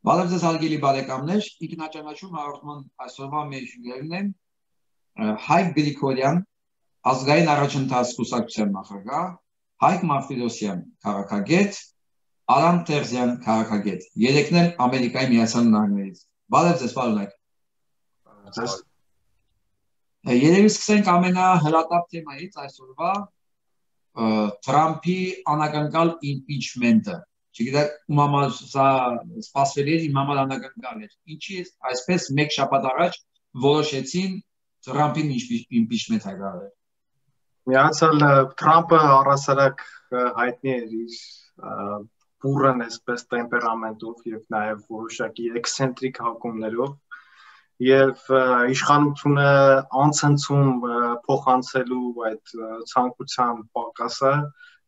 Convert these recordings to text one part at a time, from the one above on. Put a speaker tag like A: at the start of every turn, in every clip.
A: Բարև ձեզ հարգելի բարեկամներ, ինքնաճանաչում հաղորդման այսօրվա մեր հյուրերն են Հայկ Գրիգորյան, ազգային առաջընթաց կուսակցության նախագահ, Հայկ Մարտիրոսյան, քաղաքագետ, Արամ Տերզյան, քաղաքագետ, երեքն էլ Ամերիկայի Միացյալ Նահանգներից։ Բարև ձեզ, պարոններ։ Երևի սկսենք ամենահրատապ թեմայից այսօրվա Թրամփի անակնկալ իմպիչմենտը։ Չգիտեմ, ում համար սա սպասվելի էր, իմ համար անակնկալ էր։ Ինչի այսպես մեկ շաբաթ առաջ որոշեցին Թրամփին իմպիչմենտ հայտարարել։
B: Միացյալ Թրամփը առհասարակ հայտնի էր իր բուրըն այսպես տեմպերամենտով եւ նաեւ որոշակի էքսցենտրիկ հակումներով եւ իշխանությունը անցնցում փոխանցելու այդ ցանկության պակասը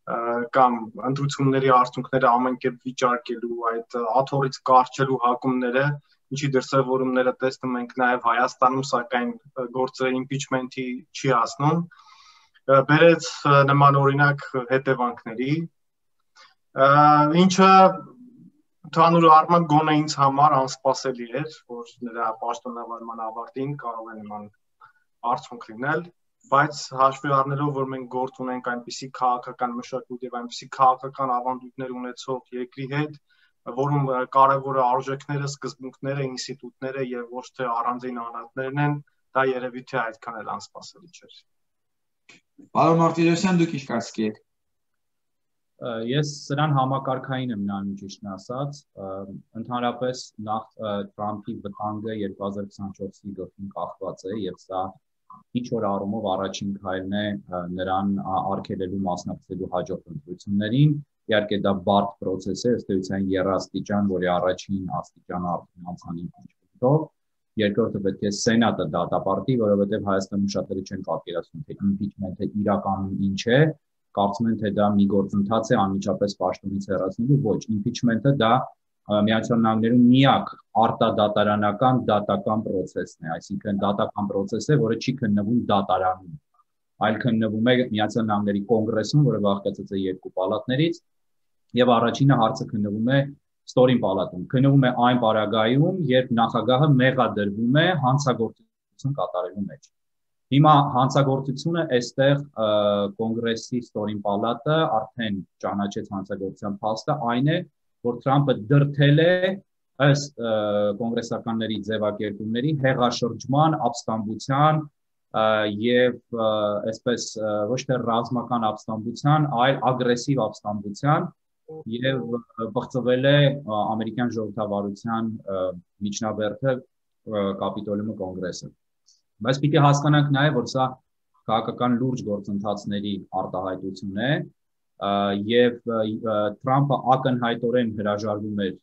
B: կամ ընտրությունների արդյունքները ամեն կերպ վիճարկելու այդ աթոռից կարճելու հակումները, ինչի դրսևորումները տեսնում ենք նաև Հայաստանում, սակայն գործը իմպիչմենտի չի հասնում, բերեց նման օրինակ հետևանքների, ինչը ընդհանուր առմամբ գոնե ինձ համար անսպասելի էր, որ նրա պաշտոնավարման ավարտին կարող է նման արդյունք լինել, բայց հաշվի առնելով, որ մենք գործ ունենք այնպիսի քաղաքական մշակույթ եւ այնպիսի քաղաքական ավանդույթներ ունեցող երկրի հետ, որում կարևորը արժեքները, սկզբունքները, ինստիտուտները եւ ոչ թե առանձին անհատներն են, դա երևի թե այդքան էլ անսպասելի չէր։
A: Պարոն Մարտիրոսյան, դուք ինչ կարծիք եք։
C: Ես սրան համակարգային եմ նայում ճիշտն ասած, ընդհանրապես նախ Թրամփի վտանգը 2024-ի գլխին կախված է եւ սա ինչ որ առումով առաջին քայլն է նրան արգելելու մասնակցելու հաջորդ ընտրություններին, իհարկե դա բարդ process է, ըստ էության երաստիճան, որի առաջին աստիճանը արդեն անցան իմպիչմենտով, երկրորդը պետք է սենատը դատապարտի, որովհետեւ Հայաստանում շատերը չեն պատկերացնում, թե իմպիչմենտը իրականում ինչ է, կարծում են թե դա մի գործընթաց է անմիջապես պաշտոնից հեռացնելու, ոչ, իմպիչմենտը դա Միացյալ Նահանգներում միակ արտադատարանական դատական process-ն է, այսինքն դատական process է, որը չի քննվում դատարանում, այլ քննվում է Միացյալ Նահանգների կոնգրեսում, որը բաղկացած է երկու պալատներից, եւ առաջինը հարցը քննվում է ստորին պալատում, քննվում է այն պարագայում, երբ նախագահը մեղադրվում է հանցագործություն կատարելու մեջ։ Հիմա հանցագործությունը այստեղ կոնգրեսի ստորին պալատը արդեն ճանաչեց հանցագործության փաստը, այն է, որ Թրամփը դրդել է ըստ կոնգրեսականների ձևակերպումների հեղաշրջման, ապստամբության եւ այսպես ոչ թե ռազմական ապստամբության, այլ ագրեսիվ ապստամբության եւ բացվել է ամերիկյան ժողովրդավարության միջնաբերդը կապիտոլիումը կոնգրեսը։ Բայց պիտի հասկանանք նաեւ, որ սա քաղաքական լուրջ գործընթացների արտահայտություն է եւ Թրամփը ակնհայտորեն հրաժարվում էր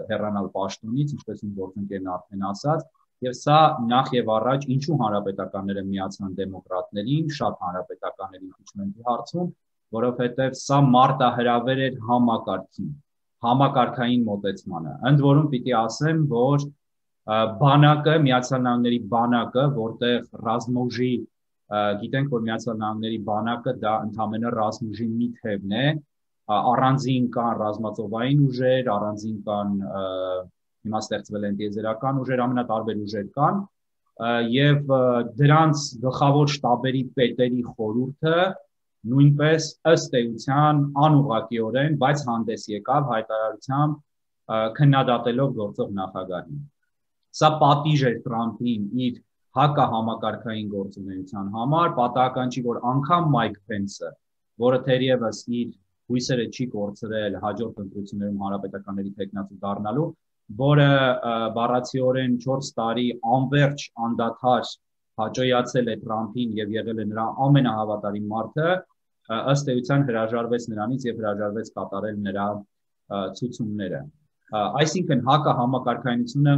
C: հեռանալ պաշտոնից, ինչպես իմ գործընկերն արդեն ասաց, եւ սա նախ եւ առաջ ինչու հանրապետականները միացան դեմոկրատներին, շատ հանրապետականների իմպիչմենտի հարցում, որովհետեւ սա մարտահրավեր էր համակարգին, համակարգային մոտեցմանը։ Ընդ որում պիտի ասեմ, որ բանակը, Միացյալ Նահանգների բանակը, որտեղ ռազմուժի գիտենք, որ Միացյալ Նահանգների բանակը դա ընդհանրապես ռազմուժի մի թևն է, առանձին կան ռազմածովային ուժեր, առանձին կան հիմա ստեղծվել են տիեզերական ուժեր, ամենատարբեր ուժեր կան, եւ դրանց գլխավոր շտաբերի պետերի խորհուրդը նույնպես ըստ էության անուղղակիորեն, բայց հանդես եկավ հայտարարությամբ քննադատելով գործող նախագահին։ Սա պատիժ էր Թրամփին իր հակահամակարգային գործունեության համար, պատահական չի, որ անգամ Մայք Փենսը, որը թերևս իր հույսերը չի կորցրել հաջորդ ընտրություններում հանրապետականների թեկնածու դառնալու, որը բառացիորեն 4 տարի անվերջ անդադար հաջողացել է Թրամփին եւ եղել է նրա ամենահավատարիմ մարդը, ըստ էության հրաժարվեց նրանից եւ հրաժարվեց կատարել նրա ցուցումները։ Այսինքն հակահամակարգայնությունը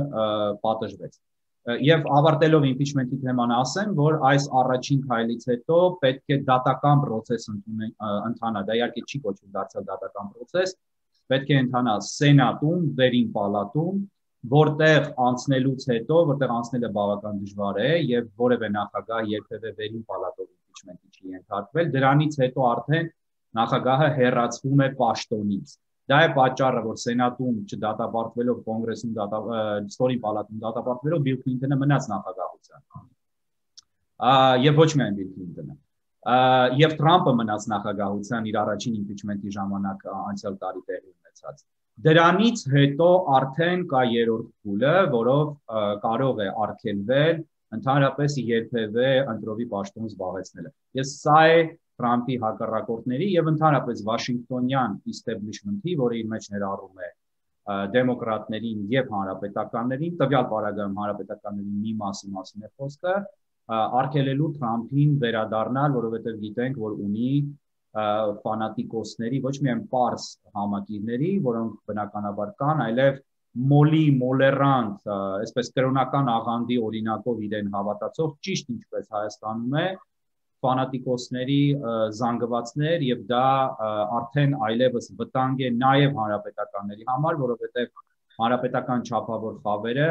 C: պատժվեց։ Եվ ավարտելով իմպիչմենտի թեման ասեմ, որ այս առաջին քայլից հետո պետք է դատական process ընթանա, դա իհարկե չի կոչվում դարձյալ դատական process, պետք է ընթանա սենատում, վերին պալատում, որտեղ անցնելուց հետո, որտեղ անցնելը բավական դժվար է եւ որևէ նախագահ երբևէ վերին պալատով իմպիչմենտի չի ենթարկվել, դրանից հետո արդեն նախագահը հեռացվում է պաշտոնից։ Դա է պատճառը, որ Սենատում չդատապարտվելով, Կոնգրեսում ստորին պալատում դատապարտվելով Բիլ Քլինթոնը մնաց նախագահության։ Եվ ոչ միայն Բիլ Քլինթոնը։ Եվ Թրամփը մնաց նախագահության իր առաջին իմպիչմենտի ժամանակ անցյալ տարի տեղի ունեցած։ Դրանից հետո արդեն կա երրորդ փուլը, որով կարող է արգելվել ընդհանրապես երբևէ ընտրովի պաշտոն զբաղեցնելը։ Ես սա է Թրամփի հակառակորդների եւ ընդհանրապես Վաշինգտոնյան establishment-ի, որը իր մեջ ներառում է դեմոկրատներին եւ հանրապետականներին, տվյալ պարագայում հանրապետականների մի մասին է խոսքը, արգելելու Թրամփին վերադառնալ, որովհետեւ գիտենք, որ ունի ֆանատիկոսների, ոչ միայն պարզ համակիրների, որոնք բնականաբար կան, այլև մոլերանտ, այսպես կրոնական աղանդի օրինակով իրեն հավատացող, ճիշտ ինչպես Հայաստանում է, ֆանատիկոսների զանգվածներ եւ դա արդեն այլևս վտանգ է նաեւ հանրապետականների համար, որովհետեւ հանրապետական չափավոր խավերը,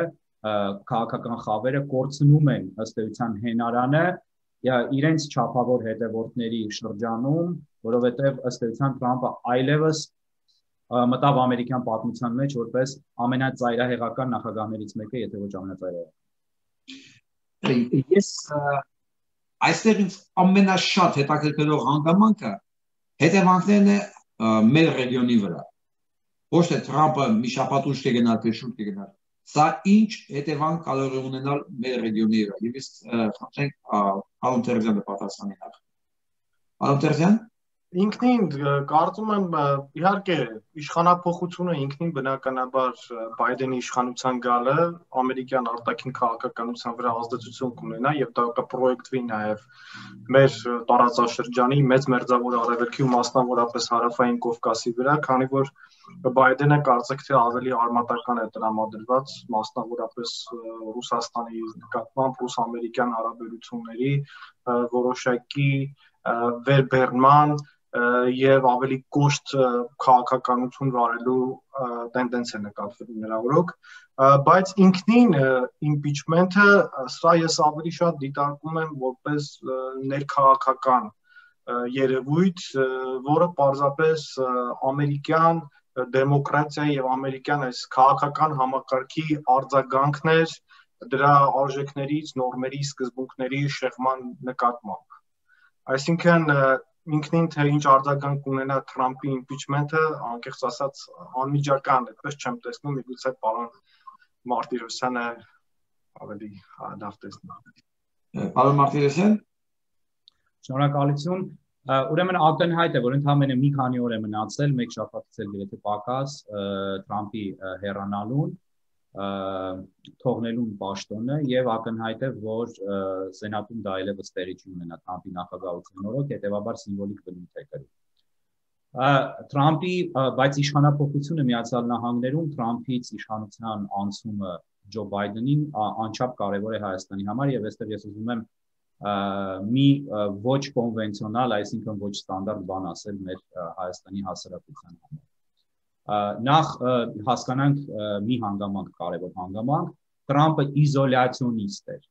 C: քաղաքական խավերը կորցնում են ըստ էության հենարանը իրենց չափավոր հետևորդների շրջանում, որովհետեւ ըստ էության Թրամփը այլևս մտավ ամերիկյան պատմության մեջ որպես ամենածայրահեղական նախագահներից մեկը, եթե ոչ ամենածայրահեղական։
A: Ես այստեղ ինձ ամենաշատ հետաքրքրող հանգամանքը հետևանքներն է մեր ռեգիոնի վրա։ Ոչ թե Թրամփը մի շաբաթ ուշ կգնալ, թե շուտ կգնալ։ Սա ինչ հետևանք կարող է ունենալ մեր ռեգիոնի վրա։ Եվ ես խնդրենք Արոն Տերզյանը պատասխանի նախ։ Արոն Տերզյան։
B: Ինքնին կարծում եմ իհարկե իշխանափոխությունը ինքնին բնականաբար Բայդենի իշխանության գալը ամերիկյան արտաքին քաղաքականության վրա ազդեցություն կունենա եւ դա կպրոյեկտվի նաեւ մեր տարածաշրջանի մեծ մերձավոր արևելքի ու մասնավորապես հարավային Կովկասի վրա, քանի որ Բայդենը կարծեք թե ավելի արմատական է տրամադրված մասնավորապես Ռուսաստանի նկատմամբ ռուս-ամերիկյան հարաբերությունների որոշակի վերբեռնման եւ ավելի կոշտ քաղաքականություն վարելու տենդենց է նկատվում նրա օրոք, բայց ինքնին impeachment-ը սա ես ավելի շատ դիտարկում եմ որպես ներքաղաքական երևույթ, որը պարզապես ամերիկյան դեմոկրատիայի եւ ամերիկյան այս քաղաքական համակարգի արձագանքն էր դրա արժեքներից, նորմերի, սկզբունքների շեղման նկատմամբ։ Այսինքն ինքնին թե ինչ արձագանք ունենա Թրամփի impeachment-ը, անկեղծ ասած անմիջական, այդպես չեմ տեսնում, միգուցե պարոն Մարտիրոսյանը ավելի լավ տեսնի։
A: Պարոն Մարտիրոսյան։
C: Շնորհակալություն։ Ուրեմն ակնհայտ է, որ ընդհանրապես մի քանի օր է մնացել, մեկ շաբաթից էլ գրեթե պակաս Թրամփի հեռանալուն, թողնելուն պաշտոնը եւ ակնհայտ է, որ Սենատում դա այլևս տեղի չունենա Թրամփի նախագահության օրոք, հետեւաբար սիմվոլիկ բնույթ է կրում։ Թրամփի, բայց իշխանափոխությունը Միացյալ Նահանգներում Թրամփից իշխանության անցումը Ջո Բայդենին անչափ կարևոր է Հայաստանի համար եւ այստեղ ես ուզում եմ մի ոչ կոնվենցիոնալ, այսինքն ոչ ստանդարտ բան ասել մեր Հայաստանի հասարակության համար։ Նախ հասկանանք մի հանգամանք, կարևոր հանգամանք, Թրամփը իզոլյացիոնիստ էր,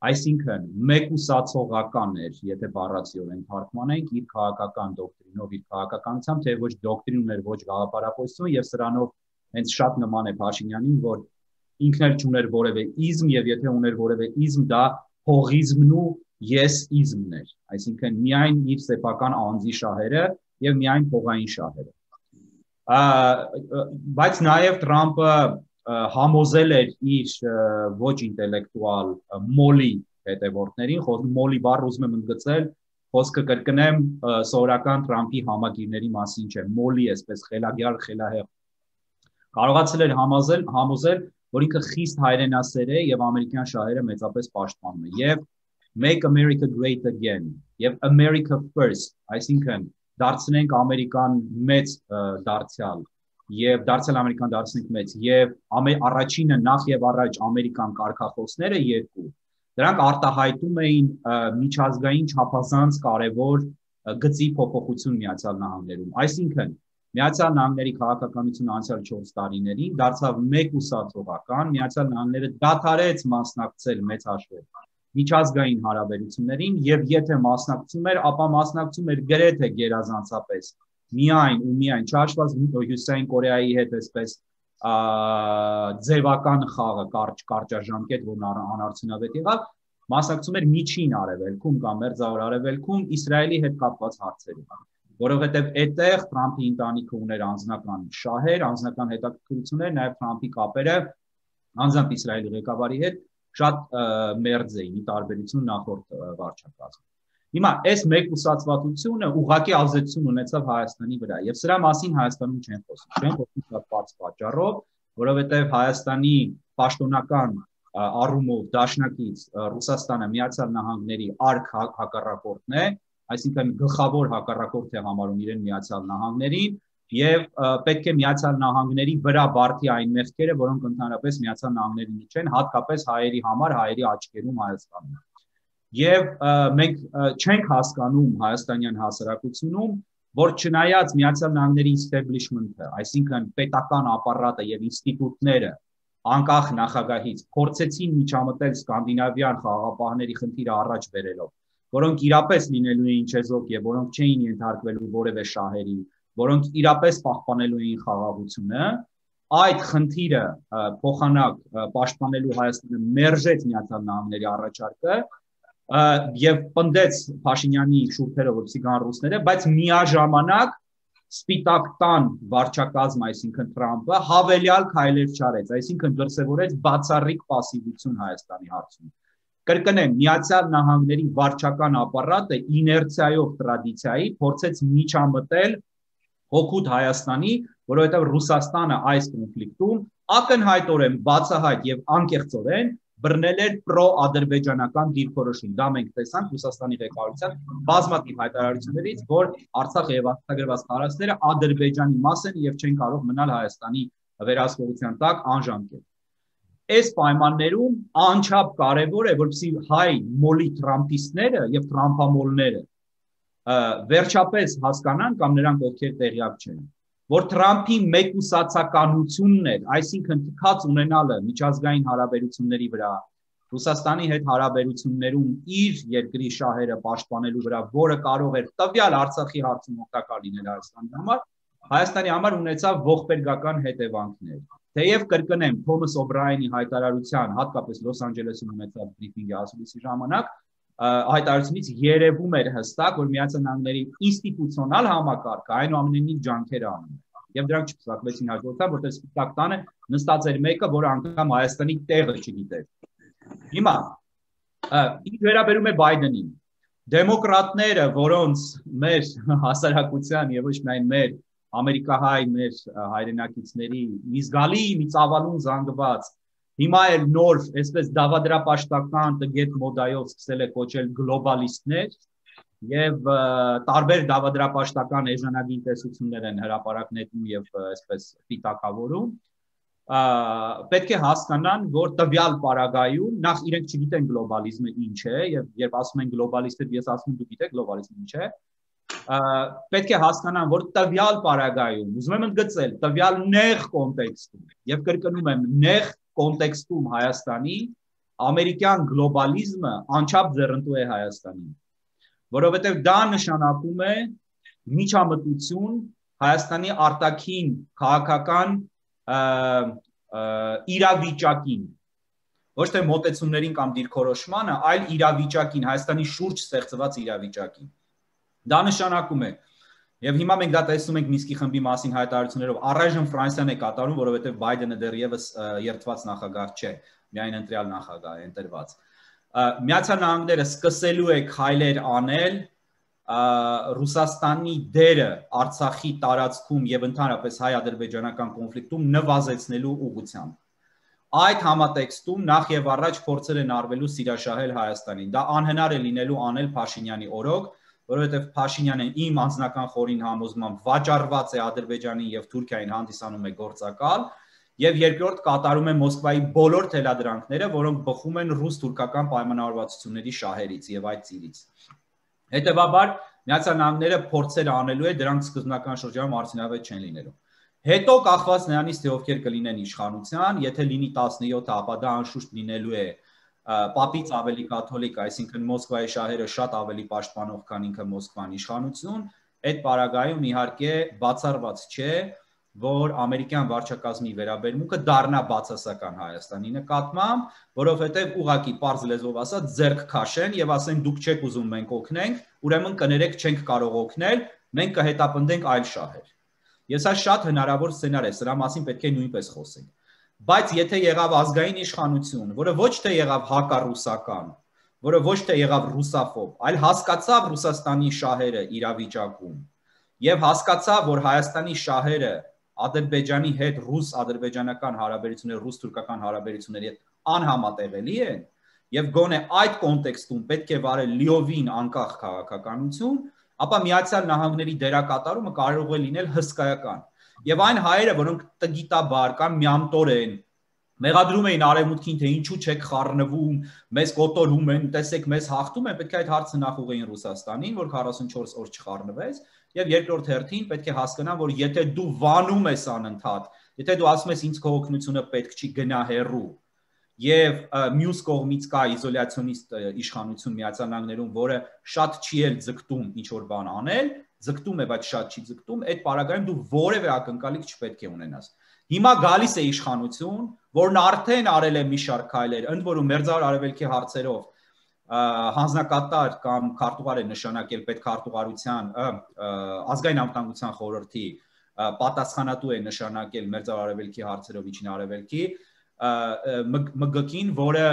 C: այսինքն մեկուսացողական էր, եթե բառացիորեն թարգմանենք, իր քաղաքական դոկտրինով, իր քաղաքականությամբ, թե ոչ դոկտրին ուներ, ոչ գաղափարախոսություն եւ սրանով հենց շատ նման է Փաշինյանին, որ ինքն էլ չուներ որևէ իզմ եւ եթե ուներ որևէ իզմ, դա հողիզմն ու եսիզմն էր, այսինքն միայն իր սեփական անձի շահերը եւ միայն փողային շահերը։ Բայց նաև Թրամփը համոզել էր իր ոչ ինտելեկտուալ մոլի հետևորդներին, մոլի բառը ուզում եմ ընդգծել, խոսքը կրկնեմ սովորական Թրամփի համագիրների մասին չէ, մոլի այսպես խելագյալ, խելահեղ։ Կարողացել էր համոզել, որ ինքը խիստ հայրենասեր է եւ ամերիկյան շահերը մեծապես պաշտպանում է եւ Make America Great Again եւ America First, այսինքն դարձնենք Ամերիկան մեծ դարձյալ եւ դարձյալ Ամերիկան դարձնենք մեծ եւ առաջինը նախ եւ առաջ ամերիկան կարգախոսները երկու դրանք արտահայտում էին միջազգային չափազանց կարևոր գծի փոփոխություն Միացյալ Նահանգներում, այսինքն Միացյալ Նահանգների քաղաքականությունը անցյալ 4 տարիներին դարձավ մեկուսացողական, Միացյալ Նահանգները դադարեց մասնակցել մեծ հաշվով միջազգային հարաբերություններին եւ եթե մասնակցում էր, ապա մասնակցում էր գրեթե գերազանցապես միայն ու միայն չհաշված Հյուսիսային Կորեայի հետ այսպես ձևական խաղը կարճաժամկետ, որն անարդյունավետ եղավ, մասնակցում էր միջին արևելքում կամ մերձավոր արևելքում Իսրայելի հետ կապված հարցերում, որովհետև այդտեղ Թրամփի ընտանիքը ուներ անձնական շահեր, անձնական հետաքրքրություններ, նաև Թրամփի կապերը անձամբ Իսրայելի ղեկավարի հետ շատ մերձ էին, ի տարբերություն նախորդ վարչակազմի։ Հիմա այս մեկուսացվածությունը ուղղակի ազդեցություն ունեցավ Հայաստանի վրա, եւ սրա մասին Հայաստանում չեն խոսում շատ բարձ պատճառով, որովհետեւ Հայաստանի պաշտոնական առումով դաշնակից Ռուսաստանը Միացյալ Նահանգների արք հակառակորդն է, այսինքն գլխավոր հակառակորդ է համարում իրեն Միացյալ Նահանգներին եւ պետք է Միացյալ Նահանգների վրա բարդի այն մեղքերը, որոնք ընդհանրապես Միացյալ Նահանգների չեն, հատկապես հայերի համար, հայերի աչքերում Հայաստանում։ Եվ մենք չենք հասկանում հայաստանյան հասարակությունում, որ չնայած Միացյալ Նահանգների establishment-ը, այսինքն պետական ապարատը եւ ինստիտուտները անկախ նախագահից փորձեցին միջամտել սկանդինավյան խաղաղապահների խնդիրը առաջ բերելով, որոնք իրապես լինելու էին չեզոք եւ որոնք չէին ենթարկվելու որևէ շահերի, որոնք իրապես պահպանելու էին խաղաղությունը, այդ խնդիրը փոխանակ պաշտպանելու Հայաստանը մերժեց Միացյալ Նահանգների առաջարկը եւ պնդեց Փաշինյանի շուրթերը, որպեսզի գան ռուսները, բայց միաժամանակ Սպիտակ տան վարչակազմ, այսինքն Թրամփը հավելյալ քայլեր չարեց, այսինքն դրսևորեց բացառիկ պասիվություն Հայաստանի հարցում։ Կրկնեմ, Միացյալ Նահանգների վարչական ապարատը իներցիայով տրադիցիայի փորձեց միջամտել հօգուտ Հայաստանի, որովհետև Ռուսաստանը այս կոնֆլիկտում ակնհայտորեն բացահայտ եւ անկեղծորեն բռնել էր պրո-ադրբեջանական դիրքորոշում։ Դա մենք տեսանք Ռուսաստանի ղեկավարության բազմաթիվ հայտարարություններից, որ Արցախը եւ արտադրված տարածքները Ադրբեջանի մաս են եւ չեն կարող մնալ Հայաստանի վերահսկողության տակ անժամկետ։ Այս պայմաններում անչափ կարևոր է, որպեսզի հայ մոլի տրամպիստները եւ տրամփամոլները վերջապես հասկանան կամ նրանք ովքեր տեղյակ չեն, որ Թրամփի մեկուսացականությունն էր, այսինքն թքած ունենալը միջազգային հարաբերությունների վրա, Ռուսաստանի հետ հարաբերություններում իր երկրի շահերը պաշտպանելու վրա, որը կարող էր տվյալ Արցախի հարցում օգտակար լինել Հայաստանի համար ունեցավ ողբերգական հետևանքներ։ Թեև կրկնեմ Թոմաս Օբրայենի հայտարարության, հատկապես Լոս Անջելեսում ունեցած բրիֆինգի ասուլիսի ժամանակ, հայտարարությունից երևում էր հստակ, որ Միացյալ Նահանգների ինստիտուցիոնալ համակարգը այնուամենայնիվ ջանքեր է անում։ Եվ դրանք չփսակվեցին հաջորդաբար, որտեղ Սպիտակ տանը նստած էր մեկը, որը անգամ Հայաստանի տեղը չգիտեր։ Հիմա ինչ վերաբերում է Բայդենին, դեմոկրատները, որոնց մեր հասարակության եւ ոչ միայն մեր ամերիկահայ մեր հայրենակիցների մի զգալի մի ծավալուն զանգված հիմա էլ նոր, այսպես դավադրապաշտական տգետ մոդայով սկսել է կոչել գլոբալիստներ եւ տարբեր դավադրապաշտական էժանագին տեսություններ են հրապարակներում եւ այսպես պիտակավորում, պետք է հասկանան, որ տվյալ պարագայում նախ իրենք չգիտեն գլոբալիզմը ինչ է եւ երբ ասում են գլոբալիստը, ես ասում եմ դու գիտեք գլոբալիզմը ինչ է, պետք է հասկանան, որ տվյալ պարագայում, ուզում եմ ընդգծել, տվյալ նեղ կոնտեքստում եւ կրկնում եմ նեղ կոնտեքստում Հայաստանի ամերիկյան գլոբալիզմը անչափ ձեռնտու է Հայաստանին, որովհետև դա նշանակում է միջամտություն Հայաստանի արտաքին քաղաքական իրավիճակին, ոչ թե մոտեցումներին կամ դիրքորոշմանը, այլ իրավիճակին, Հայաստանի շուրջ ստեղծված իրավիճակին։ Դա նշանակում է, եւ հիմա մենք դա տեսնում ենք Մինսկի խմբի մասին հայտարարություններով, առայժմ Ֆրանսիան է կատարում, որովհետեւ Բայդենը դեռևս երդված նախագահ չէ, միայն ընտրյալ նախագահ է ընտրված։ Միացյալ Նահանգները սկսելու է քայլեր անել Ռուսաստանի դերը Արցախի տարածքում եւ ընդհանրապես հայ-ադրբեջանական կոնֆլիկտում նվազեցնելու ուղղությամբ։ Այդ համատեքստում նախ եւ առաջ փորձեր են արվելու սիրաշահել Հայաստանին։ Դա անհնար է լինելու անել Փաշինյանի օրոք, որովհետև Փաշինյանը իմ անձնական խորին համոզմամբ վաճառված է Ադրբեջանին եւ Թուրքիային հանդիսանում է գործակալ եւ երկրորդ կատարում է Մոսկվայի բոլոր թելադրանքները, որոնք բխում են ռուս-թուրքական պայմանավորվածությունների շահերից եւ այդ ծիրից։ Հետևաբար Միացյալ Նահանգները փորձեր անելու է, դրանք սկզբնական շրջանում արդյունավետ չեն լինելու։ Հետո կախված նրանից թե ովքեր կլինեն իշխանության, եթե լինի 17-ը, ապա դա անշուշտ լինելու է Պապից ավելի կաթոլիկ, այսինքն Մոսկվայի շահերը շատ ավելի պաշտպանող, քան ինքը Մոսկվան իշխանություն, այդ պարագայում իհարկե բացառված չէ, որ ամերիկյան վարչակազմի վերաբերմունքը դառնա բացասական Հայաստանի նկատմամբ, որովհետև ուղղակի պարզ լեզվով ասած ձեռք քաշեն եւ ասեն դուք չեք ուզում մենք օգնենք, ուրեմն կներեք չենք կարող օգնել, մենք կհետապնդենք այլ շահեր։ Ես այս շատ հնարավոր սցենար է, սրա մասին պետք է նույնպես խոսենք։ Բայց եթե եղավ ազգային իշխանություն, որը ոչ թե եղավ հակառուսական, որը ոչ թե եղավ ռուսաֆոբ, այլ հասկացավ Ռուսաստանի շահերը իրավիճակում եւ հասկացավ, որ Հայաստանի շահերը Ադրբեջանի հետ ռուս-ադրբեջանական հարաբերությունները, ռուս-թուրքական հարաբերությունների հետ անհամատեղելի են եւ գոնե այդ կոնտեքստում պետք է վարել լիովին անկախ քաղաքականություն, ապա Միացյալ Նահանգների դերակատարումը կարող է լինել հսկայական։ Եվ այն հայերը, որոնք տգիտաբար կամ միամտորեն մեղադրում էին արևմուտքին, թե ինչու չեք խառնվում, մեզ կոտորում են, տեսեք, մեզ հաղթում են, պետք է այդ հարցը նախուղեին Ռուսաստանին, որ 44 օր չխառնվեց, եւ երկրորդ հերթին պետք է հասկանան, որ եթե դու վանում ես անընդհատ, եթե դու ասում ես ինձ քո օգնությունը պետք չի գնա հեռու, եւ մյուս կողմից կա իզոլյացիոնիստ իշխանություն Միացյալ Նահանգներում, որը շատ չի էլ ձգտում ինչ որ բան անել, ձգտում է, բայց շատ չի ձգտում, այդ պարագայում դու որևէ ակնկալիք չպետք է ունենաս։ Հիմա գալիս է իշխանություն, որն արդեն արել է մի շարք քայլեր, ընդ որում Մերձավոր Արևելքի հարցերով հանձնակատար կամ քարտուղար է նշանակել պետքարտուղարության ազգային անվտանգության խորհրդի պատասխանատու է նշանակել Մերձավոր Արևելքի հարցերով Միջին Արևելքի ՄԳԿ-ին, որը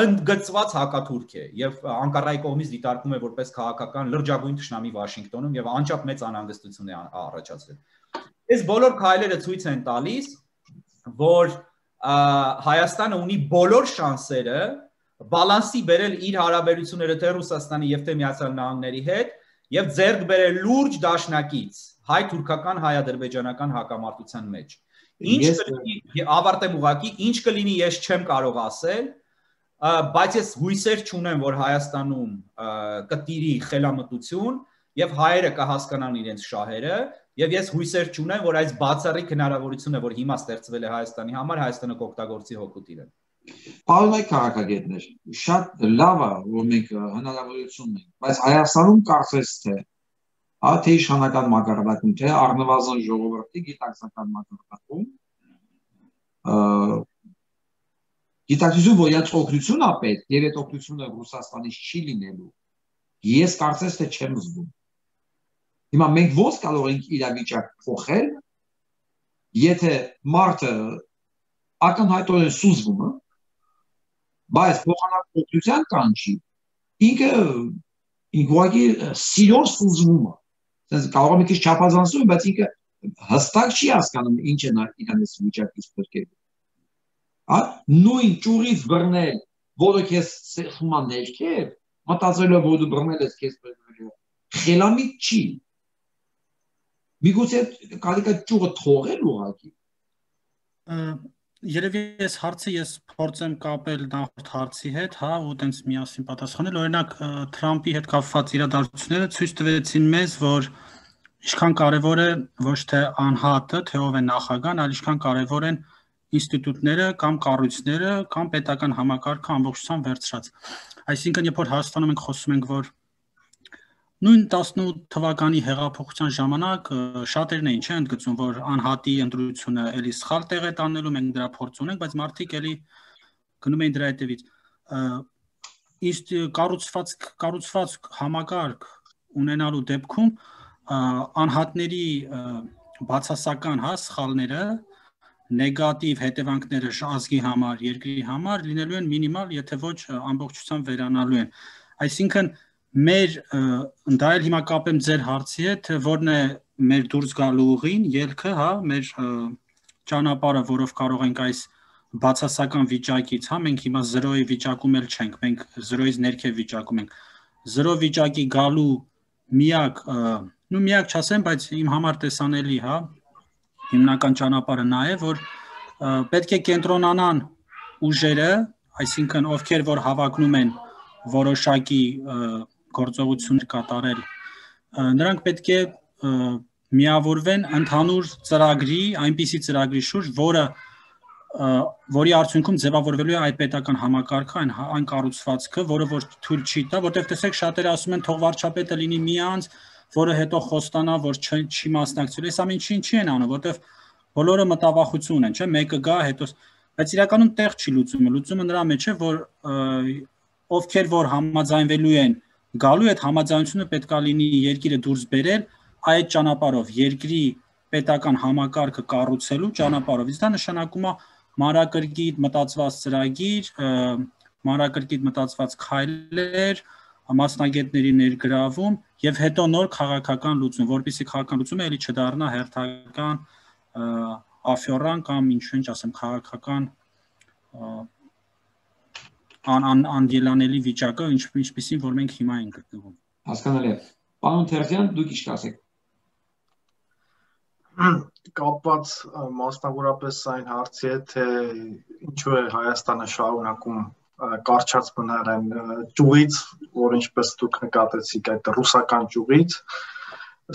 C: ընդգծված հակաթուրք է եւ Անկարայի կողմից դիտարկվում է որպես քաղաքական լրջագույն թշնամի Վաշինգտոնում եւ անչափ մեծ անհանգստություն է առաջացրել։ Այս բոլոր քայլերը ցույց են տալիս, որ Հայաստանը ունի բոլոր շանսերը բալանսի բերել իր հարաբերությունները թե Ռուսաստանի եւ թե Միացյալ Նահանգների հետ եւ ձեռք բերել լուրջ դաշնակից հայ-թուրքական, հայ-ադրբեջանական հակամարտության մեջ։ Ինչ կլինի, ավարտեմ ուղղակի, ինչ կլինի ես չեմ կարող ասել, բայց ես հույսեր չունեմ, որ Հայաստանում կտիրի խելամտություն եւ հայերը կհասկանան իրենց շահերը եւ ես հույսեր չունեմ, որ այս բացառիկ հնարավորությունը, որ հիմա ստեղծվել է Հայաստանի համար, Հայաստանը կօգտագործի հոգուտ իրեն։
A: Պարոն քաղաքագետներ, շատ լավ է, որ մենք հնարավորություն ունենք, բայց Հայաստանում կարծես թե թե իշխանական մակարդակում, թե առնվազն ժողովրդի գիտակցական մակարդակում գիտակցություն, որ իրաց օգնություն է պետք եւ այդ օգնությունը Ռուսաստանից չի լինելու, ես կարծես թե չեմ զգում։ Հիմա մենք ո՞նց կարող ենք իրավիճակ փոխել, եթե մարդը ակնհայտորեն սուզվում է, բայց փոխանակ օգնության կանչի, ինքը ուղղակի սիրով սուզվում է։ Կարող է մի քիչ չափազանցում, բայց ինքը հստակ չի հասկանում ինչ է նա իրենից վիճակից փրկելու։ Նույն ճյուղից բռնել, որը քեզ սեղմա ներքև, մտածելով որ դու բռնել ես քեզ բռնելու, խելամիտ չի։ Միգուցե կարելի է ճյուղը թողել ուղղակի։
D: Երևի այս հարցը ես փորձեմ կապել նախորդ հարցի հետ, հա, ու տենց միասին պատասխանել։ Օրինակ Թրամփի հետ կապված իրադարձությունները ցույց տվեցին մեզ, որ ինչքան կարևոր է ոչ թե անհատը, թե ով է նախագահան, այլ ինչքան կարևոր են ինստիտուտները կամ կառույցները կամ պետական համակարգը ամբողջությամբ վերցրած։ Այսինքն, երբ որ Հայաստանում ենք խոսում ենք, որ նույն 18 թվականի հեղափոխության ժամանակ շատերն էին չէ ընդգծում, որ անհատի ընտրությունը էլի սխալ տեղ է տանելու, մենք դրա փորձ ունենք, բայց մարդիկ էլի գնում էին դրա հետևից։ Իսկ կառուցված համակարգ ունենալու դեպքում անհատների բացասական սխալները, նեգատիվ հետևանքները ազգի համար, երկրի համար լինելու են մինիմալ, եթե ոչ ամբողջությամբ վերանալու են։ Այսինքն մեր դա էլ հիմա կապեմ ձեր հարցի հետ, որն է մեր դուրս գալու ուղին, ելքը, հա, մեր ճանապարհը, որով կարող ենք այս բացասական վիճակից, հա, մենք հիմա 0-ի վիճակում էլ չենք, մենք 0-ից ներքև վիճակում ենք։ 0 վիճակի գալու միակ չասեմ, բայց իմ համար տեսանելի, հա, հիմնական ճանապարհը նա է, որ պետք է կենտրոնանան ուժերը, այսինքն ովքեր որ հավակնում են որոշակի գործողություններ կատարել, նրանք պետք է միավորվեն ընդհանուր ծրագրի, այնպիսի ծրագրի շուրջ, որի արդյունքում ձևավորվելու է այդ պետական համակարգը, այն կառուցվածքը, որը որ թույլ չի տա, որտեղ տեսեք շատերը ասում են թող վարչապետը լինի մի անձ, որը հետո խոստանա, որ չի մասնակցելու։ Այս ամեն ինչին չի են անում, որովհետև բոլորը մտավախություն են, չէ՞, մեկը գա, հետո բայց իրականում տեղ չի լուծումը նրա մեջ է, որ ովքեր որ համաձայնվելու են գալու այդ համաձայնությունը պետք է լինի երկիրը դուրս բերել այդ ճանապարհով, երկրի պետական համակարգը կառուցելու ճանապարհով։ Իսկ դա նշանակում է մանրակրկիտ մտածված ծրագիր, մանրակրկիտ մտածված քայլեր, մասնագետների ներգրավում եւ հետո նոր քաղաքական լուծում, որպեսզի քաղաքական լուծումը էլի չդառնա հերթական աֆյորան կամ ինչ ասեմ քաղաքական անդելանելի վիճակը, ինչպիսին որ մենք հիմա ենք գտնվում։
A: Հասկանալի է։ Պարոն Թերզյան, դուք ինչ կասեք։
B: Կապված մասնավորապես այն հարցի հետ, թե ինչու է Հայաստանը շարունակում կարճած մնալ այն ճյուղից, որ ինչպես դուք նկատեցիք, այդ ռուսական ճյուղից,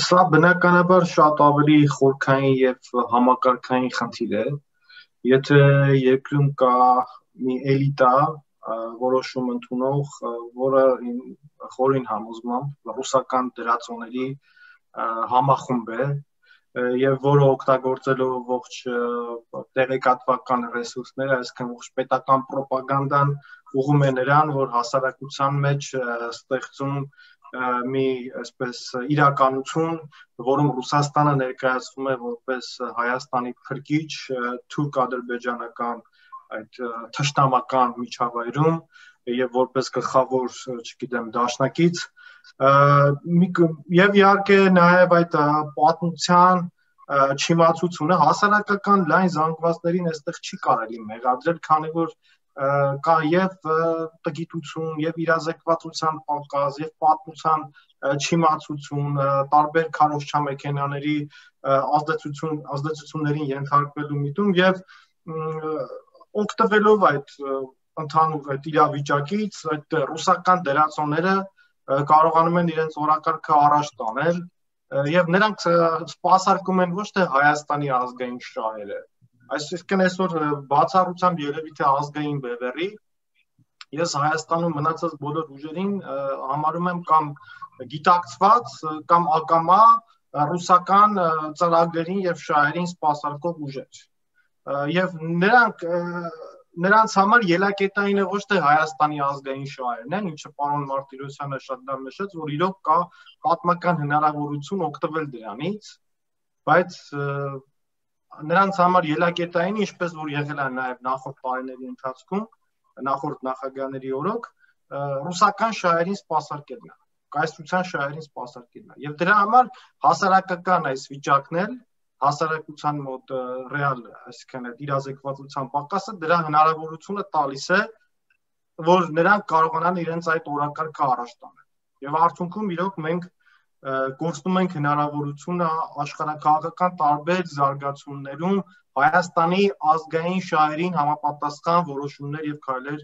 B: սա բնականաբար շատ ավելի խորքային եւ համակարգային խնդիր է։ Եթե երկրում կա մի էլիտա, որոշում ընդունող, որը խորին համոզմամբ ռուսական դրածոների համախումբ է եւ որը օգտագործելով ողջ տեղեկատվական ռեսուրսները, այսինքն ողջ պետական ռոպագանդան ուղղում է նրան, որ հասարակության մեջ ստեղծում մի այսպես իրականություն, որում Ռուսաստանը ներկայացվում է որպես Հայաստանի փրկիչ թուրք-ադրբեջանական այդ թշնամական միջավայրում եւ որպես գլխավոր, չգիտեմ, դաշնակից եւ իհարկե նաեւ այդ պատմության չիմացությունը հասարակական լայն զանգվածներին այստեղ չի կարելի մեղադրել, քանի որ կա եւ տգիտություն եւ իրազեկվածության պակաս եւ պատմության չիմացություն, տարբեր քարոզչամեքենաների ազդեցություններին ենթարկվելու միտում եւ օգտվելով այդ ընդհանուր այդ իրավիճակից, այդ ռուսական դերասանները կարողանում են իրենց օրակարգը առաջ տանել եւ նրանք սպասարկում են ոչ թե Հայաստանի ազգային շահերը, այսինքն այսօր բացառությամբ երևի թե ազգային բևեռի, ես Հայաստանում մնացած բոլոր ուժերին համարում եմ կամ գիտակցված կամ ակամա ռուսական ծրագրերին եւ շահերին սպասարկող ուժեր եւ նրանց համար ելակետային է ոչ թե Հայաստանի ազգային շահերն են, ինչը պարոն Մարտիրոսյանը շատ լավ նշեց, որ իրոք կա պատմական հնարավորություն օգտվել դրանից, բայց նրանց համար ելակետային, ինչպես որ եղել է նաև նախորդ տարիների ընթացքում, նախորդ նախագահների օրոք, ռուսական շահերին սպասարկելն է, կայսրության շահերին սպասարկելն է, եւ դրա համար հասարակական այս վիճակն էլ հասարակության մոտ ռեալ, այսինքն այդ իրազեկվածության պակասը դրա հնարավորությունը տալիս է, որ նրանք կարողանան իրենց այդ օրակարգը առաջ տանել։ Եվ արդյունքում իրոք մենք կորցնում ենք հնարավորությունը աշխարհակաղակական տարբեր զարգացումներում Հայաստանի ազգային շահերին համապատասխան որոշումներ եւ քայլեր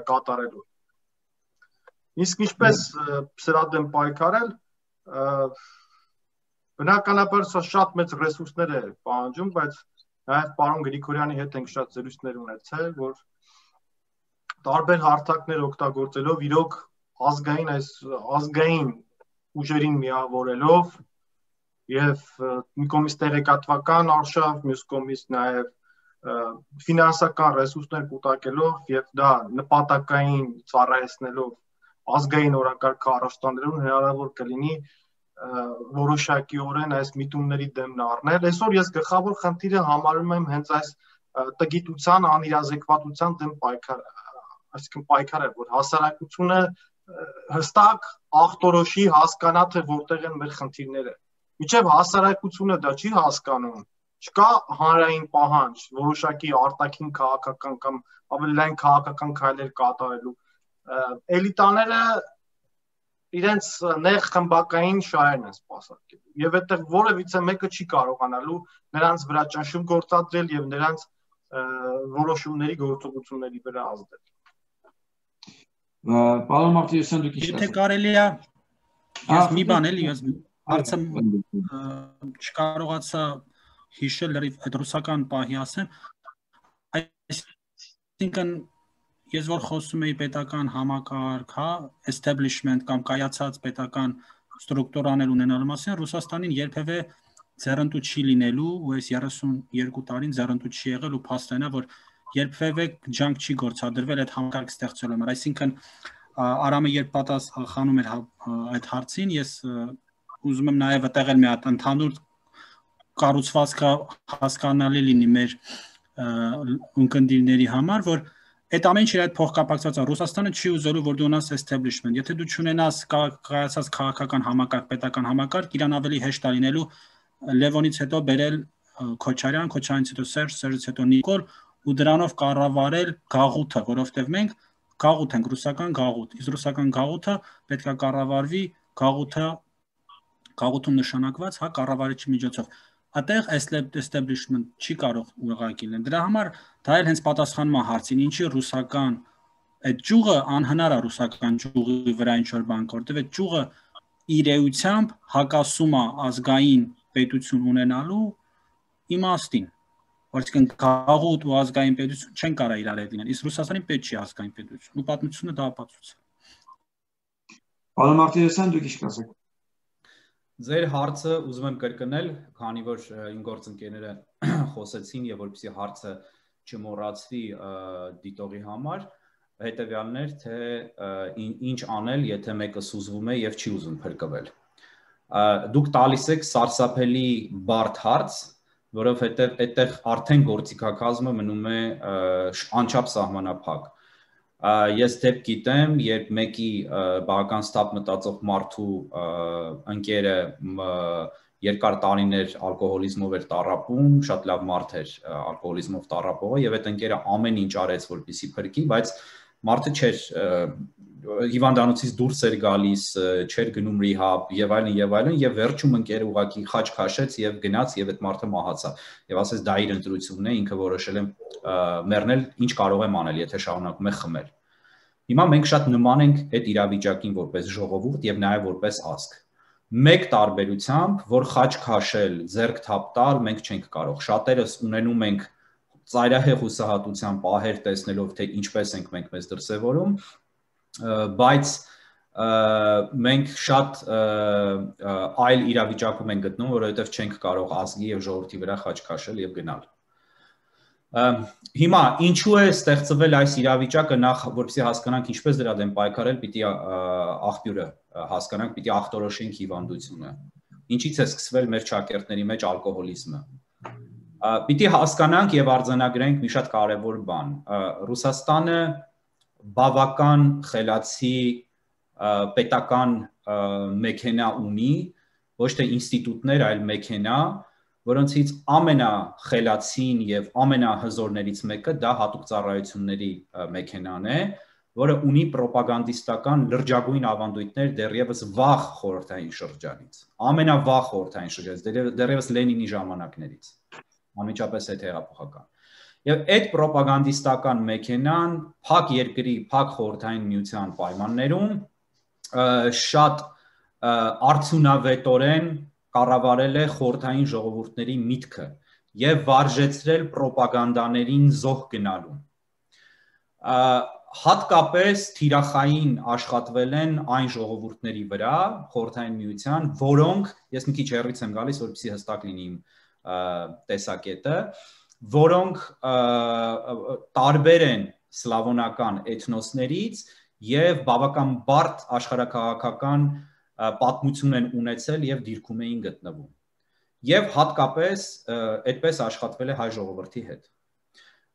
B: կատարելու։ Իսկ ինչպես սրա դեմ պայքարել, բնականաբար սա շատ մեծ ռեսուրսներ է պահանջում, բայց նաև պարոն Գրիգորյանի հետ ենք շատ զրույցներ ունեցել, որ տարբեր հարթակներ օգտագործելով իրոք ազգային ուժերին միավորելով եւ մի կողմից տեղեկատվական արշավ, մյուս կողմից նաև ֆինանսական ռեսուրսներ կուտակելով եւ դա նպատակային ծառայեցնելով ազգային օրակարգը առաջ տանելուն հնարավոր կլինի որոշակիորեն այս միտումների դեմն առնել։ Այսօր ես գլխավոր խնդիրը համարում եմ հենց այս տգիտության, անիրազեկվածության դեմ պայքարը, այսինքն պայքարը, որ հասարակությունը հստակ ախտորոշի հասկանա, թե որտեղ են մեր խնդիրները։ Մինչև հասարակությունը դա չի հասկանում, չկա հանրային պահանջ, որոշակի արտաքին քաղաքական կամ ավելի լայն քաղաքական քայլեր կատարելու։ Էլիտաները իրենց նեղ խմբակային շահերն են սպասարկելու եւ այդտեղ որևիցե մեկը չի կարողանալու նրանց վրա ճնշում գործադրել եւ նրանց որոշումների գործողությունների վրա ազդել։
A: Պարոն Մարտիրոսյան, դուք ինչ
D: Եթե կարելի է, ես մի բան էլի, ես հարցը չկարողացա հիշել լրիվ այդ ռուսական պահի ասեմ, այսինքն ես որ խոսում էի պետական համակարգ, հա, establishment կամ կայացած պետական ստրուկտուրաներ ունենալու մասին, Ռուսաստանին երբևէ ձեռնտու չի լինելու, ու այս 32 տարին ձեռնտու չի եղել ու փաստն է, որ երբևէ ջանք չի գործադրվել այդ համակարգ ստեղծելու համար։ Այսինքն Արամը երբ պատասխանում էր այդ հարցին, ես ուզում եմ նաև այդտեղ մի հատ ընդհանուր կառուցվածքը հասկանալի լինի մեր ունկնդիրների համար, որ այդ ամեն ինչի հետ փոխկապակցված է։ Ռուսաստանը չի ուզելու, որ դու ունենաս establishment։ Եթե դու չունենաս կայացած քաղաքական համակարգ, պետական համակարգ, իրան ավելի հեշտ է լինելու Լևոնից հետո բերել Քոչարյան, Քոչարյանից հետո Սերժ, Սերժից հետո Նիկոլ ու դրանով կառավարել գաղութը, որովհետև մենք գաղութ ենք, ռուսական գաղութ։ Իսկ ռուսական գաղութը պետք է կառավարվի գաղութում նշանակված կառավարիչի միջոցով։ Այդտեղ establishment չի կարող ուղղակի լինել։ Դրա համար դա էլ հենց պատասխանում է հարցին, ինչի ռուսական այդ ճյուղը անհնար է ռուսական ճյուղի վրա ինչ-որ բան կա, որտեղ այդ ճյուղը իր էությամբ հակասում է ազգային պետություն ունենալու իմաստին, որովհետև գաղութ ու ազգային պետություն չեն կարող իրար հետ լինել, իսկ Ռուսաստանին պետք չի ազգային պետություն, ու պատմությունը դա ապացուցում է։
A: Պարոն Մարտիրոսյան, դուք ինչ կասեք։
C: Ձեր հարցը ուզում եմ կրկնել, քանի որ իմ գործընկերները խոսեցին եւ որպեսզի հարցը չմոռացվի դիտողի համար, հետեւյալն էր, թե ինչ անել, եթե մեկը սուզվում է եւ չի ուզում փրկվել։ Դուք տալիս եք սարսափելի բարդ հարց, որովհետեւ այդտեղ արդեն գործիքակազմը մնում է անչափ սահմանափակ։ Ես դեպք գիտեմ, երբ մեկի բավական ստապ մտածող մարդու ընկերը երկար տարիներ ալկոհոլիզմով էր տառապում, շատ լավ մարդ էր ալկոհոլիզմով տառապողը եւ այդ ընկերը ամեն ինչ արեց, որպեսզի փրկի, բայց մարդը չէր հիվանդանոցից դուրս էր գալիս, չէր գնում ռիհաբ եւ այլն եւ վերջում ընկերը ուղակի խաչ քաշեց եւ գնաց եւ այդ մարդը մահացավ եւ ասեց դա իր ընտրությունն է, ինքը որոշել է մեռնել, ինչ կարող եմ անել, եթե շարունակում է խմել։ Հիմա մենք շատ նման ենք այդ իրավիճակին որպես ժողովուրդ եւ նաեւ որպես ազգ։ Մեկ տարբերությամբ, որ խաչ քաշել, ձեռք թափ տալ մենք չենք կարող։ Շատերս ունենում ենք ծայրահեղ հուսահատության պահեր տեսնելով, թե ինչպես ենք մենք մեզ դրսևորում, բայց մենք շատ այլ իրավիճակում ենք գտնում, որովհետև չենք կարող ազգի եւ ժողովրդի վրա խաչ քաշել եւ գնալ։ Հիմա ինչու է ստեղծվել այս իրավիճակը, նախ որպեսզի հասկանանք ինչպես դրա դեմ պայքարել, պիտի աղբյուրը հասկանանք, պիտի ախտորոշենք հիվանդությունը։ Ինչից է սկսվել մեր ճակերտների մեջ ալկոհոլիզմը։ Պիտի հասկանանք եւ արձանագրենք մի շատ կարեւոր բան։ Ռուսաստանը բավական խելացի պետական մեքենա ունի, ոչ թե ինստիտուտներ, այլ մեքենա, որոնցից ամենախելացին եւ ամենահզորներից մեկը դա հատուկ ծառայությունների մեքենան է, որը ունի պրոպագանդիստական լրջագույն ավանդույթներ դեռևս վաղ խորհրդային շրջանից, ամենավաղ խորհրդային շրջանից, դեռևս Լենինի ժամանակներից, անմիջապես այդ հեղափոխական։ Եվ այդ պրոպագանդիստական մեքենան փակ երկրի, փակ խորհրդային միության պայմաններում շատ արդյունավետորեն կառավարել է խորհրդային ժողովուրդների միտքը եւ վարժեցրել պրոպագանդաներին զոհ գնալու։ Հատկապես թիրախային աշխատվել են այն ժողովուրդների վրա, խորհրդային միության, որոնք, ես մի քիչ հեռից եմ գալիս, որպեսզի հստակ լինի իմ տեսակետը, որոնք տարբեր են սլավոնական էթնոսներից եւ բավական բարդ աշխարհաքաղաքական պատմություն են ունեցել եւ դիրքում էին գտնվում։ Եվ հատկապես այդպես աշխատվել է հայ ժողովրդի հետ։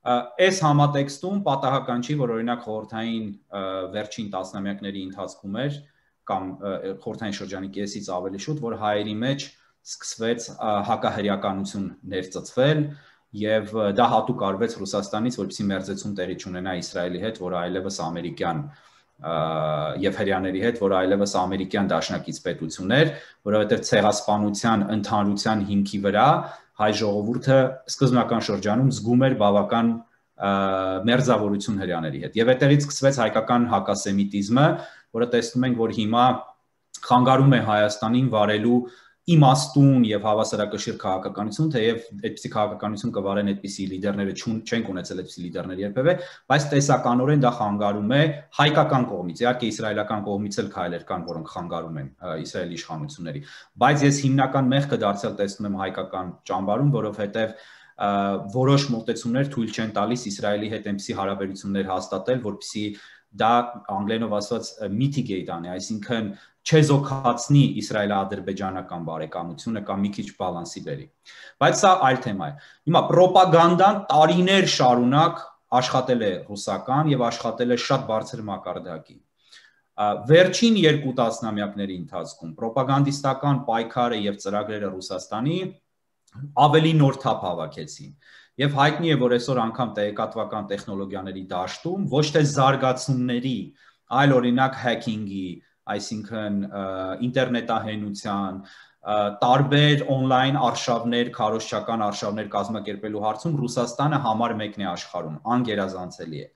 C: Այս համատեքստում պատահական չի, որ օրինակ խորհրդային վերջին տասնամյակների ընթացքում էր կամ խորհրդային շրջանի կեսից ավելի շուտ, որ հայերի մեջ սկսվեց հակահրեականություն ներծծվել եւ դա հատուկ արվեց Ռուսաստանից, որպեսզի մերձեցում տեղի չունենա Իսրայելի հետ, որը այլևս ամերիկյան եւ հրեաների հետ, որը այլևս ամերիկյան դաշնակից պետություն էր, որովհետեւ ցեղասպանության ընդհանրության հիմքի վրա հայ ժողովուրդը սկզբնական շրջանում զգում էր բավական մերձավորություն հրեաների հետ։ Եվ այդտեղից սկսվեց հայկական հակասեմիտիզմը, որը տեսնում ենք, որ հիմա խանգարում է Հայաստանին վարելու իմաստուն եւ հավասարակշիռ քաղաքականություն, թեև այդպիսի քաղաքականություն կվարեն այդպիսի լիդերները չենք ունեցել այդպիսի լիդերներ երբևէ, բայց տեսականորեն դա խանգարում է հայկական կողմից, իհարկե իսրայելական կողմից էլ քայլեր կան, որոնք խանգարում են իսրայելի իշխանությունների, բայց ես հիմնական մեղքը դարձյալ տեսնում եմ հայկական ճամբարում, որովհետեւ որոշ մոտեցումներ թույլ չեն տալիս Իսրայելի հետ այնպիսի հարաբերություններ հաստատել, որպեսզի դա անգլերենով ասված mitigate անի, այսինքն չեզոքացնի իսրայելա-ադրբեջանական բարեկամությունը կամ մի քիչ բալանսի բերի։ Բայց սա այլ թեմա է։ Հիմա ռոպագանդան տարիներ շարունակ աշխատել է ռուսական եւ աշխատել է շատ բարձր մակարդակի։ Վերջին 2 տասնամյակների ընթացքում ռոպագանդիստական պայքարը եւ ծրագրերը Ռուսաստանի ավելի նոր թափ հավաքեցին։ Եվ հայտնի է, որ այսօր անգամ տեղեկատվական տեխնոլոգիաների դաշտում ոչ թե զարգացումների, այլ օրինակ հեքինգի, այսինքն ինտերնետահենության, տարբեր on-line արշավներ, քարոզչական արշավներ կազմակերպելու հարցում Ռուսաստանը համար մեկն է աշխարհում, անգերազանցելի է։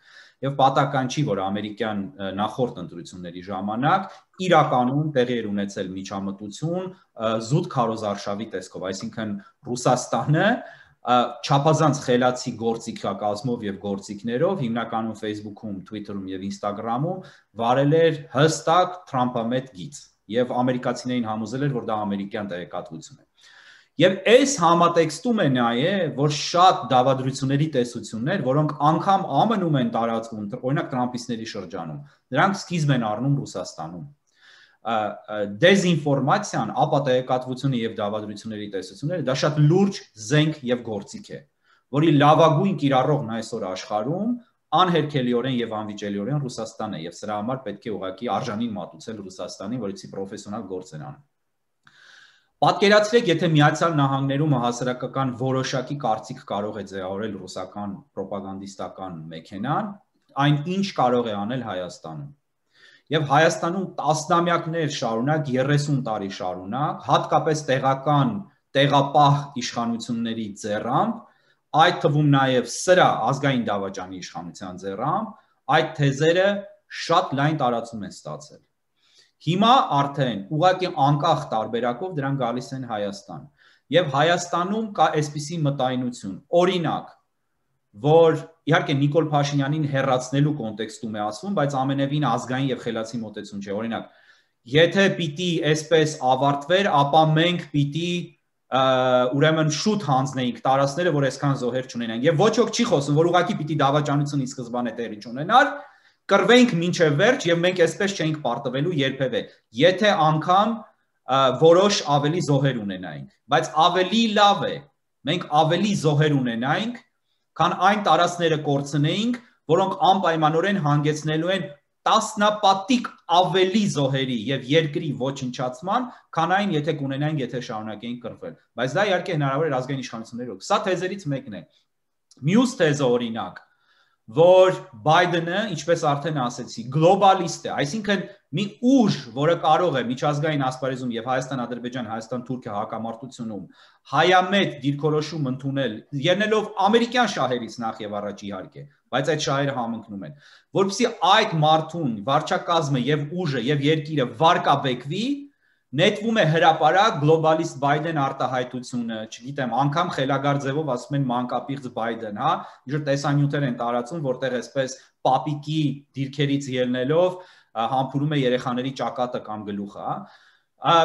C: Եվ պատահական չի, որ ամերիկյան նախորդ ընտրությունների ժամանակ իրականում տեղի էր ունեցել միջամտություն զուտ քարոզարշավի տեսքով, այսինքն Ռուսաստանը չափազանց խելացի գործիքակազմով եւ գործիքներով հիմնականում Facebook-ում, Twitter-ում եւ Instagram-ում վարել էր հստակ Թրամփամետ գիծ եւ ամերիկացիներին համոզել էր, որ դա ամերիկյան տեղեկատվություն է։ Եվ այս համատեքստում է նաեւ, որ շատ դավադրությունների տեսություններ, որոնք անգամ ԱՄՆ-ում են տարածվում, օրինակ Թրամփիստների շրջանում, նրանք սկիզբ են առնում Ռուսաստանում։ Դեզինֆորմացիան, ապա տեղեկատվությունը եւ դավադրությունների տեսությունները դա շատ լուրջ զենք եւ գործիք է, որի լավագույն կիրառողն այսօր աշխարհում անհերքելիորեն եւ անվիճելիորեն Ռուսաստանն է եւ սրա համար պետք է ուղղակի արժանին մատուցել Ռուսաստանին, որից պրոֆեսիոնալ գործ են անում։ Պատկերացրեք, եթե Միացյալ Նահանգներում հասարակական որոշակի կարծիք կարող է ձևավորել ռուսական ռոպագանդիստական մեքենան, այն ինչ կարող է անել Հայաստանում։ Եվ Հայաստանում տասնամյակներ շարունակ, 30 տարի շարունակ, հատկապես տեղական տեղապահ իշխանությունների ձեռամբ, այդ թվում նաև սրա ազգային դավաճանի իշխանության ձեռամբ, այդ թեզերը շատ լայն տարածում են ստացել։ Հիմա արդեն ուղղակի անկախ տարբերակով դրան գալիս են Հայաստան։ Եվ Հայաստանում կա այսպիսի մտայնություն, օրինակ, որ իհարկե Նիկոլ Փաշինյանին հեռացնելու կոնտեքստում է ասվում, բայց ամենևին ազգային եւ խելացի մոտեցում չէ։ Օրինակ, եթե պիտի այսպես ավարտվեր, ապա մենք պիտի ուրեմն շուտ հանձնեինք տարածքները, որ այսքան զոհեր չունենան։ Եվ ոչ ոք չի խոսում, որ ուղղակի պիտի դավաճանությունից սկզբանե տեղի չունենար, կռվենք մինչև վերջ եւ մենք այսպես չէինք պարտվելու երբևէ, եթե անգամ որոշ ավելի զոհեր ունենայինք, բայց ավելի լավ է, մենք ավելի զոհեր ունենայինք, քան այն տարածքները կորցնեինք, որոնք անպայմանորեն հանգեցնելու են տասնապատիկ ավելի զոհերի եւ երկրի ոչնչացման, քան այն եթե կունենայինք, եթե շարունակեինք կռվել։ Բայց դա իհարկե հնարավոր է ազգային իշխանություններով։ Սա թեզերից մեկն է։ Մյուս թեզը օրինակ, որ Բայդենը, ինչպես արդեն ասեցի, գլոբալիստ է, այսինքն մի ուժ, որը կարող է միջազգային ասպարեզում եւ Հայաստան-Ադրբեջան, Հայաստան-Թուրքիա հակամարտությունում հայամետ դիրքորոշում ընդունել, ելնելով ամերիկյան շահերից նախ եւ առաջ իհարկե, բայց այդ շահերը համընկնում են, որովհետեւ այդ մարդուն վարչակազմը եւ ուժը եւ երկիրը վարկաբեկվի, նետվում է հրապարակ գլոբալիստ Բայդեն արտահայտությունը, չգիտեմ, անգամ խելագար ձևով ասում են մանկապիղծ Բայդեն, հա, ինչ-որ տեսանյութեր են տարածում, որտեղ այսպես պապիկի դիրքերից ելնելով համբուրում է երեխաների ճակատը կամ գլուխը, հա։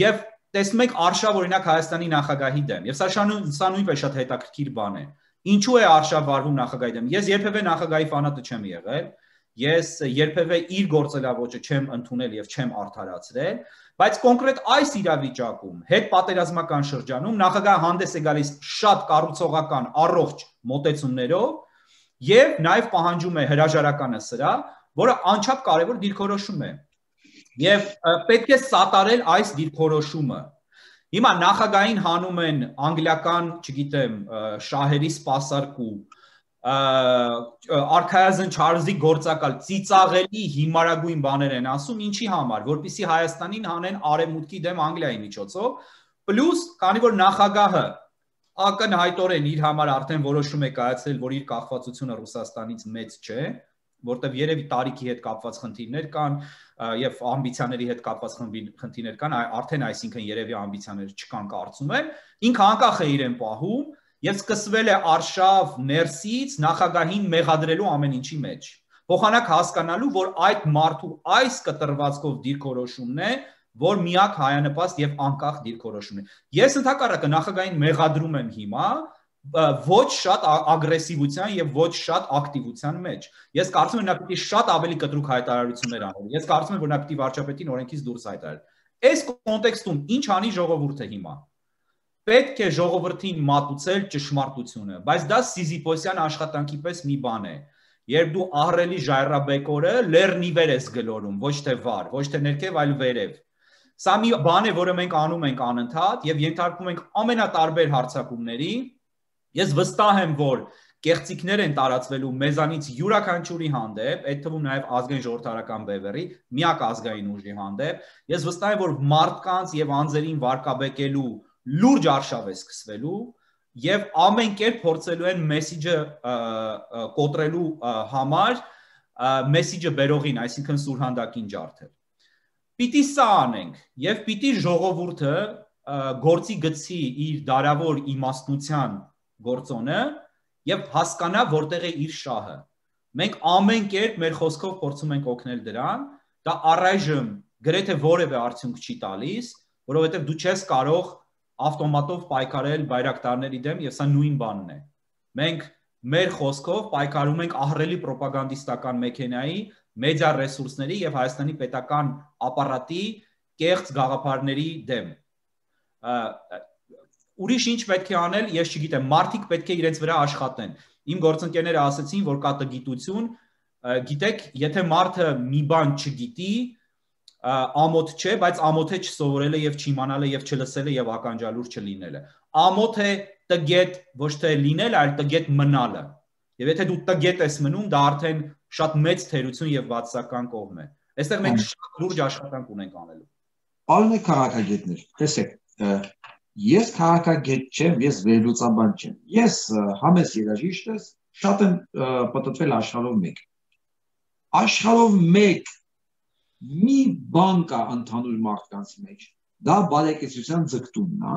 C: Եվ տեսնում եք արշավ օրինակ Հայաստանի նախագահի դեմ, եւ սա նույնպես շատ հետաքրքիր բան է։ Ինչու է արշավ վարվում նախագահի դեմ։ Ես երբևէ նախագահի ֆանատը չեմ եղել, ես երբևէ իր գործելավոճը չեմ ընդունել եւ չեմ արդարացրել, բայց կոնկրետ այս իրավիճակում հետ պատերազմական շրջանում նախագահը հանդես է գալիս շատ կառուցողական առողջ մոտեցումներով եւ նաեւ պահանջում է հրաժարականը սրա, որը անչափ կարեւոր դիրքորոշում է։ Եվ պետք է սատարել այս դիրքորոշումը։ Հիմա նախագահին հանում են անգլիական, չգիտեմ, շահերի սպասարկու, արքայազն Չարլզի գործակալ, ծիծաղելի հիմարագույն բաներ են ասում, ինչի համար, որպեսզի Հայաստանին հանեն արևմուտքի դեմ Անգլիայի միջոցով, պլյուս, քանի որ նախագահը ակնհայտորեն իր համար արդեն որոշում է կայացրել, որ իր կախվածությունը Ռուսաստանից մեծ չէ, որտեղ երևի տարիքի հետ կապված խնդիրներ կան, եւ ամբիցիաների հետ կապված խնդիրներ կան, արդեն այսինքն երևի ամբիցիաներ չկան կարծում եմ, ինքը անկախ է իրեն պահում եւ սկսվել է արշավ ներսից նախագահին մեղադրելու ամեն ինչի մեջ։ Փոխանակ հասկանալու, որ այդ մարդու այս կտրվածքով դիրքորոշումն է, որ միակ հայանպաստ եւ անկախ դիրքորոշումն է։ Ես ընդհակառակը նախագահին մեղադրում եմ հիմա ոչ շատ ագրեսիվության եւ ոչ շատ ակտիվության մեջ։ Ես կարծում եմ նա պիտի շատ ավելի կտրուկ հայտարարություններ աներ։ Ես կարծում եմ որ նա պիտի վարչապետին օրենքից դուրս հայտարարի։ Այս կոնտեքստում ինչ անի ժողովուրդը հիմա։ Պետք է ժողովրդին մատուցել ճշմարտությունը, բայց դա Սիզիփոսյան աշխատանքի պես մի բան է։ Երբ դու ահռելի ժայռաբեկորը լեռնիվեր ես գլորում, ոչ թե վար, ոչ թե ներքև, այլ վերև։ Սա մի բան է, որը մենք անում ենք անընդհատ եւ ենթարկվում ենք ամենատարբեր հարձակումների։ Ես վստահ եմ, որ կեղծիքներ են տարածվելու մեզանից յուրաքանչյուրի հանդեպ, այդ թվում նաև ազգային ժողովրդարական բևեռի, միակ ազգային ուժի հանդեպ։ Ես վստահ եմ, որ մարդկանց եւ անձերին վարկաբեկելու լուրջ արշավ է սկսվելու եւ ամեն կերպ փորձելու են մեսիջը կոտրելու համար, մեսիջը բերողին, այսինքն սուրհանդակին ջարդել։ Պիտի սա անենք եւ պիտի ժողովուրդը գործի գցի իր դարավոր իմաստնության գործոնը եւ հասկանա որտեղ է իր շահը։ Մենք ամեն կերպ մեր խոսքով փորձում ենք օգնել դրան, դա առայժմ գրեթե որևէ արդյունք չի տալիս, որովհետեւ դու չես կարող ավտոմատով պայքարել բայրակտարների դեմ եւ սա նույն բանն է։ Մենք մեր խոսքով պայքարում ենք ահռելի ռոպագանդիստական մեքենայի, մեդիա ռեսուրսների եւ Հայաստանի պետական ապարատի կեղծ գաղափարների դեմ։ Ուրիշ ինչ պետք է անել, ես չգիտեմ, մարդիկ պետք է իրենց վրա աշխատեն։ Իմ գործընկերները ասացին, որ կա տգիտություն, գիտեք, եթե մարդը մի բան չգիտի, ամոթ չէ, բայց ամոթ է չսովորելը եւ չիմանալը եւ չլսելը եւ ականջալուր չլինելը։ Ամոթ է տգետ ոչ թե լինելը, այլ տգետ մնալը։ Եվ եթե դու տգետ ես մնում, դա արդեն շատ մեծ թերություն եւ բացասական կողմ է։ Այստեղ մենք շատ լուրջ աշխատանք ունենք անելու։
A: Պարոն քաղաքագետներ, տեսեք, ես քաղաքագետ չեմ, ես վերլուծաբան չեմ։ Ես համես երաժիշտ ես, շատ եմ պատտվել աշխարհով մեկ։ Աշխարհով մեկ մի բան կա ընդհանուր մարդկանց մեջ, դա բարեկեցության ձգտումն է,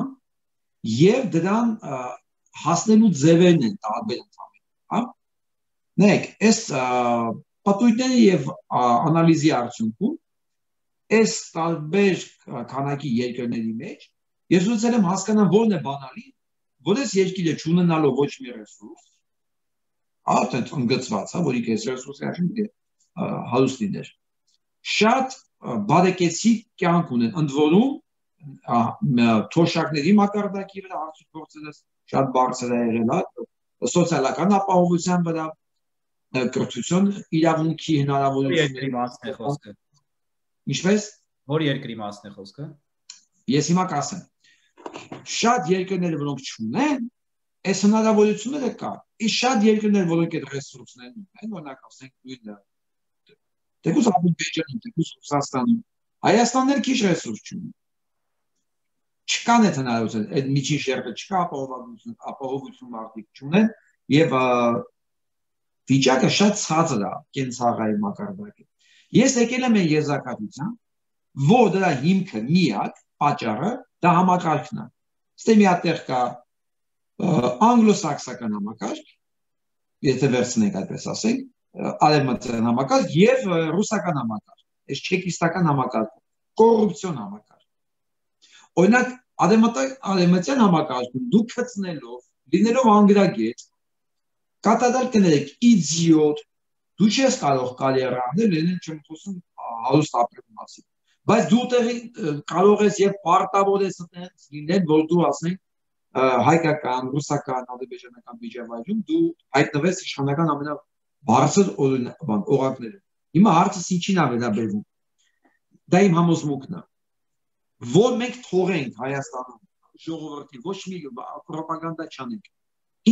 A: եւ դրան հասնելու ձևերն են տարբեր ընդհանուր, հա։ Նայեք, այս պատույտների եւ անալիզի արդյունքում այս տարբեր քանակի երկրների մեջ ես ուզում եմ հասկանալ որն է բանալի, որ այս երկիրը չունենալով ոչ մի ռեսուրս, արդեն ընդգծված է, որի կես ռեսուրսը այսինքն հարուստ լիներ։ Շատ բարեկեցիկ կյանք ունեն, ընդ որում թոշակների մակարդակի վրա արդյունք գործելս շատ բարձր է եղել, սոցիալական ապահովության վրա, կրթություն իրավունքի հնարավորությունների։ Ինչպես?
C: Որ երկրի մասն է խոսքը։
A: Ես հիմա կասեմ։ Շատ երկրներ, որոնք չունեն, այս հնարավորությունները կա։ Իսկ շատ երկրներ, որոնք այդ ռեսուրսներն ունեն, օրինակ ասենք նույն Թեկուզ Ադրբեջանում, թեկուզ Ռուսաստանում, Հայաստանն էլ քիչ ռեսուրս չունի։ Չկան այդ հնարավորությունները, այդ միջին շերտը չկա, ապահովություն մարդիկ չունեն եւ վիճակը շատ ցածր է կենցաղային մակարդակի։ Ես եկել եմ այն եզրակացության, որ դրա հիմքը միակ պատճառը դա համակարգն է։ Ստե մի հատ տեղ կա անգլոսաքսական համակարգ, եթե վերցնենք այդպես ասենք, արևմտյան համակարգ եւ ռուսական համակարգ, այս չեկիստական համակարգ, կոռուպցիոն համակարգ։ Օրինակ արևմտյան համակարգում դու գտնելով, լինելով անգրագետ, կատադալ կներեք իդիոտ, դու չես կարող կարիերա անել, լինել չեմ խոսում հարուստ ապրելու մասին։ Բայց դու տեղի կարող ես եւ պարտավոր ես լինել, որ դու ասենք հայկական, ռուսական, ադրբեջանական միջավայրում դու հայտնվես իշխանական ամենաբարձր օղակները։ Հիմա հարցը ինչին է վերաբերվում։ Դա իմ համոզմունքն է, որ մենք թողենք Հայաստանում ժողովրդին ոչ մի ռոպագանդա չանենք։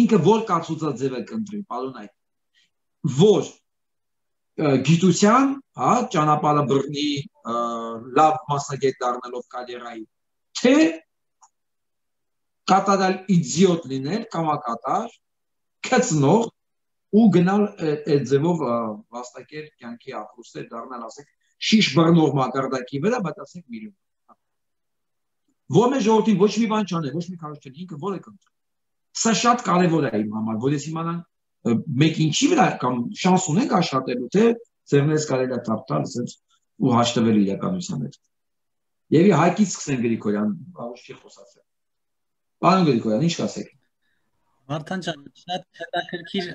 A: Ինքը որ կացուցաձև է կընտրի, պարոն այդ, որ գիտության, հա, ճանապարհը բռնի, լավ մասնագետ դառնալով կարիերայի, թե կատարալ իդիոտ լինել, կամակատար, քծնող ու գնալ այդ ձևով վաստակել կյանքի ապրուստեր դառնալ, ասենք, շիշ բռնող մակարդակի վրա, բայց ասենք միլիոն։ Ո՞մ է ժողովրդին ոչ մի բան չանել, ոչ մի քարոզ չել, ինքը որ է կընտրում։ Սա շատ կարևոր է իմ համար, որ ես իմանամ մեկ ինչի վրա կամ շանս ունենք աշխատելու, թե ձեռներս կարելի է թափտալ ու հաշտվել իրականության հետ։ Եվ Հայկից սկսեն Գրիգորյան, ոչ չի խոսացել։ Պարոն Գրիգորյան, ինչ կասեք։
D: Վարդան ջան, շատ հետաքրքիր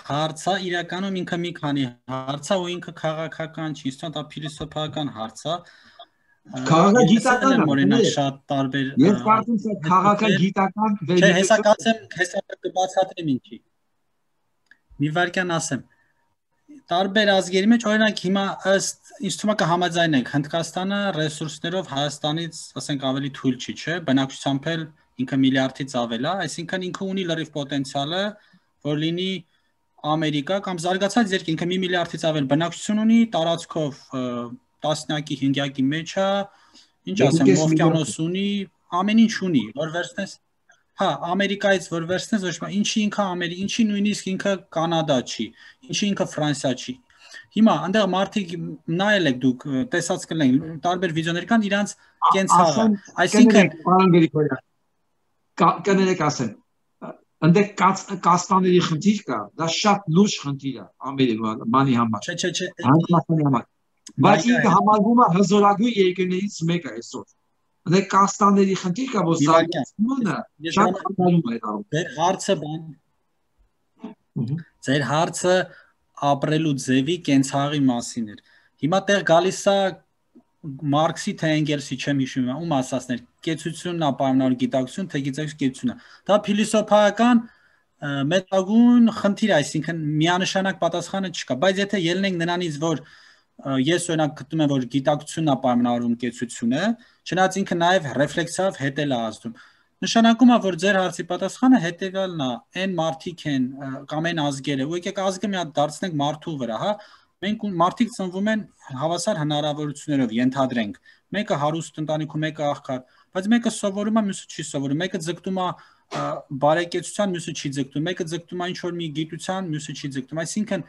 D: հարց է, իրականում ինքը մի քանի հարց է ու ինքը քաղաքական չի, դա փիլիսոփայական հարց է։
A: Քաղաքագիտական է,
D: օրինակ շատ տարբեր։
A: Ես կարծում եմ քաղաքագիտական
D: Չէ, հեսա կբացատրեմ ինչի։ Մի վարքյան ասեմ։ Տարբեր ազգերի մեջ օրինակ հիմա ըստ ինձ թվում է կհամաձայնենք Հնդկաստանը ռեսուրսներով Հայաստանից ասենք ավելի թույլ չի, չէ, բնակչությամբ էլ ինքը միլիարդից ավել է, այսինքն ինքը ունի լրիվ պոտենցիալը, որ լինի Ամերիկա կամ զարգացած երկիր, ինքը 1 միլիարդից ավել բնակչություն ունի, տարածքով տասնյակի 500-ի մեջ է, ինչ ասեմ, օվկիանոս ունի, ամեն ինչ ունի, որ վերցնես, հա, Ամերիկայից որ վերցնես, ոչ մի ինչի ինքը Ամերիկա, ինչի նույնիսկ ինքը Կանադա չի, ինչի ինքը Ֆրանսիա չի։ Հիմա այնտեղ մարդիկ նայել եք դուք, տեսած կլինեք, տարբեր վիդեոներ կան, իրանց կենցաղը, այսինքն
A: կներեք ասեմ, այնտեղ կաստաների խնդիր կա, դա շատ լուրջ խնդիր է Ամերիկանի համար։
D: Չէ,
A: Հանրապետության համար։ Բայց ինքը համարվում է հզորագույն երկրներից մեկը այսօր։ Այնտեղ կաստաների խնդիր կա, որ զարգացումը շատ խանգարում է դառնում։
D: Ձեր հարցը ապրելու ձևի կենցաղի մասին էր։ Հիմա տեղ գալիս է Մարքսի թե Էնգելսի չեմ հիշում, ում ասածներ, կեցությունն է պայմանավոր գիտակցություն, թե գիտակցություն կեցությունն է։ Դա փիլիսոփայական մեծագույն խնդիր է, այսինքն միանշանակ պատասխանը չկա, բայց եթե ելնենք նրանից, որ ես օրինակ գտնում եմ, որ գիտակցությունն է պայմանավորում կեցությունը, չնայած ինքը նաև ռեֆլեքսիվ հետել է ազդում։ Նշանակում է, որ ձեր հարցի պատասխանը հետևյալն է, այն մարդիկ են կամ այն ազգերը, ու եկեք ազգը մի հատ դարձնենք մարդու վրա, հա։ Մենք մարդիկ ծնվում են հավասար հնարավորություններով, ենթադրենք։ Մեկը հարուստ ընտանիքում, մեկը աղքատ, բայց մեկը սովորում է, մյուսը չի սովորում, մեկը ձգտում է բարեկեցության, մյուսը չի ձգտում, մեկը ձգտում է ինչ-որ մի գիտության, մյուսը չի ձգտում։ Այսինքն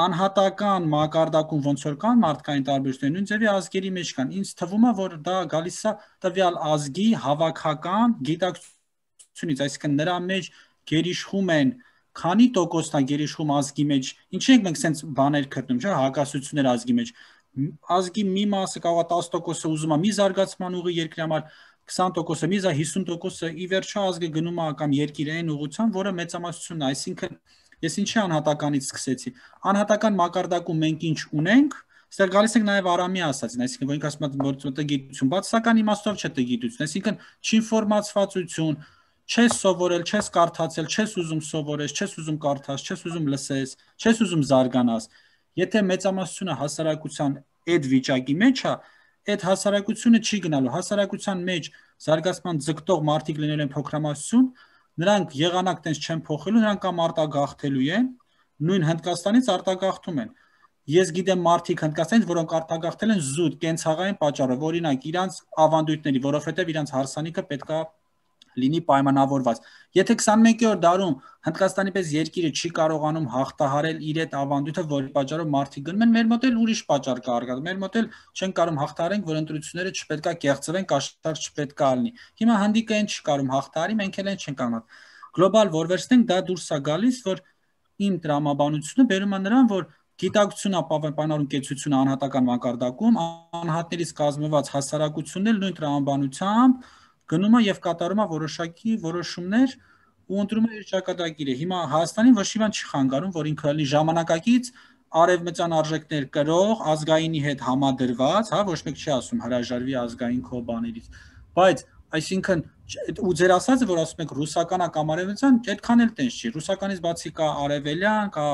D: անհատական մակարդակում ոնց որ կան մարդկային տարբերություններ, նույն ձևի ազգերի մեջ կան։ Ինձ թվում է, որ դա գալիս է տվյալ ազգի հավաքական գիտակցությունից, այսինքն նրա մեջ գերիշխում են քանի տոկոսն է գերիշխում ազգի մեջ, ինչի ենք մենք սենց բաներ գտնում, չէ՞, հակասություններ ազգի մեջ։ Ազգի մի մասը կարող է 10%-ը ուզում է մի զարգացման ուղի երկրի համար, 20%-ը մի զա 50%-ը ի վերջո ազգը գնում է կամ երկիր այն ուղղությամբ, որը մեծամասնությունն է, այսինքն ես ինչի անհատականից սկսեցի։ Անհատական մակարդակում մենք ինչ ունենք, այստեղ գալիս ենք նաև Արամի ասածին, այսինքն որ ինքը ասում է որ տգիտություն, բացասական իմաստով չէ տգիտություն, այսինքն չինֆորմացվածություն, չես սովորել, չես կարդացել, չես ուզում սովորես, չես ուզում կարդաս, չես ուզում լսես, չես ուզում զարգանաս։ Եթե մեծամասնությունը հասարակության այդ վիճակի մեջ է, այդ հասարակությունը չի գնալու, հասարակության մեջ զարգացման ձգտող մարդիկ լինել են փոքրամասնություն, նրանք եղանակ տենց չեն փոխելու, նրանք կամ արտագաղթելու են, նույն Հնդկաստանից արտագաղթում են։ Ես գիտեմ մարդիկ Հնդկաստանից, որոնք արտագաղթել են զուտ կենցաղային պատճառով, օրինակ իրանց ավանդույթների, որովհետև իրանց հարսանիքը պետքա լինի պայմանավորված։ Եթե 21-րդ դարում Հնդկաստանի պես երկիրը չի կարողանում հաղթահարել իր այդ ավանդույթը, որի պատճառով մարդիկ գնում են, մեր մոտ էլ ուրիշ պատճառ կա արկա։ Մեր մոտ էլ չեն կարող հաղթահարենք, որ ընտրությունները չպետքա կեղծվեն, կաշառք չպետքա լինի։ Հիմա հնդիկը այն չի կարող հաղթահարի, մենք էլ այն չենք կարող։ Գլոբալ որ վերցնենք, դա դուրս է գալիս, որ իմ տրամաբանությունը բերում է նրան, որ գիտակցությունը պայմանավորում կեցությունը անհատական մակարդակում, անհատներից կազմված հասարակությունն էլ նույն տրամաբանությամբ գնում է եւ կատարում է որոշակի որոշումներ ու ընտրում է իր ճակատագիրը։ Հիմա Հայաստանին ոչ մի բան չի խանգարում, որ ինքը լինի ժամանակակից արևմտյան արժեքներ կրող, ազգայինի հետ համադրված, հա, ոչ մեկ չի ասում հրաժարվի ազգային քո բաներից, բայց այսինքն ու ձեր ասածը, որ ասում եք ռուսականա կամ արևելյան, այդքան էլ տենց չի։ Ռուսականից բացի կա արևելյան, կա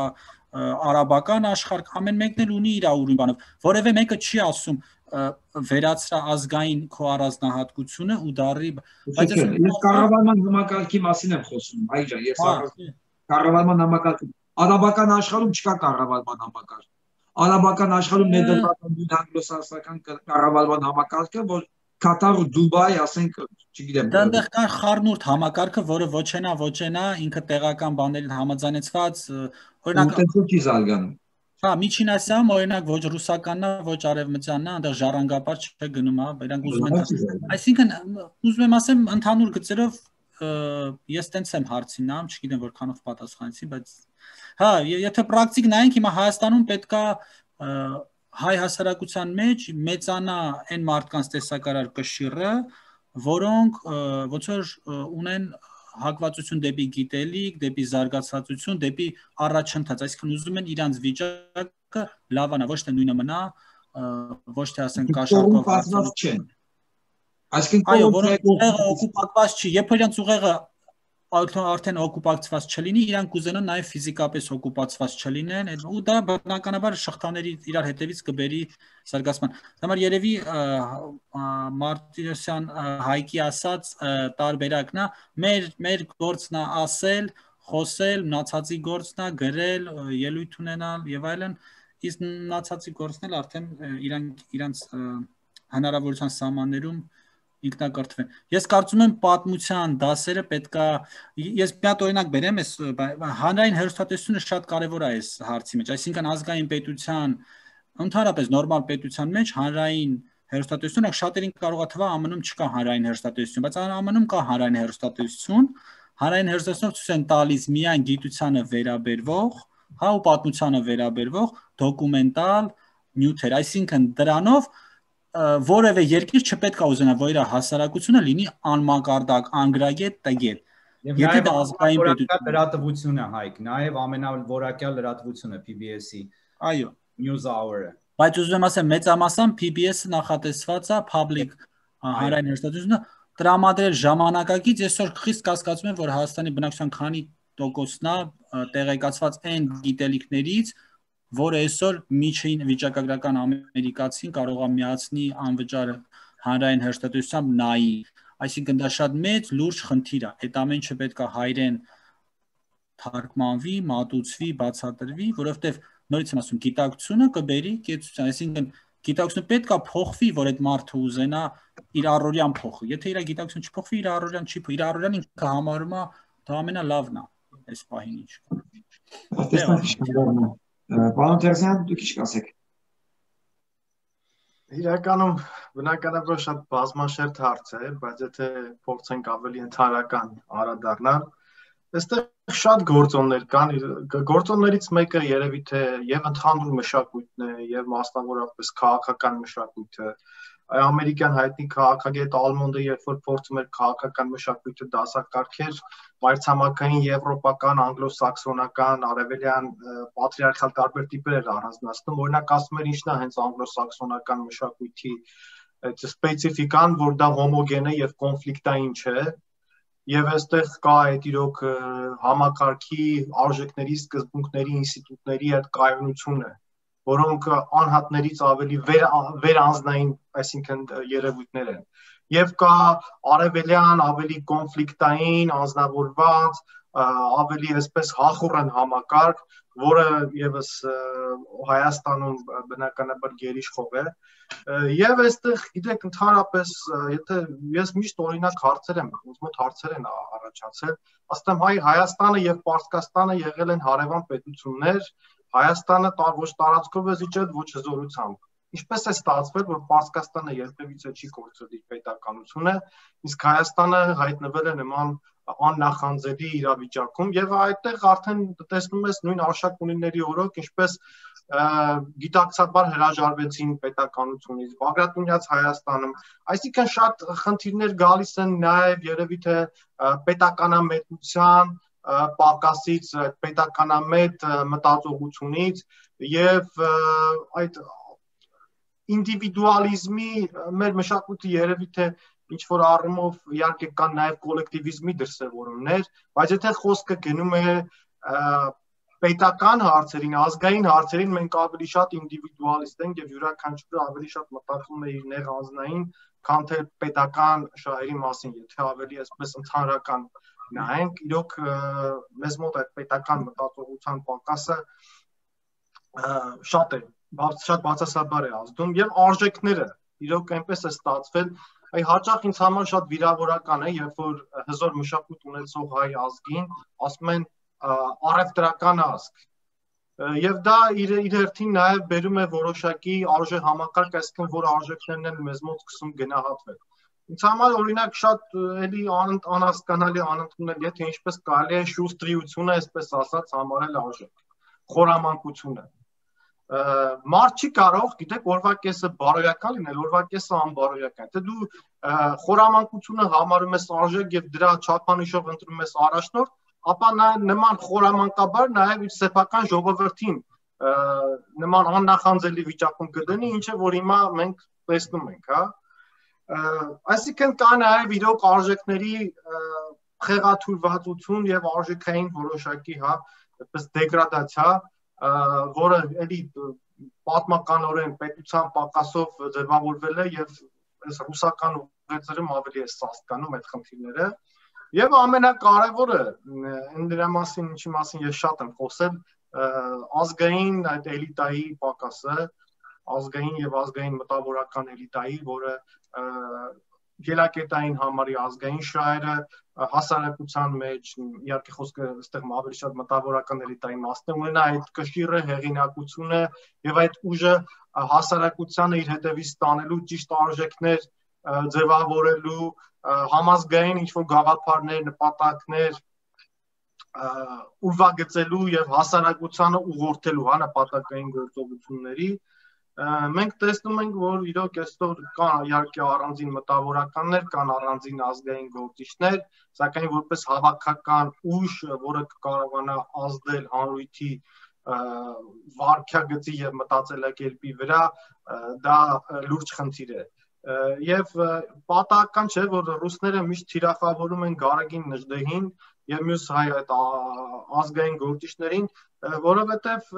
D: արաբական աշխարհ, ամեն մեկն էլ ունի իր ուրույն բանով, որևէ մեկը չի ասում վերացրա ազգային քո առանձնահատկությունը ու դարի,
A: բայց ես կառավարման համակարգի մասին եմ խոսում, այ ջան, ես կառավարման համակարգ, արաբական աշխարհում չկա կառավարման համակարգ։ Արաբական աշխարհում ներդրական անգլոսաքսոնական կառավարման համակարգը, որ Կատար ու Դուբայ, ասենք, չգիտեմ։
D: Դա այնտեղ կա խառնուրդ համակարգը, որը ոչենա, ինքը տեղական բաներին համաձայնեցված, օրինակ,
A: այդպես չի զարգանում։
D: Հա, Միջին Ասիայում օրինակ ոչ ռուսականն է, ոչ արևմտյանն է, այնտեղ ժառանգապար չէ գնում, հա, իրանք ուզում են։ Այսինքն ուզում եմ ասեմ ընդհանուր գծերով ես տենց եմ հարցին նայում, չգիտեմ որքանով պատասխանեցի, բայց հա, եթե պրակտիկ նայենք, հիմա Հայաստանում պետքա հայ հասարակության մեջ մեծանա այն մարդկանց տեսակարար կշիռը, որոնք ոնց որ ունեն հակվածություն դեպի գիտելիք, դեպի զարգացածություն, դեպի առաջընթաց, այսինքն ուզում են իրանց վիճակը լավանա, ոչ թե նույնը մնա, ոչ թե ասենք կաշառքով
A: հարցնած չեն։ Այսինքն
D: այո, որոնք ուղեղը օկուպացված չի, երբ որ իրանց ուղեղը արդեն օկուպացված չլինի, իրանք կուզենան նաև ֆիզիկապես օկուպացված չլինեն, ու դա բնականաբար շղթաների իրար հետևից կբերի զարգացման։ Համար երևի Մարտիրոսյան Հայկի ասած տարբերակն է, մեր գործն է ասել, խոսել, մնացածի գործն է գրել, ելույթ ունենալ եւ այլն, իսկ մնացածի գործն էլ արդեն իրանց հնարավորության սահմաններում ինքնակրթվեն։ Ես կարծում եմ պատմության դասերը պետքա ես մի հատ օրինակ բերեմ, հանրային հեռուստատեսությունը շատ կարևոր է այս հարցի մեջ, այսինքն ազգային պետության, ընդհանրապես նորմալ պետության մեջ հանրային հեռուստատեսությունը շատերին կարող է թվա ԱՄՆ-ում չկա հանրային հեռուստատեսություն, բայց ԱՄՆ-ում կա հանրային հեռուստատեսություն, հանրային հեռուստատեսությունը ցույց են տալիս միայն գիտությանը վերաբերվող, հա ու պատմությանը վերաբերվող դոկումենտալ նյութեր, այսինքն դրանով որևէ երկիր չպետք է ուզենա, որ իր հասարակությունը լինի անմակարդակ, անգրագետ, տգետ։
C: Եթե դա ազգային պետություն լրատվությունը Հայկ, նաև ամենավորակյալ լրատվությունը PBS-ի։
D: Այո,
C: News Hour-ը։
D: Բայց ուզում եմ ասեմ, մեծամասամբ PBS-ը նախատեսված է public հանրային հեռուստատեսությունը տրամադրել ժամանակակից, այսօր խիստ կասկածում եմ, որ Հայաստանի բնակչության քանի տոկոսն է տեղեկացված այն գիտելիքներից, որը այսօր միջին վիճակագրական ամերիկացին կարող է միացնի անվճար հանրային հեռուստատեսությամբ նայի, այսինքն դա շատ մեծ լուրջ խնդիր է, այդ ամեն ինչը պետք է հայերեն թարգմանվի, մատուցվի, բացատրվի, որովհետև նորից եմ ասում, գիտակցությունը կբերի կեցության, այսինքն գիտակցությունը պետք է փոխվի, որ այդ մարդը ուզենա իր առօրյան փոխի, եթե իր գիտակցությունը չփոխվի, իր առօրյան չի փոխի, իր առօրյան ինքը համարում է դա ամենալավն է այս պահին ինչ։
A: Պարոն Տերզյան, դուք ինչ կասեք։
B: Իրականում բնականաբար շատ բազմաշերտ հարց է, բայց եթե փորձենք ավելի ընդհանրական անդրադառնալ, այստեղ շատ գործոններ կան, գործոններից մեկը երևի թե եւ ընդհանուր մշակույթն է, եւ մասնավորապես քաղաքական մշակույթը, ամերիկյան հայտնի քաղաքագետ Ալմոնդը երբ որ փորձում էր քաղաքական մշակույթը դասակարգեր, մայրցամաքային եվրոպական, անգլոսաքսոնական, արևելյան պատրիարխալ տարբեր տիպեր էր առանձնացնում, օրինակ ասում էր ինչն է հենց անգլոսաքսոնական մշակույթի սպეციფიკան, որ դա հոմոգեն է եւ կոնֆլիկտային չէ, եւ այստեղ կա այդ իրոք համակարգի արժեքների, սկզբունքների, ինստիտուտների այդ կայունությունը, որոնք անհատներից ավելի վերանձնային, այսինքն երևույթներ են։ Եվ կա արևելյան, ավելի կոնֆլիկտային, անձնավորված, ավելի այսպես հախուռն համակարգ, որը եւս Հայաստանում բնականաբար գերիշխող է։ Եվ այստեղ գիտեք ընդհանրապես, եթե ես միշտ օրինակ հարցեր եմ, ոնց մոտ հարցեր են առաջացել, ասեմ Հայաստանը եւ Պարսկաստանը եղել են հարևան պետություններ, Հայաստանը ոչ տարածքով է զիջել, ոչ հզորությամբ։ Ինչպես է ստացվել, որ Պարսկաստանը երբևիցե չի կորցրել իր պետականությունը, իսկ Հայաստանը հայտնվել է նման աննախանձելի իրավիճակում եւ այդտեղ արդեն տեսնում ես նույն արշակունիների օրոք, ինչպես գիտակցաբար հրաժարվեցին պետականությունից, Բագրատունյաց Հայաստանում, այսինքն շատ խնդիրներ գալիս են նաեւ երևի թե պետականամետության պակասից, պետականամետ մտածողությունից եւ այդ ինդիվիդուալիզմի մեր մշակույթը երևի թե ինչ որ առումով իհարկե կան նաեւ կոլեկտիվիզմի դրսևորումներ, բայց եթե խոսքը գնում է պետական հարցերին, ազգային հարցերին, մենք ավելի շատ ինդիվիդուալիստ ենք եւ յուրաքանչյուրը ավելի շատ մտածում է իր նեղ անձնային, քան թե պետական շահերի մասին, եթե ավելի այսպես ընդհանրական նայենք, իրոք մեզ մոտ այդ պետական մտածողության պակասը շատ է, շատ բացասաբար է ազդում եւ արժեքները իրոք այնպես է ստացվել, այ հաճախ ինձ համար շատ վիրավորական է, երբ որ հզոր մշակույթ ունեցող հայ ազգին ասում են առևտրական ազգ, Եվ դա իր հերթին նաև բերում է որոշակի արժե համակարգ, այսինքն որ արժեքներն են մեզ մոտ սկսում գնահատվել։ Ինձ համար օրինակ շատ էլի անհասկանալի անընդունել, եթե ինչպես կարելի է շուստրիությունը, այսպես ասած, համարել արժեք, խորամանկությունը։ Մարդ չի կարող, գիտեք, օրվա կեսը բարոյական լինել, օրվա կեսը անբարոյական։ Եթե դու խորամանկությունը համարում ես արժեք եւ դրա չափանիշով ընտրում ես առաջնորդ, ապա նման խորամանկաբար նաև իր սեփական ժողովրդին նման աննախանձելի վիճակում կդնի, ինչը որ հիմա մենք տեսնում ենք, հա։ Այսինքն կա նաև իրոք արժեքների խեղաթյուրվածություն եւ արժեքային որոշակի, հա, այդպես դեգրադացիա, որը էլի պատմականորեն պետության պակասով ձևավորվել է եւ այս ռուսական ուղերձերում ավելի է սաստկանում այդ խնդիրները։ Եվ ամենակարևորը դրա մասին, ինչի մասին ես շատ եմ խոսել, ազգային այդ էլիտայի պակասը, ազգային եւ ազգային մտավորական էլիտայի, որը ելակետային համարի ազգային շահերը հասարակության մեջ, իհարկե խոսքը այստեղ ավելի շատ մտավորական էլիտայի մասն է, ունենա այդ կշիռը, հեղինակությունը եւ այդ ուժը հասարակությանը իր հետևից տանելու ճիշտ արժեքներ ձևավորելու համազգային ինչ-որ գաղափարներ, նպատակներ ուրվագծելու եւ հասարակությանը ուղղորդելու, հա, նպատակային գործողությունների մենք տեսնում ենք, որ իրոք այսօր կան իհարկե առանձին մտավորականներ, կան առանձին ազգային գործիչներ, սակայն որպես հավաքական ուժ, որը կարողանա ազդել հանրույթի վարքագծի եւ մտածելակերպի վրա, դա լուրջ խնդիր է։ Եվ պատահական չէ, որ ռուսները միշտ թիրախավորում են Գարագին Նժդեհին եւ մյուս հայ այդ ազգային գործիչներին, որովհետեւ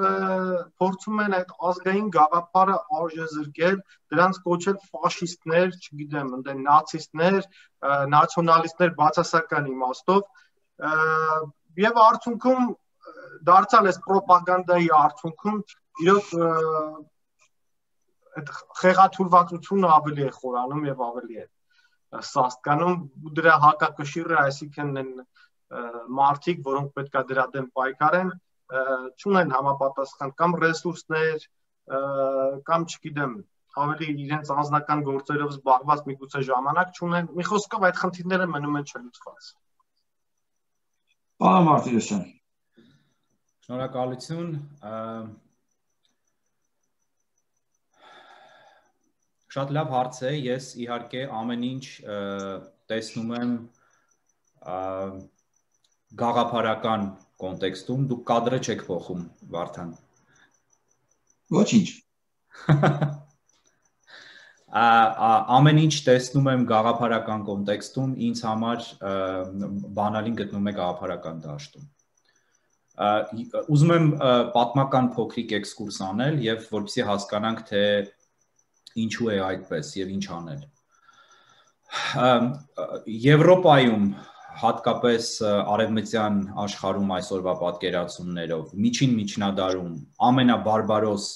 B: փորձում են այդ ազգային գաղափարը արժեզրկել, դրանց կոչել ֆաշիստներ, չգիտեմ, ընդ նացիստներ, նացիոնալիստներ բացասական իմաստով, եւ արդյունքում դարձյալ այս ռոպագանդայի արդյունքում իրոք այդ խեղաթյուրվածությունը ավելի է խորանում եւ ավելի է սաստկանում, դրա հակակշիռը, այսինքն են մարդիկ, որոնք պետքա դրա դեմ պայքարեն, չունեն համապատասխան կամ ռեսուրսներ, կամ չգիտեմ, ավելի իրենց անձնական գործերով զբաղված միգուցե ժամանակ չունեն, մի խոսքով այդ խնդիրները մնում են չլուծված։
A: Պարոն Մարտիրոսյան։
C: Շնորհակալություն։ Շատ լավ հարց է, ես իհարկե ամեն ինչ տեսնում եմ գաղափարական կոնտեքստում, դուք կադրը չեք փոխում, Վարդան։
A: Ոչինչ։
C: Ամեն ինչ տեսնում եմ գաղափարական կոնտեքստում, ինձ համար բանալին գտնում է գաղափարական դաշտում։ Ուզում եմ պատմական փոքրիկ էքսկուրս անել եւ որպեսզի հասկանանք, թե ինչու է այդպես եւ ինչ անել։ Եվրոպայում, հատկապես արևմտյան աշխարհում այսօրվա պատկերացումներով, միջին միջնադարում ամենաբարբարոս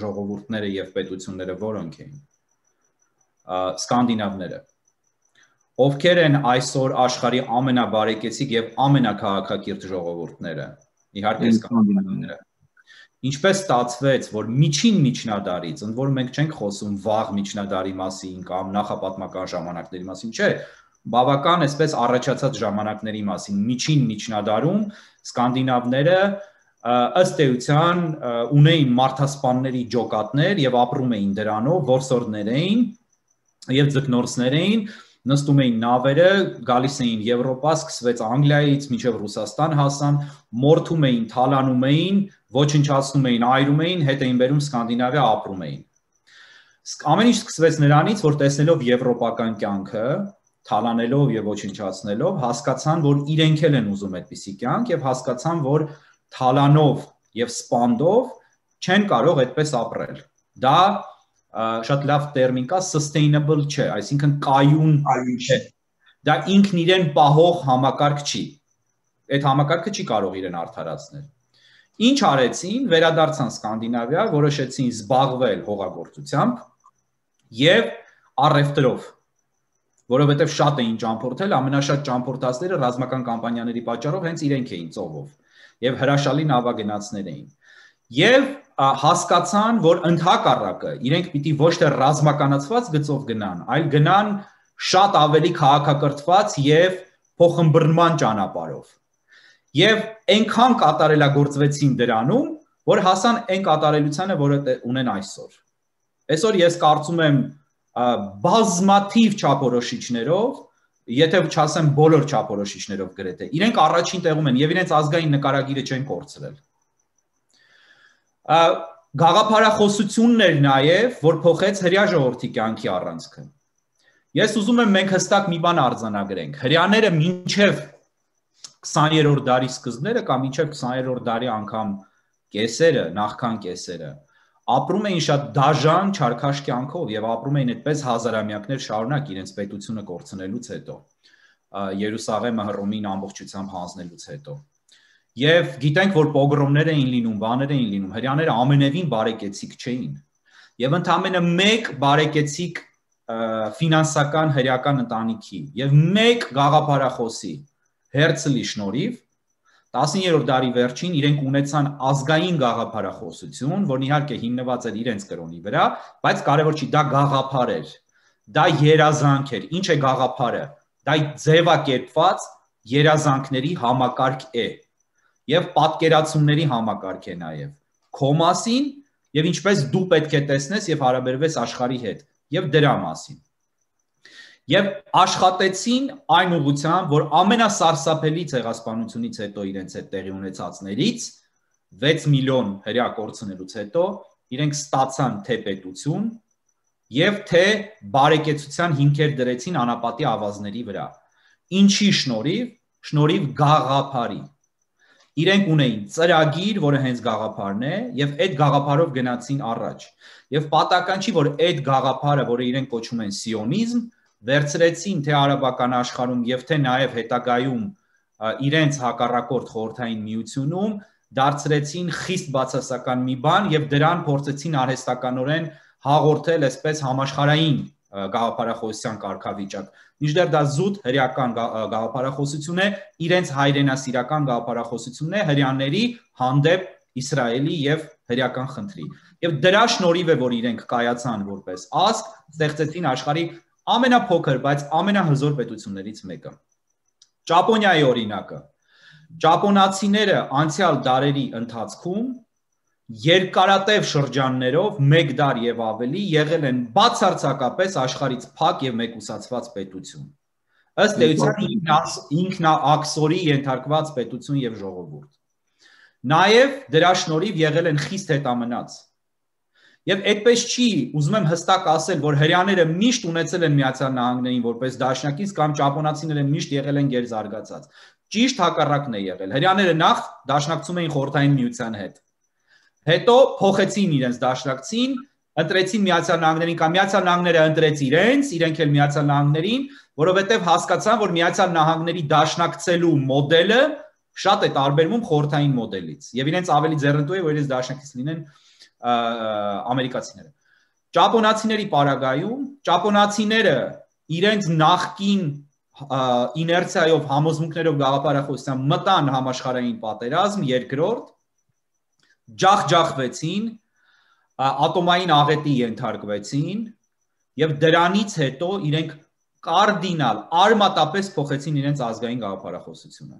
C: ժողովուրդները եւ պետությունները որոնք էին։ Սկանդինավները։ Ովքեր են այսօր աշխարհի ամենաբարեկեցիկ եւ ամենակաղաքակիրթ ժողովուրդները։ Իհարկե սկանդինավները։ Ինչպես ստացվեց, որ միջին միջնադարից, ընդ որում մենք չենք խոսում վաղ միջնադարի մասին կամ նախապատմական ժամանակների մասին, չէ, բավական այսպես առաջացած ժամանակների մասին, միջին միջնադարում սկանդինավները ըստ էության ունեին մարդասպանների ջոկատներ եւ ապրում էին դրանով, որսորդներ էին եւ ձկնորսներ էին, նստում էին նավերը, գալիս էին Եվրոպա, սկսվեց Անգլիայից մինչև Ռուսաստան հասան, մորթում էին, թալանում էին, ոչնչացնում էին, այրում էին, հետ էին բերում Սկանդինավիա, ապրում էին։ Ամեն ինչ սկսվեց նրանից, որ տեսնելով եվրոպական կյանքը, թալանելով եւ ոչնչացնելով, հասկացան, որ իրենք են ուզում այդպիսի կյանք եւ հասկացան, որ թալանով եւ սպանդով չեն կարող այդպես ապրել։ Դա շատ լավ տերմին կա, sustainable չէ, այսինքն կայուն չէ։ Դա ինքն իրեն պահող համակարգ չի։ Այդ համակարգը չի կարող իրեն արդարացնել։ Ինչ արեցին, վերադարձան Սկանդինավիա, որոշեցին զբաղվել հողագործությամբ եւ առևտրով, որովհետեւ շատ էին ճամփորդել, ամենաշատ ճամփորդածները ռազմական կամպանիաների պատճառով հենց իրենք էին ծովով եւ հրաշալի նավագնացներ էին։ Եվ հասկացան, որ ընդհակառակը իրենք պիտի ոչ թե ռազմականացված գծով գնան, այլ գնան շատ ավելի քաղաքակրթված եւ փոխըմբռնման ճանապարհով։ Եվ այնքան կատարելագործվեցին դրանում, որ հասան այն կատարելությանը, որը ունեն այսօր։ Այսօր ես կարծում եմ բազմաթիվ չափորոշիչներով, եթե չասեմ բոլոր չափորոշիչներով գրեթե, իրենք առաջին տեղում են եւ իրենց ազգային նկարագիրը չեն կորցրել։ Գաղափարախոսությունն էր նաև, որ փոխեց հրեա ժողովրդի կյանքի առանցքը։ Ես ուզում եմ մենք հստակ մի բան արձանագրենք։ Հրեաները մինչև 20-րդ դարի սկզբները կամ մինչև 20-րդ դարի անգամ կեսերը, նախքան կեսերը, ապրում էին շատ դաժան, չարքաշ կյանքով եւ ապրում էին այդպես հազարամյակներ շարունակ իրենց պետությունը կորցնելուց հետո, Երուսաղեմը Հռոմին ամբողջությամբ հանձնելուց հետո։ Եվ գիտենք, որ պոգրոմներ էին լինում, բաներ էին լինում, հրեաները ամենևին բարեկեցիկ չէին։ Եվ ընդամենը մեկ բարեկեցիկ ֆինանսական հրեական ընտանիքի եւ մեկ գաղափարախոսի Հերցլի շնորհիվ 19-րդ դարի վերջին իրենք ունեցան ազգային գաղափարախոսություն, որն իհարկե հիմնված էր իրենց կրոնի վրա, բայց կարևոր չի, դա գաղափար էր, դա երազանք էր։ Ինչ է գաղափարը։ Դա ձևակերպված երազանքների համակարգ է եւ պատկերացումների համակարգ է նաեւ քո մասին եւ ինչպես դու պետք է տեսնես եւ հարաբերվես աշխարհի հետ եւ դրա մասին։ Եվ աշխատեցին այն ուղղությամբ, որ ամենասարսափելի ցեղասպանությունից հետո իրենց հետ տեղի ունեցածներից 6 միլիոն հրեա կորցնելուց հետո իրենք ստացան թե պետություն եւ թե բարեկեցության հիմքեր դրեցին անապատի ավազների վրա։ Ինչի շնորհիվ? Շնորհիվ գաղափարի։ Իրենք ունեին ծրագիր, որը հենց գաղափարն է, եւ այդ գաղափարով գնացին առաջ։ Եվ պատահական չի, որ այդ գաղափարը, որը իրենք կոչում են սիոնիզմ, վերցրեցին թե արաբական աշխարհում եւ թե նաեւ հետագայում իրենց հակառակորդ խորհրդային միությունում, դարձրեցին խիստ բացասական մի բան եւ դրան փորձեցին արհեստականորեն հաղորդել այսպես համաշխարհային գաղափարախոսության կարգավիճակ։ Մինչդեռ դա զուտ հրեական գաղափարախոսություն է, իրենց հայրենասիրական գաղափարախոսությունն է հրեաների հանդեպ Իսրայելի եւ հրեական խնդրի։ Եվ դրա շնորհիվ է, որ իրենք կայացան որպես ազգ, ստեղծեցին աշխարհի ամենափոքր, բայց ամենահզոր պետություններից մեկը։ Ճապոնիայի օրինակը։ Ճապոնացիները անցյալ դարերի ընթացքում երկարատև շրջաններով 1 դար եւ ավելի եղել են բացարձակապես աշխարհից փակ եւ մեկուսացված պետություն։ Ըստ էության ինքնաաքսորի ենթարկված պետություն եւ ժողովուրդ։ Նաեւ դրա շնորհիվ եղել են խիստ հետամնաց։ Եվ այդպես չի, ուզում եմ հստակ ասել, որ հրեաները միշտ ունեցել են Միացյալ Նահանգներին որպես դաշնակից կամ ճապոնացիները միշտ եղել են գերզարգացած։ Ճիշտ հակառակն է եղել։ Հրեաները նախ դաշնակցում էին խորհրդային միության հետ։ Հետո փոխեցին իրենց դաշնակցին, ընտրեցին Միացյալ Նահանգներին կամ Միացյալ Նահանգները ընտրեց իրենք էլ Միացյալ Նահանգներին, որովհետև հասկացան, որ Միացյալ Նահանգների դաշնակցելու մոդելը շատ է տարբերվում խորհրդային մոդելից եւ իրենց ավելի ձեռնտու է, որ իրենց դաշնակից լինեն ամերիկացիները։ Ճապոնացիների պարագայում ճապոնացիները իրենց նախկին իներցիայով համոզմունքներով գաղափարախոսությամբ մտան համաշխարհային պատերազմ երկրորդ, ջախջախվեցին, ատոմային աղետի ենթարկվեցին եւ դրանից հետո իրենք կարդինալ արմատապես փոխեցին իրենց ազգային գաղափարախոսությունը։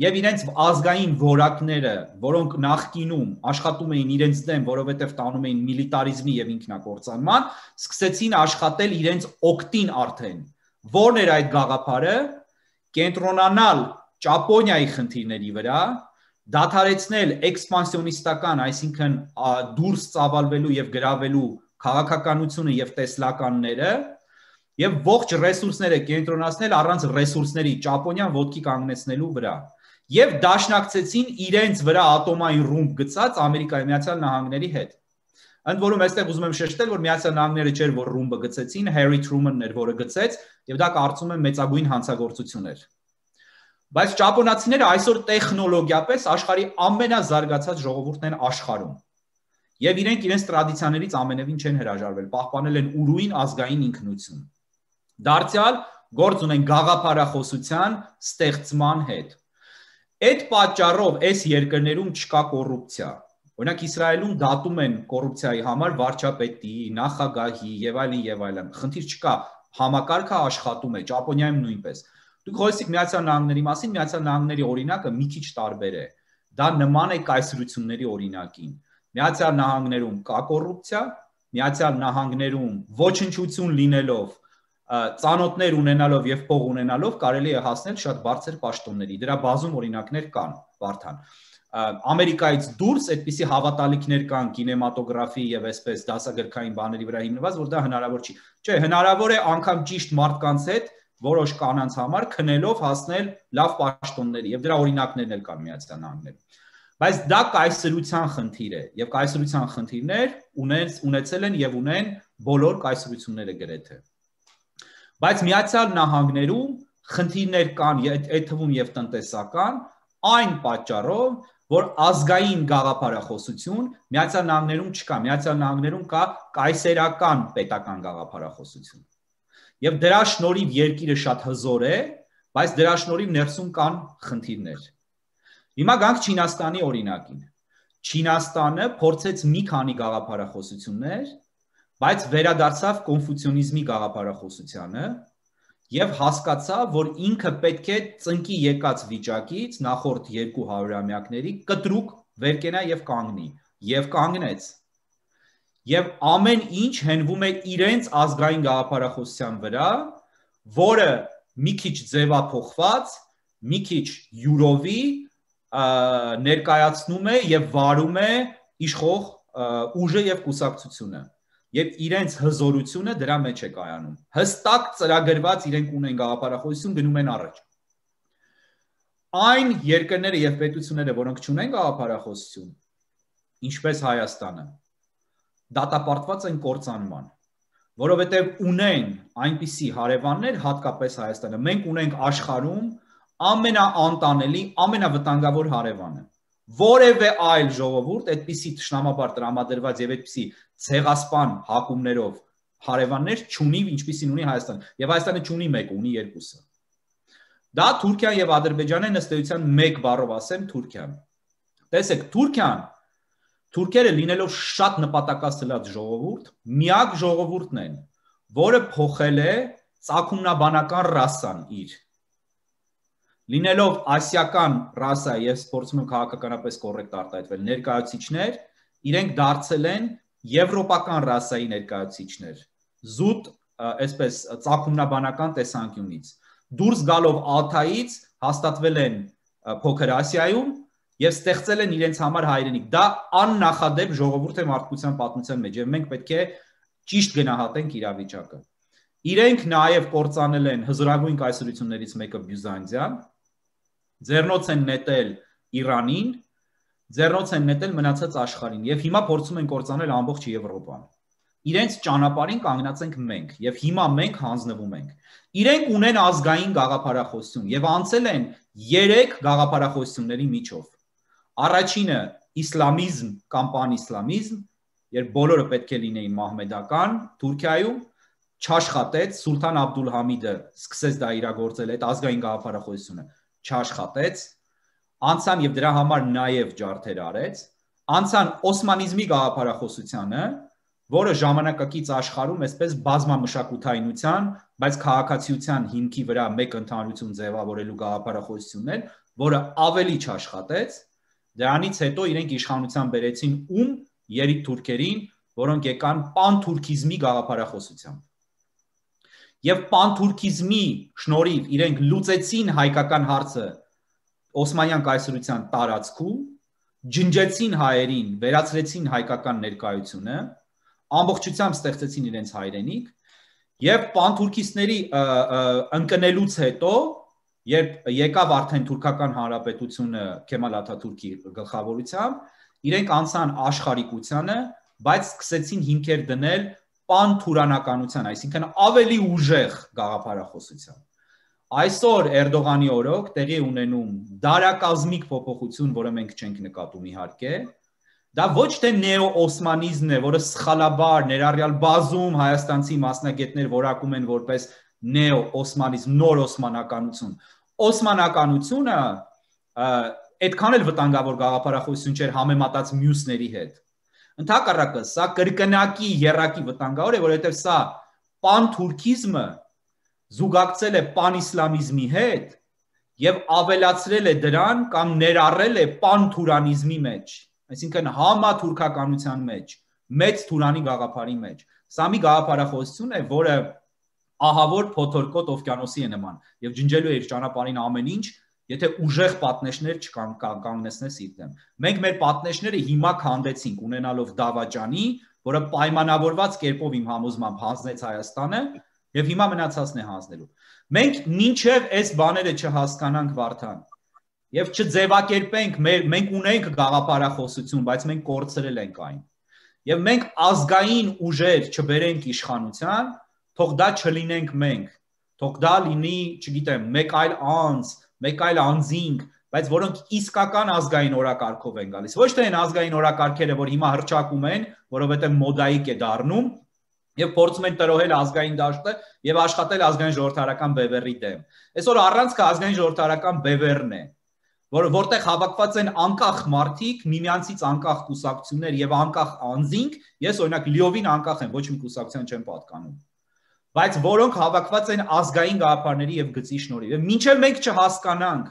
C: Եվ իրենց ազգային որակները, որոնք նախկինում աշխատում էին իրենց դեմ, որովհետև տանում էին միլիտարիզմի եւ ինքնակործանման, սկսեցին աշխատել իրենց օգտին արդեն։ Որն էր այդ գաղափարը? Կենտրոնանալ Ճապոնիայի խնդիրների վրա, դադարեցնել էքսպանսիոնիստական, այսինքն դուրս ծավալվելու եւ գրավելու քաղաքականությունը եւ տեսլականները եւ ողջ ռեսուրսները կենտրոնացնել առանց ռեսուրսների Ճապոնիան ոտքի կանգնեցնելու վրա եւ դաշնակցեցին իրենց վրա ատոմային ռումբ գծած Ամերիկայի Միացյալ Նահանգների հետ։ Ընդ որում այստեղ ուզում եմ շեշտել, որ Միացյալ Նահանգները չէր, որ ռումբը գծեցին, Հարի Թրումանն էր, որը գծեց, եւ դա կարծում եմ մեծագույն հանցագործություն էր։ Բայց ճապոնացիները այսօր տեխնոլոգիապես աշխարհի ամենազարգացած ժողովուրդն են աշխարհում։ Եվ իրենք իրենց տրադիցիաներից ամենևին չեն հրաժարվել, պահպանել են ուրույն ազգային ինքնություն։ Դարձյալ գործ ունեն գաղափարախոսության ստեղծման հետ։ Այդ պատճառով այս երկրներում չկա կոռուպցիա։ Օրինակ Իսրայելում դատում են կոռուպցիայի համար վարչապետի, նախագահի եւ այլն։ Խնդիր չկա, համակարգը աշխատում է, Ճապոնիայում նույնպես։ Դուք խոսեցիք Միացյալ Նահանգների մասին, Միացյալ Նահանգների օրինակը մի քիչ տարբեր է։ Դա նման է կայսրությունների օրինակին։ Միացյալ Նահանգներում կա կոռուպցիա, Միացյալ Նահանգներում ոչնչություն լինելով, ծանոթներ ունենալով եւ փող ունենալով կարելի է հասնել շատ բարձր պաշտոնների։ Դրա բազում օրինակներ կան, Վարդան։ Ամերիկայից դուրս այդպիսի հավատալիքներ կան կինեմատոգրաֆի եւ այսպես դասագրքային բաների վրա հիմնված, որ դա հնարավոր չի։ Չէ, հնարավոր է անգամ ճիշտ մարդկանց հետ որոշ կանանց համար քնելով հասնել լավ պաշտոնների եւ դրա օրինակներն էլ կան Միացյալ Նահանգներում։ Բայց դա կայսրության խնդիր է եւ կայսրության խնդիրներ ունեցել են եւ ունեն բոլոր կայսրությունները գրեթե։ Բայց Միացյալ Նահանգներում խնդիրներ կան, այդ թվում եւ տնտեսական, այն պատճառով, որ ազգային գաղափարախոսություն Միացյալ Նահանգներում չկա, Միացյալ Նահանգներում կա կայսերական պետական գաղափարախոսություն։ Եվ դրա շնորհիվ երկիրը շատ հզոր է, բայց դրա շնորհիվ ներսում կան խնդիրներ։ Հիմա գանք Չինաստանի օրինակին։ Չինաստանը փորձեց մի քանի գաղափարախոսություններ, բայց վերադարձավ կոնֆուցիոնիզմի գաղափարախոսությանը եւ հասկացավ, որ ինքը պետք է ծնկի եկած վիճակից նախորդ 200-ամյակների կտրուկ վերկենա եւ կանգնի, եւ կանգնեց։ Եվ ամեն ինչ հենվում է իրենց ազգային գաղափարախոսության վրա, որը մի քիչ ձևափոխված, մի քիչ յուրովի ներկայացնում է եւ վարում է իշխող ուժը եւ կուսակցությունը։ Եվ իրենց հզորությունը դրա մեջ է կայանում։ Հստակ ծրագրված իրենք ունեն գաղափարախոսություն, գնում են առաջ։ Այն երկրները եւ պետությունները, որոնք չունեն գաղափարախոսություն, ինչպես Հայաստանը, դատապարտված են կործանման, որովհետև ունեն այնպիսի հարևաններ, հատկապես Հայաստանը, մենք ունենք աշխարհում ամենաանտանելի, ամենավտանգավոր հարևանը։ Որևէ այլ ժողովուրդ այդպիսի թշնամաբար տրամադրված եւ այդպիսի ցեղասպան հակումներով հարևաններ չունի, ինչպիսին ունի Հայաստանը, եւ Հայաստանը չունի մեկը, ունի երկուսը։ Դա Թուրքիան եւ Ադրբեջանն են, ըստ էության մեկ բառով ասեմ Թուրքիան։ Տեսեք, Թուրքերը լինելով շատ նպատակասլաց ժողովուրդ, միակ ժողովուրդն են, որը փոխել է ծագումնաբանական ռասան իր։ Լինելով ասիական ռասա եւ փորձում են քաղաքականապես կոռեկտ արտահայտվել ներկայացուցիչներ, իրենք դարձել են եվրոպական ռասայի ներկայացուցիչներ։ Զուտ, այսպես ծագումնաբանական տեսանկյունից։ Դուրս գալով Ալթայից հաստատվել են Փոքր Ասիայում եւ ստեղծել են իրենց համար հայրենիք։ Դա աննախադեպ ժողովուրդ է մարդկության պատմության մեջ եւ մենք պետք է ճիշտ գնահատենք իրավիճակը։ Իրենք նաեւ կործանել են հզորագույն կայսրություններից մեկը Բյուզանդիան, ձեռնոց են նետել Իրանին, ձեռնոց են նետել մնացած աշխարհին եւ հիմա փորձում են կործանել ամբողջ Եվրոպան։ Իրենց ճանապարհին կանգնած ենք մենք եւ հիմա մենք հանձնվում ենք։ Իրենք ունեն ազգային գաղափարախոսություն եւ անցել են 3 գաղափարախոսությունների միջով։ Առաջինը իսլամիզմ կամ պանիսլամիզմ, երբ բոլորը պետք է լինեին մահմեդական, Թուրքիայում չաշխատեց, Սուլթան Աբդուլհամիդը սկսեց դա իրագործել այդ ազգային գաղափարախոսությունը, չաշխատեց, անցան եւ դրա համար նաեւ ջարդեր արեց, անցան օսմանիզմի գաղափարախոսությանը, որը ժամանակակից աշխարհում այսպես բազմամշակութայնության, բայց քաղաքացիության հիմքի վրա մեկ ընդհանրություն ձևավորելու գաղափարախոսությունն էր, որը ավելի չաշխատեց, դրանից հետո իրենք իշխանության բերեցին երիկ թուրքերին, որոնք եկան պանթուրքիզմի գաղափարախոսությամբ։ Եվ պանթուրքիզմի շնորհիվ իրենք լուծեցին հայկական հարցը Օսմանյան կայսրության տարածքում, ջնջեցին հայերին, վերացրեցին հայկական ներկայությունը, ամբողջությամբ ստեղծեցին իրենց հայրենիք եւ պանթուրքիստների ընկնելուց հետո, երբ եկավ արդեն թուրքական հանրապետությունը Քեմալ Աթաթուրքի գլխավորությամբ, իրենք անցան աշխարհիկությանը, բայց սկսեցին հիմքեր դնել պանթուրանականության, այսինքն ավելի ուժեղ գաղափարախոսության։ Այսօր Էրդողանի օրոք տեղի ունենում դարակազմիկ փոփոխություն, որը մենք չենք նկատում իհարկե, դա ոչ թե նեո-օսմանիզմն է, որը սխալաբար ներառյալ բազում հայաստանցի մասնագետներ որակում են որպես նեո-օսմանիզմ, նոր օսմանականություն։ Օսմանականությունը այդքան էլ վտանգավոր գաղափարախոսություն չէր համեմատած մյուսների հետ։ Ընդհակառակը, սա կրկնակի եռակի վտանգավոր է, որովհետև սա պանթուրքիզմը զուգակցել է պանիսլամիզմի հետ եւ ավելացրել է դրան կամ ներառել է պանթուրանիզմի մեջ, այսինքն համաթուրքականության մեջ, մեծ թուրանի գաղափարի մեջ։ Սա մի գաղափարախոսություն է, որը ահավոր փոթորկոտ օվկիանոսի է նման եւ ջնջելու է իր ճանապարհին ամեն ինչ, եթե ուժեղ պատնեշներ չկանգնեցնես իր դեմ։ Մենք մեր պատնեշները հիմա քանդեցինք ունենալով Դավաճանի, որը պայմանավորված կերպով իմ համոզմամբ հանձնեց Հայաստանը եւ հիմա մնացածն է հանձնելու։ Մենք մինչև այս բաները չհասկանանք Վարդան եւ չձևակերպենք, մենք ունենք գաղափարախոսություն, բայց մենք կորցրել ենք այն։ Եվ մենք ազգային ուժեր չբերենք իշխանության, թող դա չլինենք մենք, թող դա լինի, չգիտեմ, մեկ այլ անձ, մեկ այլ անձինք, բայց որոնք իսկական ազգային օրակարգով են գալիս։ Ոչ թե այն ազգային օրակարգերը, որ հիմա հրճակում են, որովհետև մոդայիկ է դառնում, եւ փորձում են տրոհել ազգային դաշտը եւ աշխատել ազգային ժողովրդարական բևեռի դեմ։ Այսօր առանցքը ազգային ժողովրդարական բևեռն է, որտեղ հավաքված են անկախ մարդիկ, միմյանցից անկախ կուսակցություններ եւ անկախ անձինք, ես օրինակ լիովին անկախ եմ, ոչ մի կուսակցության չեմ պատկանում, բայց որոնք հավաքված են ազգային գաղափարների եւ գծի շնորհիվ։ Եվ մինչեւ մենք չհասկանանք,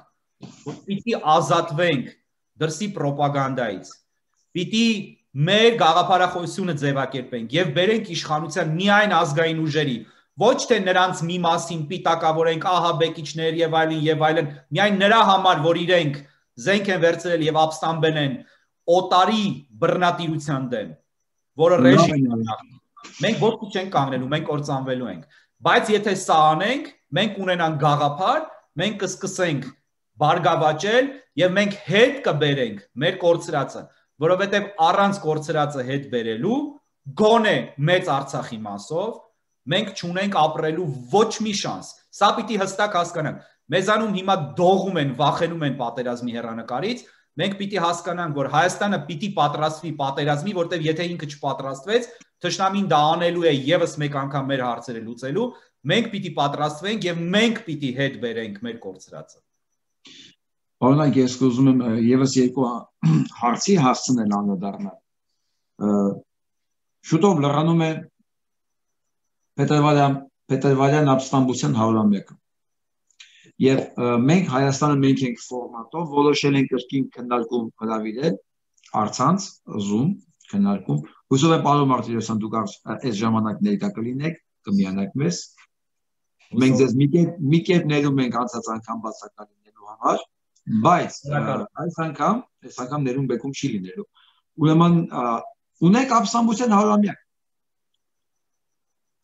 C: որ պիտի ազատվենք դրսի ռոպագանդայից, պիտի մեր գաղափարախոսությունը ձևակերպենք եւ բերենք իշխանության միայն ազգային ուժերի, ոչ թե նրանց մի մասին պիտակավորենք ահաբեկիչներ եւ այլն, միայն նրա համար, որ իրենք զենք են վերցրել եւ ապստամբել են օտարի բռնատիրության դեմ, որը ռեժիմն է։ Մենք ոչ մի չենք կանգնելու, մենք կործանվելու ենք։ Բայց եթե սա անենք, մենք ունենանք գաղափար, մենք կսկսենք բարգավաճել եւ մենք հետ կբերենք մեր կորցրածը, որովհետեւ առանց կորցրածը հետ բերելու գոնե մեծ Արցախի մասով մենք չունենք ապրելու ոչ մի շանս։ Սա պիտի հստակ հասկանանք։ Մեզանում հիմա դողում են, վախենում են պատերազմի հեռանկարից, մենք պիտի հասկանանք, որ Հայաստանը պիտի պատրաստվի պատերազմի, որտեղ եթե ինքը չպատրաստվեց, թշնամին դա անելու է եւս մեկ անգամ մեր հարցերը լուծելու, մենք պիտի պատրաստվենք եւ մենք պիտի հետ բերենք մեր կորցրածը։
A: Օրինակ ես ուզում եմ եւս երկու հարցի հասցնել անդրադառնալ։ Շուտով լրանում է Պետրվարյան ապստամբության 100-ամյակը։ Եվ մենք Հայաստանը մենք ենք ֆորմատով որոշել ենք կրկին քննարկում հրավիրել առցանց Zoom քննարկում։ Հուսով եմ պարոն Մարտիրոսյան դուք այս ժամանակ ներկա կլինեք, կմիանաք մեզ։ Մենք ձեզ մի կերպ ներում ենք անցած անգամ բացակայ լինելու համար, բայց այս անգամ ներում բեկում չի լինելու։ Ուրեմն ունենք ապստամբության 100-ամյակ։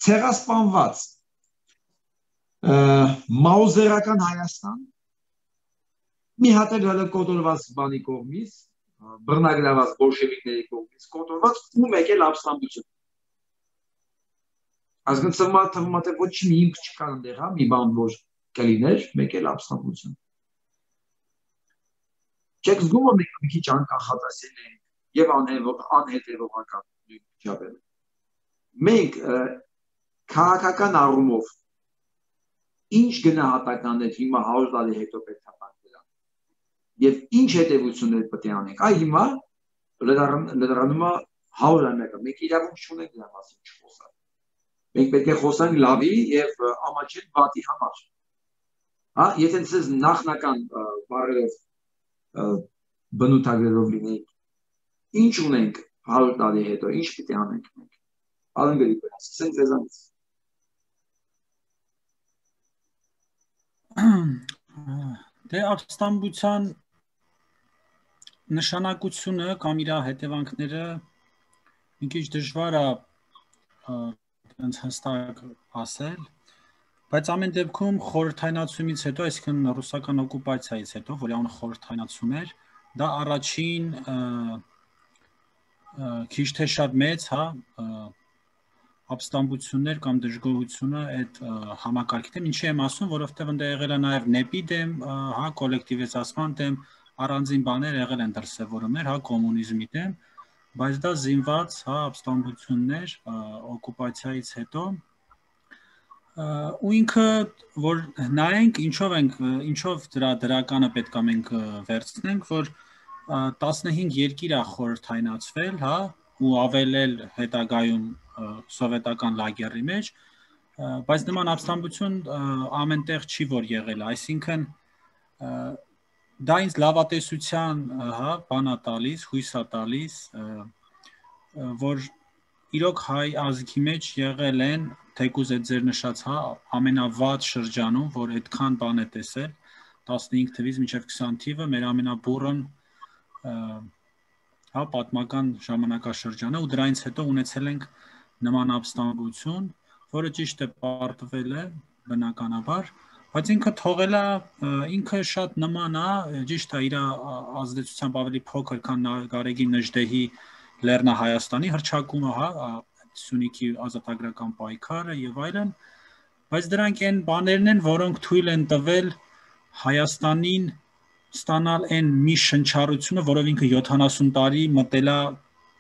A: Ցեղասպանված մաուզերական Հայաստան մի հատ էլ հələ կոտորված բանի կողմից, բռնագրաված բոլշևիկների կողմից կոտորված ու մեկ էլ ապստամբություն։ Ազգանցման թվում է ոչ մի հիմք չկա այնտեղ, հա, մի բան որ կլիներ, մեկ էլ ապստամբություն։ Չեք զգում որ մենք մի քիչ անկախացել ենք եւ անհետեւողական նույն չափել։ Մենք քաղաքական առումով ինչ գնահատականներ հիմա 100 տարի հետո պետք է տանք դրան եւ ինչ հետեւություններ պետք է անենք։ Այ հիմա լրանում է 100-ամյակը, մենք իրավունք չունենք դրա մասին չխոսալ։ Մենք պետք է խոսանք լավի եւ ամաչել վատի համար։ Հա, եթե ցեզ նախնական բառերով բնութագրերով լինենք, ինչ ունենք 100 տարի հետո, ինչ պետք է անենք մենք։ Ալեն Գրիգորյան, սկսենք ձեզանից։
D: Դե ապստամբության նշանակությունը կամ իր հետևանքները մի քիչ դժվար է հստակ ասել, բայց ամեն դեպքում խորհրդայնացումից հետո, այսինքն ռուսական օկուպացիայից հետո, որի անունը խորհրդայնացում էր, դա առաջին քիչ թե շատ մեծ, հա, ապստամբություններ կամ դժգոհությունը այդ համակարգի դեմ, ինչի եմ ասում, որովհետև ընդ եղել է նաև նեպի դեմ, հա, կոլեկտիվիզացման դեմ, առանձին բաներ եղել են դրսևորումներ, հա, կոմունիզմի դեմ, բայց դա զինված, հա, ապստամբություններ օկուպացիայից հետո ու ինքը որ նայենք ինչով դրա դրականը պետք է մենք վերցնենք, որ 15 երկիր է խորհրդայնացվել, հա, ու ավելել հետագայում սովետական լագերի մեջ, բայց նման ապստամբություն ամենտեղ չի որ եղել, այսինքն դա ինձ լավատեսության, հա, բան է տալիս, հույս է տալիս, որ իրոք հայ ազգի մեջ եղել են, թեկուզ այդ ձեր նշած, հա, ամենավատ շրջանում, որ այդքան բան է տեսել, 15 թվից մինչև 20 թիվը մեր ամենաբուրըն հա, պատմական ժամանակաշրջանը ու դրանից հետո ունեցել ենք նման ապստամբություն, որը ճիշտ է պարտվել է բնականաբար, բայց ինքը թողել է, ինքը շատ նման է, ճիշտ է իր ազդեցությամբ ավելի փոքր, քան Գարեգին Նժդեհի Լեռնահայաստանի հռչակումը, հա, Սյունիքի ազատագրական պայքարը եւ այլն, բայց դրանք այն բաներն են, որոնք թույլ են տվել Հայաստանին ստանալ այն մի շնչառությունը, որով ինքը 70 տարի մտել է,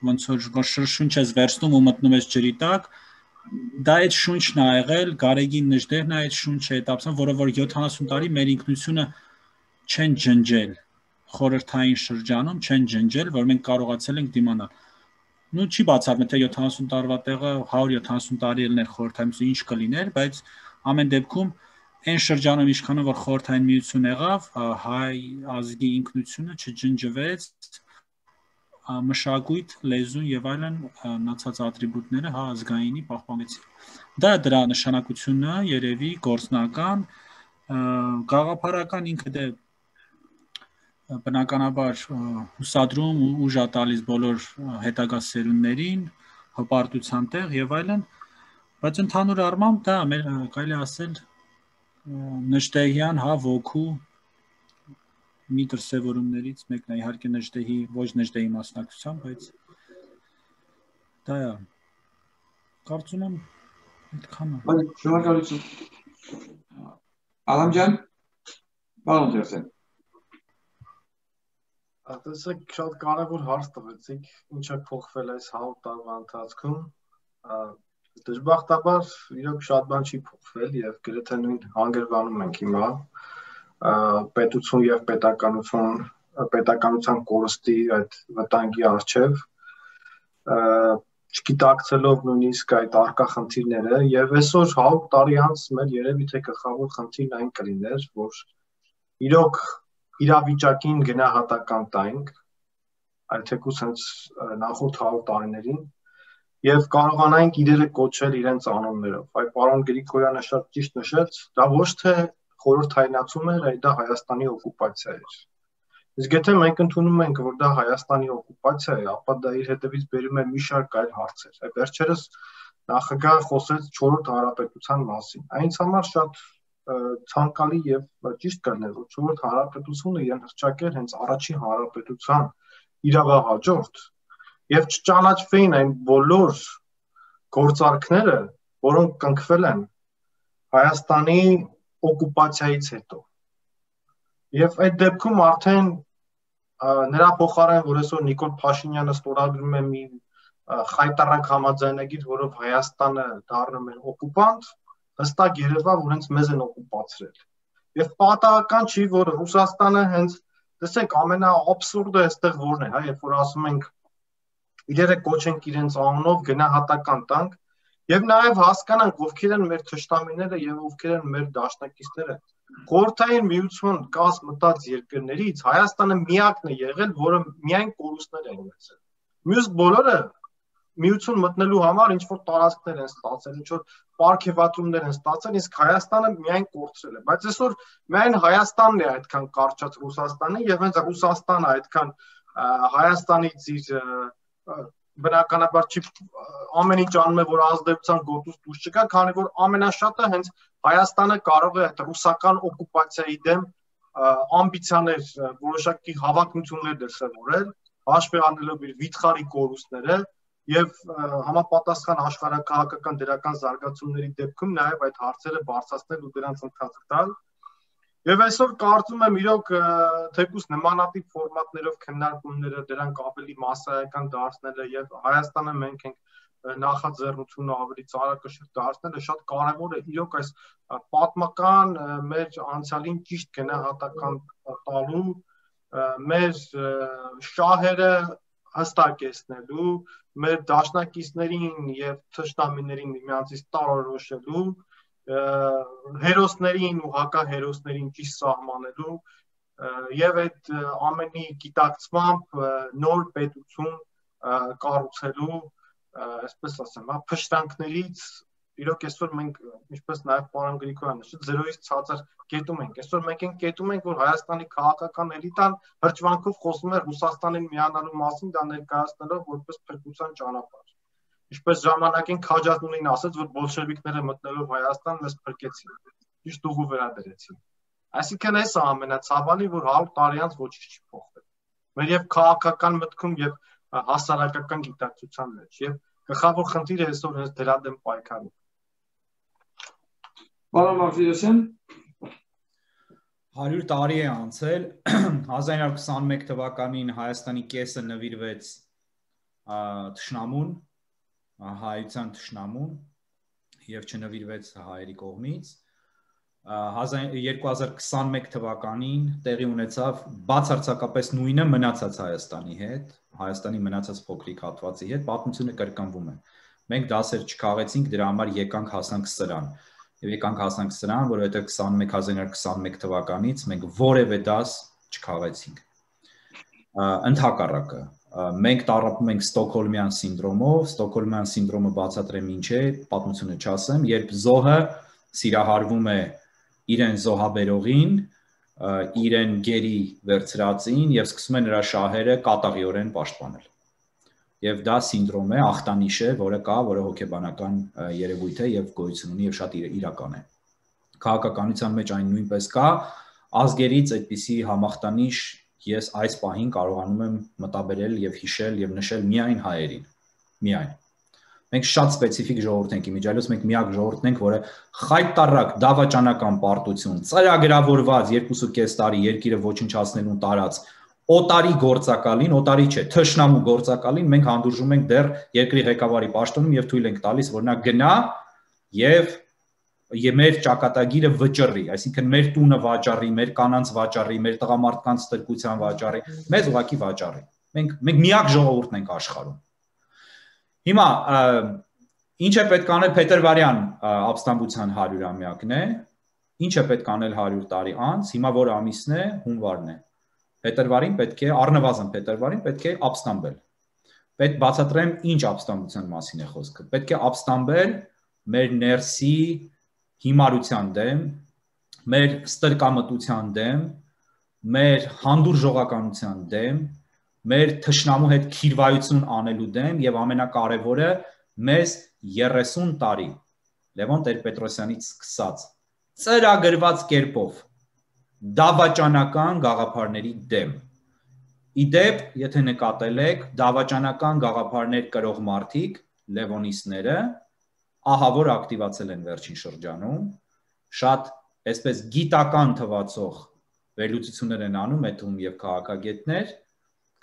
D: ոնց որ շնչ ես վերցնում ու մտնում ես ջրի տակ, դա այդ շունչն է եղել, Գարեգին Նժդեհն է այդ շունչը հետապսան, որը որ 70 տարի մեր ինքնությունը չեն ջնջել, խորհրդային շրջանում չեն ջնջել, որ մենք կարողացել ենք դիմանալ։ Նու չի բացառվում, թե 70 տարվա տեղը 170 տարի ելներ խորհրդային ինչ կլիներ, բայց ամեն դեպքում այն շրջանում իշխանը, որ խորհրդային միություն եղավ, հայ ազգի ինքնությունը չջնջվեց, մշակույթ, լեզու եւ այլն մնացած ատրիբուտները հա ազգայինի պահպանեցին։ Դա դրա նշանակությունը երևի գործնական, գաղափարական ինքը դե բնականաբար հուսադրում ու ուժ է տալիս բոլոր հետագա սերունդներին, հպարտության տեղ եւ այլն, բայց ընդհանուր առմամբ դա մեր կարելի ասել Նժդեհյան հա ոգու մի դրսևորումներից մեկն է, իհարկե Նժդեհի, ոչ Նժդեհի մասնակցությամբ, բայց դա է։ Կարծում եմ այդքան է։
A: Շնորհակալություն։ Ալամ ջան, բան ուզեցեք։
B: Տեսեք, շատ կարևոր հարց տվեցիք, ինչ է փոխվել այս 100 տարվա ընթացքում։ Դժբախտաբար իրոք շատ բան չի փոխվել եւ գրեթե նույն հանգրվանում ենք հիմա պետություն եւ պետականության կորստի այդ վտանգի առջև չգիտակցելով նույնիսկ այդ արկա խնդիրները եւ այսօր 100 տարի անց մեր երևի թե գլխավոր խնդիրն այն կլիներ, որ իրոք իրավիճակին գնահատական տանք, այլ թեկուզ հենց նախորդ 100 տարիներին եւ կարողանանք իրերը կոչել իրենց անուններով։ Այ պարոն Գրիգորյանը շատ ճիշտ նշեց, դա ոչ թե խորհրդայնացում էր, այլ դա Հայաստանի օկուպացիա էր։ Իսկ եթե մենք ընդունում ենք, որ դա Հայաստանի օկուպացիա է, ապա դա իր հետևից բերում է մի շարք այլ հարցեր։ Այ վերջերս նախագահը խոսեց 4-րդ հանրապետության մասին։ Այնց համար շատ ցանկալի եւ ճիշտ կլիներ, որ 4-րդ հանրապետությունը իրեն հռչակեր հենց առաջին հանրապետության իրավահաջորդ եւ չճանաչվեին այն բոլոր գործարքները, որոնք կնքվել են Հայաստանի օկուպացիայից հետո։ Եվ այդ դեպքում արդեն նրա փոխարեն, որ այսօր Նիկոլ Փաշինյանը ստորագրում է մի խայտառակ համաձայնագիր, որով Հայաստանը դառնում է օկուպանտ, հստակ երևա, որ հենց մեզ են օկուպացրել։ Եվ պատահական չի, որ Ռուսաստանը հենց, տեսեք, ամենաաբսուրդը այստեղ որն է, հա, երբ որ ասում ենք իրերը կոչենք իրենց անունով, գնահատական տանք, եւ նաեւ հասկանանք ովքեր են մեր թշնամիները եւ ովքեր են մեր դաշնակիցները։ Խորհրդային միություն կաս մտած երկրներից Հայաստանը միակն է եղել, որը միայն կորուստներ է ունեցել։ Մյուս բոլորը միություն մտնելու համար ինչ որ տարածքներ են ստացել, ինչ որ պարգևատրումներ են ստացել, իսկ Հայաստանը միայն կորցրել է։ Բայց այսօր միայն Հայաստանն է այդքան կարճած Ռուսաստանը եւ հենց Ռուսաստանը այդքան Հայաստանից իր բնականաբար չի ամեն ինչ անում է, որ ազդեցության գոտուց դուրս չգա, քանի որ ամենաշատը հենց Հայաստանը կարող է այդ ռուսական օկուպացիայի դեմ ամբիցիաներ, որոշակի հավակնություններ դրսևորել, հաշվի առնելով իր վիթխարի կորուստները եւ համապատասխան աշխարհակահաղական դրական զարգացումների դեպքում նաեւ այդ հարցերը բարձրացնել ու դրանց ընթացք տալ։ Եվ այսօր կարծում եմ իրոք թեկուզ նմանատիպ ֆորմատներով քննարկումները դրանք ավելի մասսայական դարձնելը եւ Հայաստանը մենք ենք նախաձեռնությունը ավելի ծանրակշիռ դարձնելը շատ կարևոր է իրոք այս պատմական մեր անցյալին ճիշտ գնահատական տալու, մեր շահերը հստակեցնելու, մեր դաշնակիցներին եւ թշնամիներին միմյանցից տարորոշելու, հերոսներին ու հակահերոսներին ճիշտ սահմանելու եւ այդ ամենի գիտակցմամբ նոր պետություն կառուցելու, այսպես ասեմ, փշտանքներից իրոք այսօր մենք ինչպես նաեւ պարոն Գրիգորյանը նշեց, 0-ից ցածր կետում ենք։ Այսօր մենք այն կետում ենք, որ Հայաստանի քաղաքական էլիտան հրճվանքով խոսում է Ռուսաստանին միանալու մասին, դա ներկայացնելով որպես փրկության ճանապարհ։ Ինչպես ժամանակին Քաջատունին ասաց, որ բոլշևիկները մտնելով Հայաստան մեզ փրկեցին, ճիշտ ուղու վերադրեցին։ Այսինքն այս է ամենացավալին, որ 100 տարի անց ոչինչ չի փոխվել։ Մեր եւ քաղաքական մտքում եւ հասարակական գիտակցության մեջ եւ գլխավոր խնդիրը այսօր հենց դրա դեմ պայքարն է։
A: Պարոն Մարտիրոսյան,
C: 100 տարի է անցել, 1921 թվականին Հայաստանի կեսը նվիրվեց թշնամուն, հայության թշնամուն եւ չնվիրվեց հայերի կողմից։ 2021 թվականին տեղի ունեցավ բացարձակապես նույնը մնացած Հայաստանի հետ, Հայաստանի մնացած փոքրիկ հատվածի հետ, պատմությունը կրկնվում է։ Մենք դասեր չքաղեցինք, դրա համար եկանք հասանք սրան։ Եվ եկանք հասանք սրան, որովհետև 1921 թվականից մենք որևէ դաս չքաղեցինք։ Ընդհակառակը, մենք տառապում ենք Ստոկհոլմյան սինդրոմով, Ստոկհոլմյան սինդրոմը բացատրեմ ինչ է, պատմությունը չասեմ, երբ զոհը սիրահարվում է իրեն զոհաբերողին, իրեն գերի վերցրածին եւ սկսում է նրա շահերը կատաղիորեն պաշտպանել։ Եվ դա սինդրոմ է, ախտանիշ է, որը կա, որը հոգեբանական երևույթ է եւ գոյություն ունի եւ շատ իրական է։ Քաղաքականության մեջ այն նույնպես կա, ազգերից այդպիսի համախտանիշ ես այս պահին կարողանում եմ մտաբերել եւ հիշել եւ նշել միայն հայերին։ Միայն։ Մենք շատ սպეციფიկ ժողովուրդ ենք իմիջիայլոց, մենք միակ ժողովուրդն ենք, որը խայտարակ դավաճանական պարտություն, ծրագրավորված 2.5 տարի երկիրը ոչնչացնելուն տարած օտարի գործակալին, օտարի չէ, թշնամու գործակալին մենք հանդուրժում ենք դեռ երկրի ղեկավարի պաշտոնում եւ թույլ ենք տալիս, որ նա գնա եւ մեր ճակատագիրը վճռի, այսինքն մեր տունը վաճառի, մեր կանանց վաճառի, մեր տղամարդկանց ստրկության վաճառի, մեզ ուղղակի վաճառի։ Մենք միակ ժողովուրդն ենք աշխարհում։ Հիմա ինչ է պետք անել Փետրվարյան ապստամբության 100-ամյակն է, ինչ է պետք անել 100 տարի անց, հիմա որ ամիսն է, հունվարն է։ Փետրվարին պետք է, առնվազն փետրվարին պետք է ապստամբել։ Պետք բացատրեմ ինչ ապստամբության մասին է խոսքը։ Պետք է ապստամբել մեր ներսի հիմարության դեմ, մեր ստրկամտության դեմ, մեր հանդուրժողականության դեմ, մեր թշնամու հետ քիրվայություն անելու դեմ եւ ամենակարևորը մեզ 30 տարի Լևոն Տեր-Պետրոսյանից սկսած ծրագրված կերպով դավաճանական գաղափարների դեմ։ Իդեպ, եթե նկատել եք, դավաճանական գաղափարներ կրող մարդիկ, լևոնիստները, ահա որ ակտիվացել են վերջին շրջանում, շատ այսպես գիտական թվացող վերլուծություններ են անում, այդ թվում եւ քաղաքագետներ,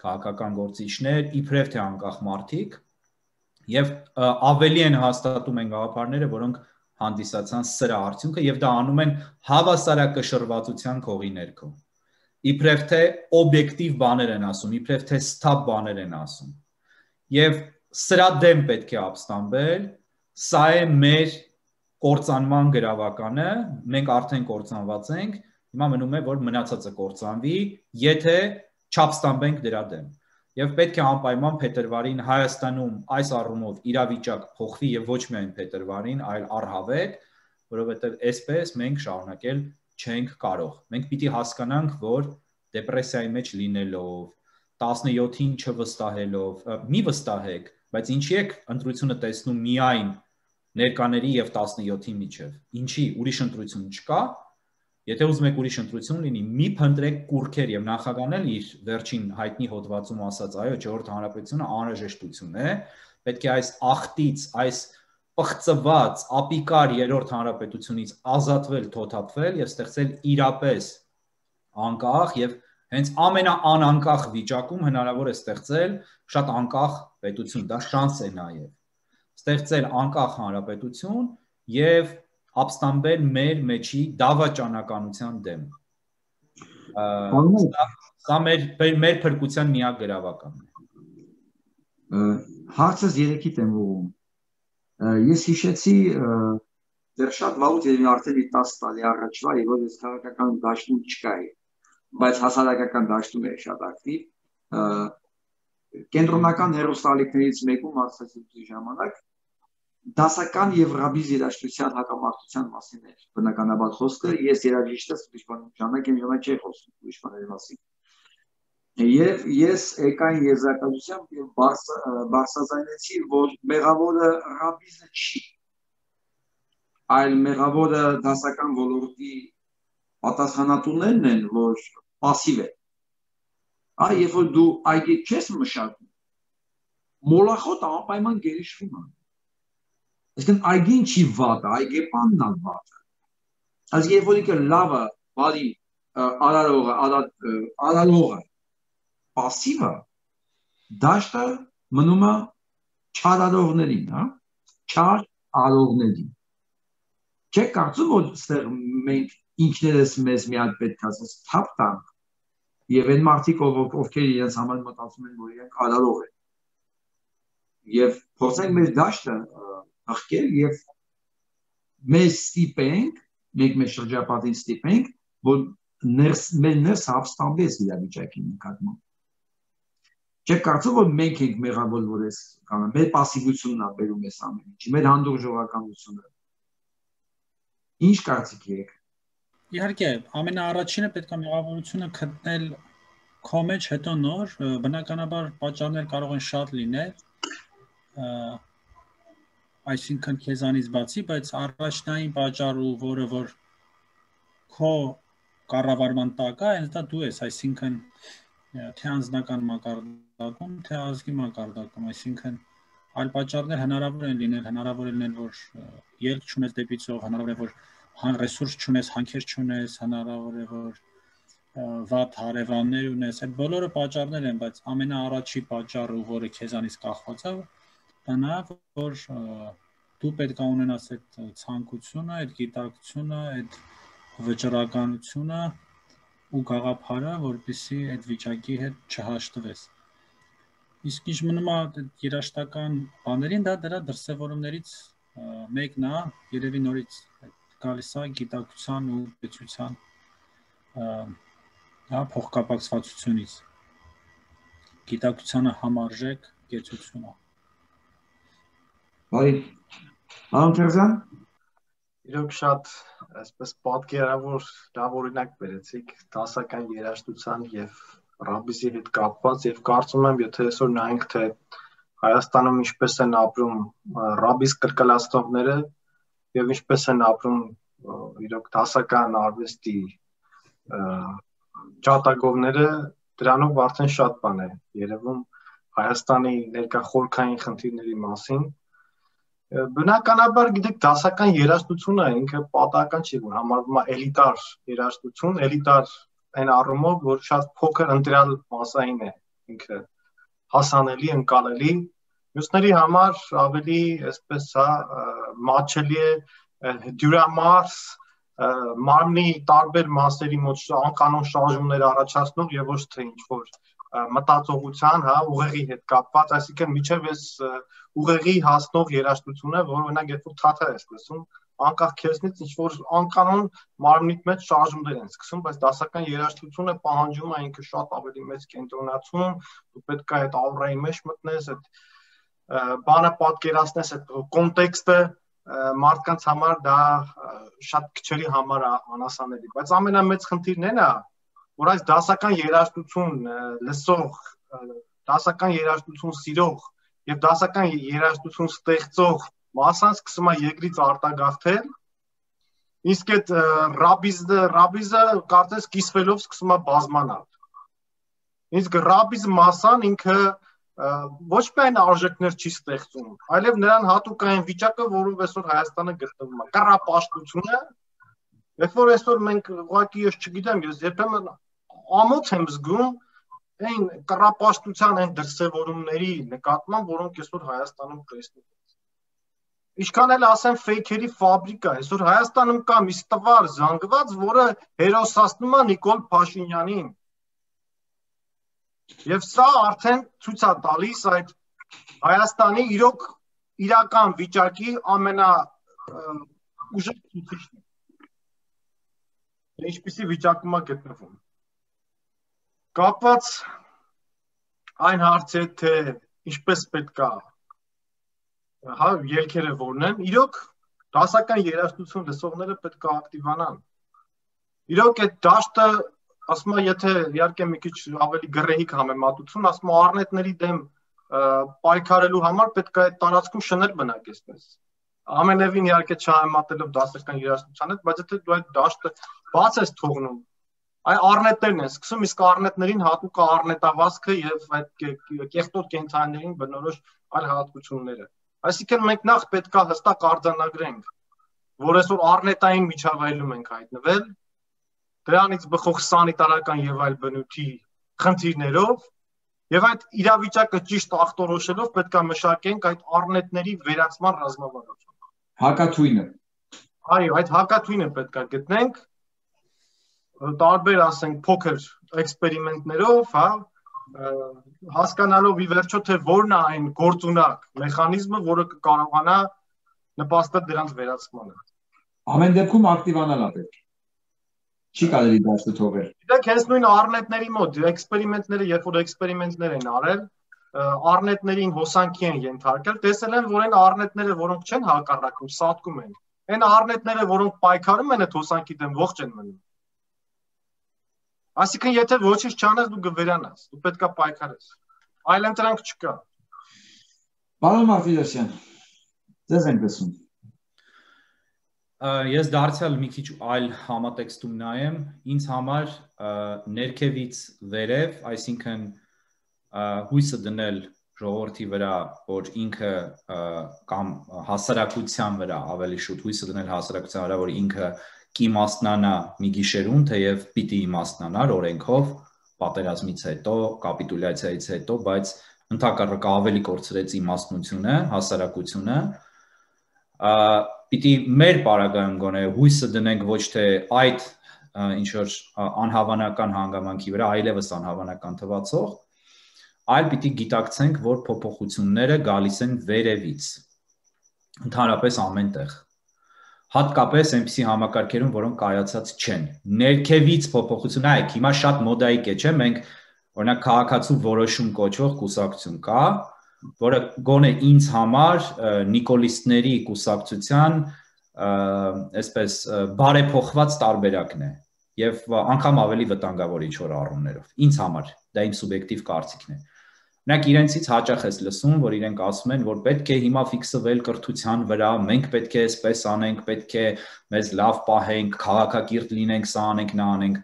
C: քաղաքական գործիչներ, իբրև թե անկախ մարդիկ, եւ ավելի են հաստատում են գաղափարները, որոնք հանդիսացան սրա արդյունքը եւ դա անում են հավասարակշռվածության քողի ներքո։ Իբրև թե օբյեկտիվ բաներ են ասում, իբրև թե սթափ բաներ են ասում։ Եվ սրա դեմ պետք է ապստամբել, սա է մեր կործանման գրավականը, մենք արդեն կործանված ենք, հիմա մնում է որ մնացածը կործանվի, եթե չապստամբենք դրա դեմ։ Եվ պետք է անպայման փետրվարին Հայաստանում այս առումով իրավիճակ փոխվի եւ ոչ միայն փետրվարին, այլ առհավետ, որովհետեւ այսպես մենք շարունակել չենք կարող։ Մենք պիտի հասկանանք, որ դեպրեսիայի մեջ լինելով, 17-ին չվստահելով, մի վստահեք, բայց ինչի եք ընտրությունը տեսնում միայն ներկաների եւ 17-ի միջև։ Ինչի ուրիշ ընտրություն չկա։ Եթե ուզում եք ուրիշ ընտրություն լինի, մի փնտրեք կուրքեր եւ նախագահն էլ իր վերջին հայտնի հոդվածում ասաց, այո, 4-րդ հանրապետությունը անհրաժեշտություն է, պետք է այս ախտից, այս պղծված, ապիկար 3-րդ հանրապետությունից ազատվել, թոթափվել եւ ստեղծել իրապես անկախ եւ հենց ամենաանանկախ վիճակում հնարավոր է ստեղծել շատ անկախ պետություն, դա շանս է նաեւ։ ստեղծել անկախ հանրապետություն եւ ապստամբել մեր մեջի դավաճանականության դեմ։ Սա մեր փրկության միակ գրավականն է։
A: Հարցս երեքիդ եմ ուղում։ Ես հիշեցի դեռ շատ վաղուց եւ արդեն 10 տարի առաջվա, եւ որ ես քաղաքական դաշտում չկայի, բայց հասարակական դաշտում էր շատ ակտիվ։ Կենտրոնական հերոստալիկներից մեկում ասացի ժամանակ դասական եւ ռաբիզ երաժշտության հակամարտության մասին էր բնականաբար խոսքը, ես երաժիշտ եմ, ժամանակ չի խոսում ուրիշ բաների մասին։ Եվ ես եկային եզրակացությամբ եւ բարձրացնեցի, որ մեղավորը ռաբիզը չի, այլ մեղավորը դասական ոլորտի պատասխանատուներն են, որ пассив է։ Այ երբ որ դու այգի չես մշակում, մոլախոտը անպայման գերիշխվում է։ Այսինքն այգին չի վատը, այգեպանն է վատը։ Այս երբ որ ինքը լավը, բարի, արարողը, пассивը, դաշտը մնում է չարարողներին, հա, չար արողներին։ Չեք կարծում, որ ստեղ մենք ինքներս մեզ մի հատ պետք է ասես թափ տանք, եւ այն մարդիկ, ովքեր իրենց համար մտածում են, որ իրենք արարող են։ Եվ փորձենք մեր դաշտը հղկել եւ մեզ ստիպենք, մենք շրջապատին ստիպենք, որ ներս ապստամբես իրավիճակի նկատմամբ։ Չեք կարծում, որ մենք ենք մեղավոր, որ ես կանեմ, մեր պասիվությունն է բերում էս ամեն ինչի, մեր հանդուրժողականությունը։ Ինչ կարծիք եք։
D: Իհարկե, ամենաառաջինը պետք է մեղավորությունը գտնել քո մեջ, հետո նոր, բնականաբար պատճառներ կարող են շատ լինել, այսինքն քեզանից բացի, բայց առաջնային պատճառը, որը որ քո կառավարման տակ է, հենց դա դու ես, այսինքն թե անձնական մակարդակում, թե ազգի մակարդակում, այսինքն այլ պատճառներ հնարավոր են լինել, որ ելք չունես դեպի ծով, հնարավոր է որ ռեսուրս չունես, հանքեր չունես, հնարավոր է որ վատ հարևաններ ունես, այդ բոլորը պատճառներ են, բայց ամենաառաջի պատճառը, որը քեզանից կախված է, դա որ դու պետք է ունենաս այդ ցանկությունը, այդ գիտակցությունը, այդ վճռականությունը ու գաղափարը, որպեսզի այդ վիճակի հետ չհաշտվես։ Իսկ ինչ մնում է երաժշտական բաներին, դա դրա դրսևորումներից մեկն է, երևի նորից գալիս է գիտակցության ու պետության փոխկապակցվածությունից։ Գիտակցությանը համարժեք կեցությունը։
A: Բարի, Ալթերզան,
B: իրոք շատ այսպես պատկերավոր լավ օրինակ բերեցիք դասական երաժշտության եւ ռաբիզի հետ կապված եւ կարծում եմ, եթե այսօր նայենք թե Հայաստանում ինչպես են ապրում ռաբիզ կրկնացնողները եւ ինչպես են ապրում իրոք դասական արվեստի ճատագովները, դրանով արդեն շատ բան է երևում Հայաստանի ներկա խորքային խնդիրների մասին։ Բնականաբար գիտեք դասական երաժշտությունը ինքը պատահական չի, որ համարվում է էլիտար երաժշտություն, էլիտար այն առումով, որ շատ փոքր ընտրյալ մասային է ինքը հասանելի, ընկալելի, մյուսների համար ավելի այսպես մատչելի է դյուրամարս մարմնի տարբեր մասերի մոտ անկանոն շարժումներ առաջացնող եւ ոչ թե ինչ-որ մտածողության, ուղեղի հետ կապված, այսինքն միջև այս ուղեղի հասնող երաժշտությունը, որ օրինակ երբ որ թաթար ես լսում, անկախ քեզնից ինչ-որ անկանոն մարմնիդ մեջ շարժումներ են սկսում, բայց դասական երաժշտությունը պահանջում է ինքը շատ ավելի մեծ կենտրոնացում, դու պետք է այդ աուրայի մեջ մտնես, այդ բանը պատկերացնես, այդ կոնտեքստը մարդկանց համար դա շատ քչերի համար անասանելի, բայց ամենամեծ խնդիրն այն է, որ այս դասական երաժշտություն լսող, դասական երաժշտություն սիրող եւ դասական երաժշտություն ստեղծող մասան սկսում է երկրից արտագաղթել, իսկ այդ ռաբիզը կարծես կիսվելով սկսում է բազմանալ։ Իսկ ռաբիզ մասան ինքը ոչ միայն արժեքներ չի ստեղծում, այլև նրան հատուկ այն վիճակը, որով այսօր Հայաստանը գտնվում է, կռապաշտությունը, երբ որ այսօր մենք ուղղակի ես չգիտեմ, ես երբեմն ամոթ եմ զգում այն կռապաշտության այն դրսևորումների նկատմամբ, որոնք այսօր Հայաստանում տեսնում ենք։ Ինչքան էլ ասեմ ֆեյքերի ֆաբրիկա, այսօր Հայաստանում կա մի ստվար զանգված, որը հերոսացնում է Նիկոլ Փաշինյանին։ Եվ սա արդեն ցույց է տալիս այդ Հայաստանի իրական վիճակի ամենաուժեղ ցուցիչն է։ Ինչպիսի վիճակում է գտնվում։ Կապված այն հարցի հետ, թե ինչպես պետք է ելքերը որն են, իրոք դասական երաժշտություն լսողները պետք է ակտիվանան։ Իրոք այդ դաշտը, ասում եմ, եթե իհարկե մի քիչ ավելի գռեհիկ համեմատություն, ասում եմ, առնետների դեմ պայքարելու համար պետք է այդ տարածքում շներ բնակեցնես։ Ամենևին իհարկե չհամեմատելով դասական երաժշտության հետ, բայց եթե դու այդ դաշտը բաց ես թողնում, այ առնետներն են սկսում, իսկ առնետներին հատուկ է առնետավազքը եւ այդ կեղտոտ կենցաղիներին բնորոշ այլ հատկությունները։ Այսինքն մենք նախ պետք է հստակ արձանագրենք, որ այսօր առնետային միջավայրում ենք հայտնվել, դրանից բխող սանիտարական եւ այլ բնույթի խնդիրներով, եւ այդ իրավիճակը ճիշտ ախտորոշելով պետք է մշակենք այդ առնետների վերացման ռազմավարություն։
A: Հակաթույնը։
B: Այո, այդ հակաթույնը պետք է գտնենք, տարբեր ասենք փոքր էքսպերիմենտներով, հա, հասկանալով ի վերջո թե որն է այն գործունակ մեխանիզմը, որը կկարողանա նպաստել դրանց վերացմանը։
A: Ամեն դեպքում ակտիվանալ է պետք։ Չի կարելի դաշտը թողել։
B: Գիտեք, հենց նույն առնետների մոտ էքսպերիմենտները, երբ որ էքսպերիմենտներ են արել, առնետներին հոսանքի են ենթարկել, տեսել են, որ այն առնետները, որոնք չեն հակառակում, սատկում են։ Այն առնետները, որոնք պայքարում են այդ հոսանքի դեմ, ողջ են մնում։ Այսինքն, եթե ոչինչ չանես, դու կվերանաս, դու պետք է պայքարես։ Այլ ընտրանք չկա։
A: Պարոն Մարտիրոսյան, ձեզ ենք լսում։
C: Ես դարձյալ մի քիչ այլ համատեքստում նայեմ, ինձ համար ներքևից վերև, այսինքն հույսը դնել ժողովրդի վրա, որ ինքը կամ հասարակության վրա ավելի շուտ հույսը դնել հասարակության վրա, որ ինքը կիմաստնանա մի գիշերում, թեև պիտի իմաստնանար օրենքով, պատերազմից հետո, կապիտուլյացիայից հետո, բայց ընդհակառակը ավելի կորցրեց իմաստնությունը, հասարակությունը, պիտի մեր պարագայում գոնե հույսը դնենք ոչ թե այդ ինչ-որ անհավանական հանգամանքի վրա, այլևս անհավանական թվացող, այլ պիտի գիտակցենք, որ փոփոխությունները գալիս են վերևից, ընդհանրապես ամենտեղ, հատկապես այնպիսի համակարգերում, որոնք կայացած չեն, ներքևից փոփոխություն, այք, հիմա շատ մոդայիկ է, չէ, մենք օրինակ քաղաքացու որոշում կոչվող կուսակցություն կա, որը գոնե ինձ համար նիկոլիստների կուսակցության այսպես բարեփոխված տարբերակն է եւ անգամ ավելի վտանգավոր ինչ-որ առումներով ինձ համար դա իմ սուբյեկտիվ կարծիքն է Նրանք իրենցից հաճախ ես լսում, որ իրենք ասում են, որ պետք է հիմա ֆիքսվել կրթության վրա, մենք պետք է այսպես անենք, պետք է մեզ լավ պահենք, քաղաքակիրթ լինենք, սա անենք, նա անենք։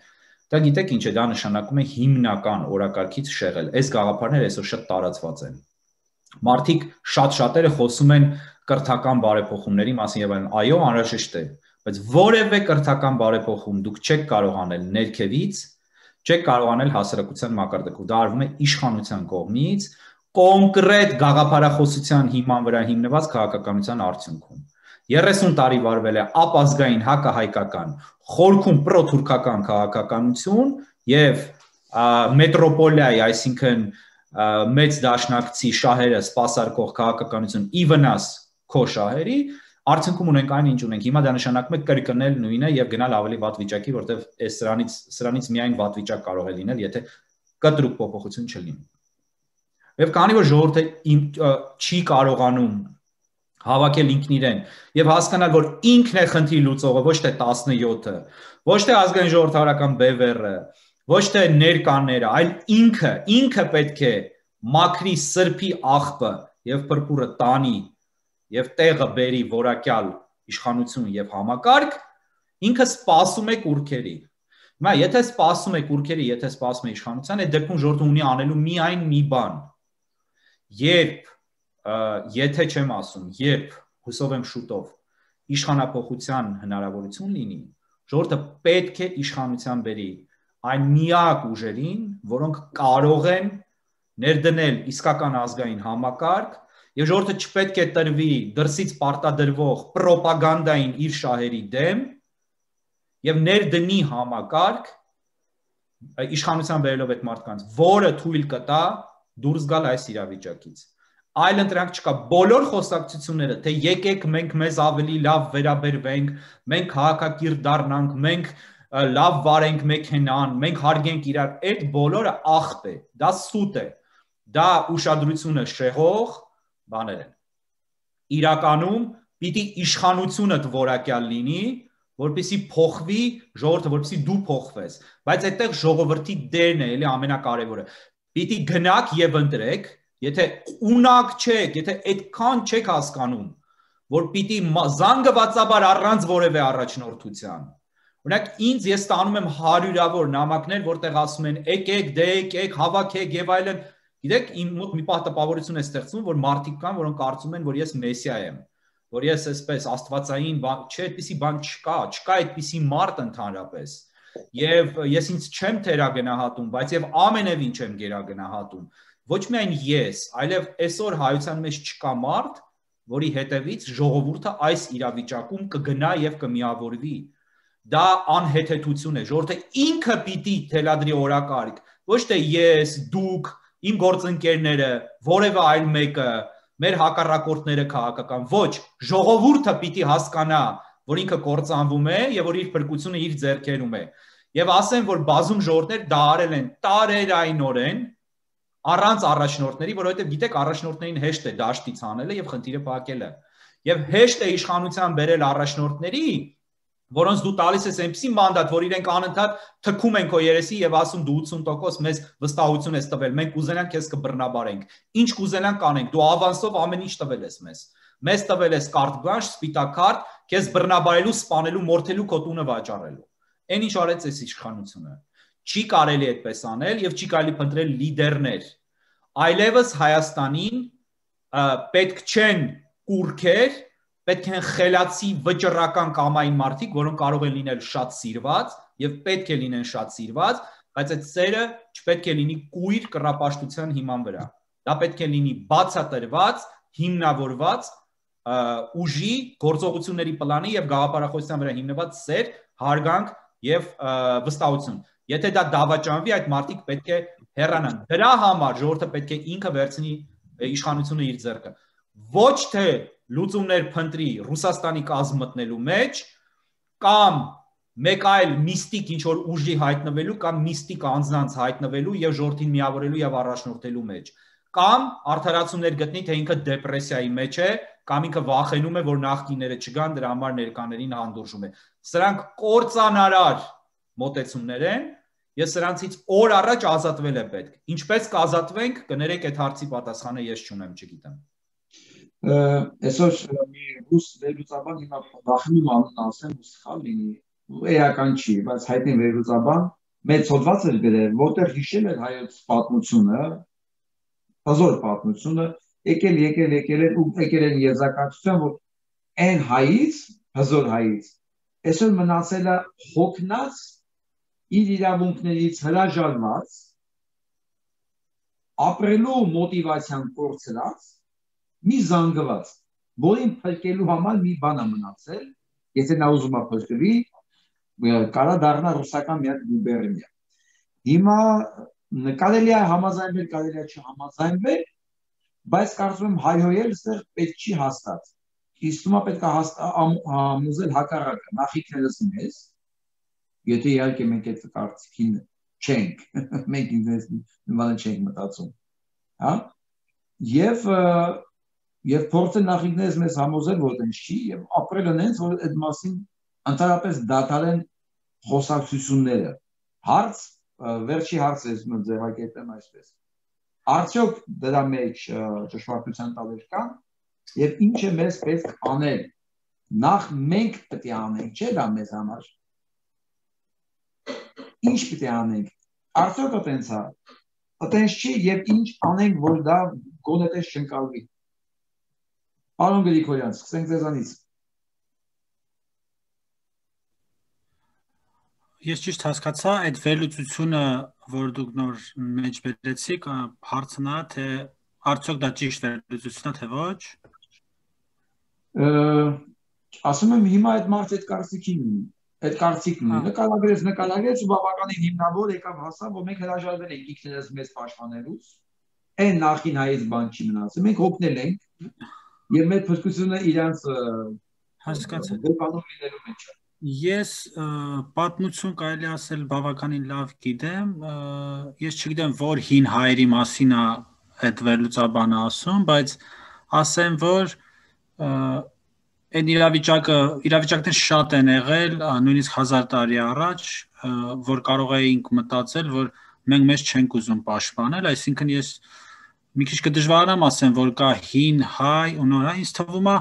C: Դա գիտեք ինչ է, դա նշանակում է հիմնական օրակարգից շեղել։ Այս գաղափարները այսօր շատ տարածված են։ Մարդիկ շատ-շատերը խոսում են կրթական բարեփոխումների մասին եւ այլն։ Այո, անհրաժեշտ է, բայց որևէ կրթական բարեփոխում դուք չեք կարող անել ներքևից, չեք կարող անել հասարակության մակարդակով։ Դա արվում է իշխանության կողմից կոնկրետ գաղափարախոսության հիման վրա հիմնված քաղաքականության արդյունքում։ 30 տարի վարվել է ապազգային հակահայկական, խորքում պրոթուրքական քաղաքականություն եւ մետրոպոլիայի, այսինքն մեծ դաշնակցի շահերը սպասարկող քաղաքականություն ի վնաս քո շահերի, արդյունքում ունենք այն ինչ ունենք։ Հիմա դա նշանակում է կրկնել նույնը եւ գնալ ավելի վատ վիճակի, որտեղ այս սրանից միայն վատ վիճակ կարող է լինել, եթե կտրուկ փոփոխություն չլինի։ Եվ քանի որ ժողովուրդը չի կարողանում հավաքել ինքն իրեն եւ հասկանալ, որ ինքն է խնդրի լուծողը, ոչ թե 17-ը, ոչ թե ազգային ժողովրդավարական բևեռը, ոչ թե ներկաները, այլ ինքը պետք է մաքրի սրբի աղբը եւ փրփուրը տանի եւ տեղը բերի որակյալ իշխանություն եւ համակարգ, ինքը սպասում է կուրքերի։ Հիմա եթե սպասում է կուրքերի, եթե սպասում է իշխանության, այդ դեպքում ժողովուրդը ունի անելու միայն մի բան։ Եթե չեմ ասում, երբ հուսով եմ շուտով իշխանապողության հնարավորություն լինի, ժողովուրդը պետք է իշխանության բերի այն միակ ուժերին, որոնք կարող են ներդնել իսկական ազգային համակարգ եւ ժողովուրդը չպետք է տրվի դրսից պարտադրվող ռոպագանդային իր շահերի դեմ եւ ներդնի համակարգ իշխանության վերելով այդ մարդկանց, որը թույլ կտա դուրս գալ այս իրավիճակից։ Այլ ընտրանք չկա, բոլոր խոսակցությունները, թե եկեք մենք մեզ ավելի լավ վերաբերվենք, մենք քաղաքակիրթ դառնանք, մենք լավ վարենք մեքենան, մենք հարգենք իրար, այդ բոլորը աղբ է, դա սուտ է, դա ուշադրությունը շեղող բաներ են։ Իրականում պիտի իշխանությունդ որակյալ լինի, որպեսզի փոխվի ժողովուրդը, որպեսզի դու փոխվես, բայց այդտեղ ժողովրդի դերն է, էլի ամենակարևորը։ Պիտի գնաք եւ ընտրեք, եթե ունակ չեք, եթե այդքան չեք հասկանում, որ պիտի զանգվածաբար առանց որևէ առաջնորդության։ Օրինակ ինձ ես ստանում եմ հարյուրավոր նամակներ, որտեղ ասում են եկեք, դե եկեք, հավաքեք եւ այլն։ Գիտեք, իմ մոտ մի պահ տպավորություն է ստեղծվում, որ մարդիկ կան, որոնք կարծում են, որ ես մեսիա եմ, որ ես այսպես աստվածային բան, չէ, այդպիսի բան չկա այդպիսի մարդ ընդհանրապես։ Եվ ես ինձ չեմ թերագնահատում, բայց եւ ամենևին չեմ գերագնահատում։ Ոչ միայն ես, այլև այսօր հայության մեջ չկա մարդ, որի հետևից ժողովուրդը այս իրավիճակում կգնա եւ կմիավորվի։ Դա անհեթեթություն է, ժողովուրդը ինքը պիտի թելադրի օրակարգ, ոչ թե ես, դուք, իմ գործընկերները, որևէ այլ մեկը, մեր հակառակորդները քաղաքական, ոչ, ժողովուրդը պիտի հասկանա, որ ինքը կործանվում է եւ որ իր փրկությունը իր ձեռքերում է։ Եվ ասեմ, որ բազում ժողովուրդներ դա արել են տարերայնորեն առանց առաջնորդների, որովհետեւ գիտեք, առաջնորդներին հեշտ է դաշտից հանելը եւ խնդիրը փակելը։ Եվ հեշտ է իշխանության բերել առաջնորդների, որոնց դու տալիս ես այնպիսի մանդատ, որ իրենք անընդհատ թքում են քո երեսի եւ ասում դու 80% մեզ վստահություն ես տվել, մենք կուզենանք քեզ կբռնաբարենք։ Ինչ կուզենանք կանենք, դու ավանսով ամեն ինչ տվել ես մեզ։ Մեզ տվել ես կարտ բլանշ, սպիտակ քարտ, քեզ բռնաբարելու, սպանելու, մորթելու, քո տունը վաճառելու։ Այն ինչ արեց այս իշխանությունը։ Չի կարելի այդպես անել եւ չի կարելի փնտրել լիդերներ։ Այլևս Հայաստանին պետք չեն կուրքեր, պետք են խելացի վճռական կամային մարդիկ, որոնք կարող են լինել շատ սիրված եւ պետք է լինեն շատ սիրված, բայց այդ սերը չպետք է լինի կույր կռապաշտության հիման վրա։ Դա պետք է լինի բացատրված, հիմնավորված ուժի, գործողությունների պլանի եւ գաղափարախոսության վրա հիմնված սեր, հարգանք եւ վստահություն։ Եթե դա դավաճանվի, այդ մարդիկ պետք է հեռանան։ Դրա համար ժողովուրդը պետք է ինքը վերցնի իշխանությունը իր ձեռքը։ Ոչ թե լուծումներ փնտրի Ռուսաստանի կազմ մտնելու մեջ կամ մեկ այլ միստիկ ինչ որ ուժի հայտնվելու կամ միստիկ անձնանց հայտնվելու եւ ժողովրդին միավորելու եւ առաջնորդելու մեջ կամ արդարացումներ գտնի թե ինքը դեպրեսիայի մեջ է կամ ինքը վախենում է որ նախկինները չգան դրա համար ներկաներին հանդուրժում է սրանք կործանարար մոտեցումներ են ես սրանցից օր առաջ ազատվել եմ պետք ինչպես կազատվենք կներեք այդ հարցի պատասխանը ես չունեմ չգիտեմ
A: Այսօր մի ռուս վերլուծաբան հիմա վախենում անուն ասեմ ու սխալ լինի էական չի բայց հայտնի վերլուծաբան մեծ հոդված էր գրել որտեղ հիշել էր հայոց պատմությունը հազոր պատմությունը եկել են եզրակացության որ այն հայից հազոր հայից այսօր մնացել է հոգնած իր իրավունքներից հրաժարված ապրելու մոտիվացիան կորցրած մի զանգված, որին փրկելու համար մի բան է մնացել, եթե նա ուզում է փրկվի, կարա դառնա ռուսական մի հատ գուբերնիա։ Հիմա կարելի է համաձայնվել, կարելի է չհամաձայնվել, բայց կարծում եմ հայհոյել այստեղ պետք չի հաստատ։ Իսկ հիմա պետք է համոզել հակառակը, նախիկներս մեզ, եթե իհարկե մենք այդ կարծիքին չենք, մենք ինձ նման չենք մտածում, հա? Եվ փորձել նախիկներս մեզ համոզել, որ այդպես չի, եւ ապրել այնց, որ այդ մասին ընդհանրապես դադարեն խոսակցությունները։ Հարց, վերջի հարցը ես ձևակերպեմ այսպես։ Արդյոք դրա մեջ ճշմարտության տալեր կան, եւ ինչ է մեզ պետք անել։ Նախ մենք պետք է անենք, չէ՞ դա մեզ համար։ Ինչ պետք է անենք։ Արդյոք այդպես է։ Այդպես չի եւ ինչ անենք, որ դա գոնե տես չընկալվի։ Պարոն Գրիգորյան, սկսենք ձեզանից։
D: Ես ճիշտ հասկացա, այդ վերլուծությունը, որ դուք նոր մեջ բերեցիք, հարցն է, թե Արդյոք դա ճիշտ վերլուծություն է, թե ոչ։
A: Ասում եմ հիմա այդ մարդը այդ կարծիքն ունի, նկարագրեց ու բավականին հիմնավոր եկավ հասավ, որ մենք հրաժարվել ենք ինքներս մեզ պաշտպանելուց, այն նախին հայից բան չի մնացել, մենք հոգնել ենք եւ մեր փրկությունը իրանց
D: հասկացա։
A: բանում լինելու մեջ է։
D: Ես պատմություն կարելի ասել բավականին լավ գիտեմ, ես չգիտեմ որ հին հայերի մասին է այդ վերլուծաբանը ասում, բայց ասեմ որ այն իրավիճակներ շատ են եղել, նույնիսկ 1000 տարի առաջ, որ կարող էինք մտածել, որ մենք մեզ չենք ուզում պաշտպանել, այսինքն ես մի քիչ կդժվարանամ ասեմ, որ կա հին հայ ու նոր հայ, ինձ թվում է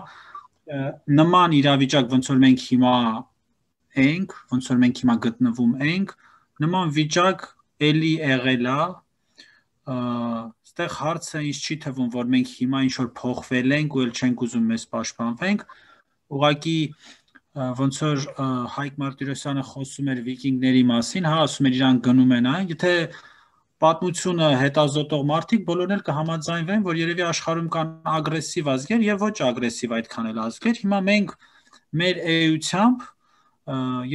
D: նման իրավիճակ ոնց որ մենք հիմա ենք, ոնց որ մենք հիմա գտնվում ենք, նման վիճակ էլի եղել է, այստեղ հարցը ինձ չի թվում, որ մենք հիմա ինչ որ փոխվել ենք ու էլ չենք ուզում մեզ պաշտպանվենք, ուղղակի ոնց որ Հայկ Մարտիրոսյանը խոսում էր վիկինգների մասին, հա, ասում էր իրանք գնում են այն, եթե պատմությունը հետազոտող մարդիկ բոլորն էլ կհամաձայնվեն, որ երևի աշխարհում կան ագրեսիվ ազգեր եւ ոչ ագրեսիվ այդքան էլ ազգեր, հիմա մենք մեր էությամբ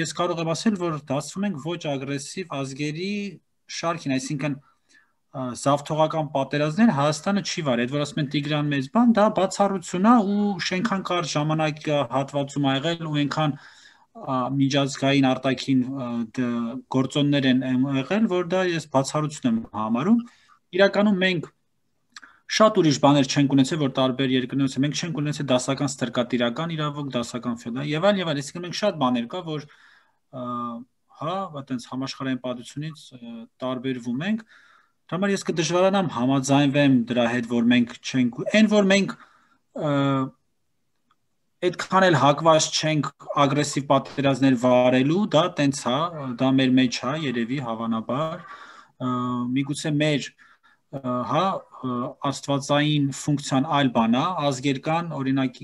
D: ես կարող եմ ասել, որ դասվում ենք ոչ ագրեսիվ ազգերի շարքին, այսինքն զավթողական պատերազմներ Հայաստանը չի վարել, այդ որ ասում են Տիգրան մեծ բան, դա բացառություն է ու շենքան կարճ ժամանակահատվածում ա եղել ու այնքան միջազգային արտաքին գործոններ են եղել, որ դա ես բացառություն եմ համարում։ Իրականում մենք շատ ուրիշ բաներ չենք ունեցել, որ տարբեր երկրներում մենք չենք ունեցել դասական ստրկատիրական իրավունք, դասական ֆեոդալ եւ այլ, այսինքն մենք շատ բաներ կա, որ հա, այտենց համաշխարհային պատմությունից տարբերվում ենք։ Դրա համար ես կդժվարանամ համաձայնվեմ դրա հետ, որ մենք չենք, այն որ մենք այդքան էլ հակված չենք ագրեսիվ պատերազմներ վարելու, դա տենց է, դա մեր մեջ է, երևի հավանաբար, միգուցե մեր հա աստվածային ֆունկցիան այլ բան է, ազգեր կան, օրինակ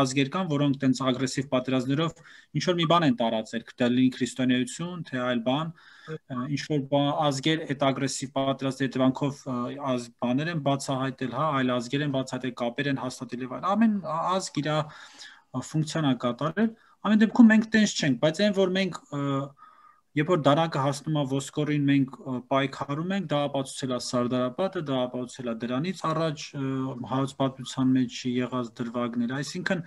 D: ազգեր կան, որոնք տենց ագրեսիվ պատերազմներով ինչ որ մի բան են տարածել, դա լինի քրիստոնեություն, թե այլ բան, ինչ որ ազգեր այդ ագրեսիվ պատերազմների հետևանքով բաներ են բացահայտել, հա, այլ ազգեր են բացահայտել, կապեր են հաստատել եւ այլ, ամեն ազգ իր ֆունկցիան է կատարել, ամեն դեպքում մենք տենց չենք, բայց այն որ մենք երբ որ դանակը հասնում է ոսկորին մենք պայքարում ենք, դա ապացուցել է Սարդարապետը, դա ապացուցել է դրանից առաջ հայոց պատմության մեջ եղած դրվագները, այսինքն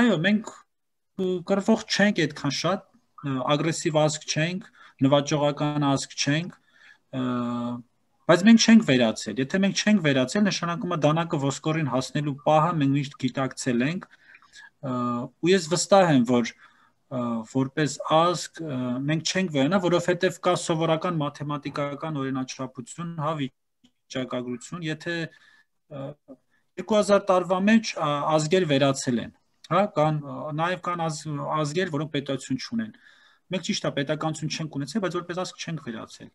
D: այո, մենք կռվող չենք այդքան շատ, ագրեսիվ ազգ չենք, նվաճողական ազգ չենք, բայց մենք չենք վերացել, եթե մենք չենք վերացել, նշանակում է դանակը ոսկորին հասնելու պահը մենք միշտ գիտակցել ենք, ու ես վստահ եմ, որ որպես ազգ մենք չենք վերանա, որովհետև կա սովորական մաթեմատիկական օրինաչափություն, հա, վիճակագրություն, եթե 2000 տարվա մեջ ազգեր վերացել են, հա, կան նաև կան ազգեր, որոնք պետություն չունեն։ Մենք ճիշտ է պետականություն չենք ունեցել, բայց որպես ազգ չենք վերացել։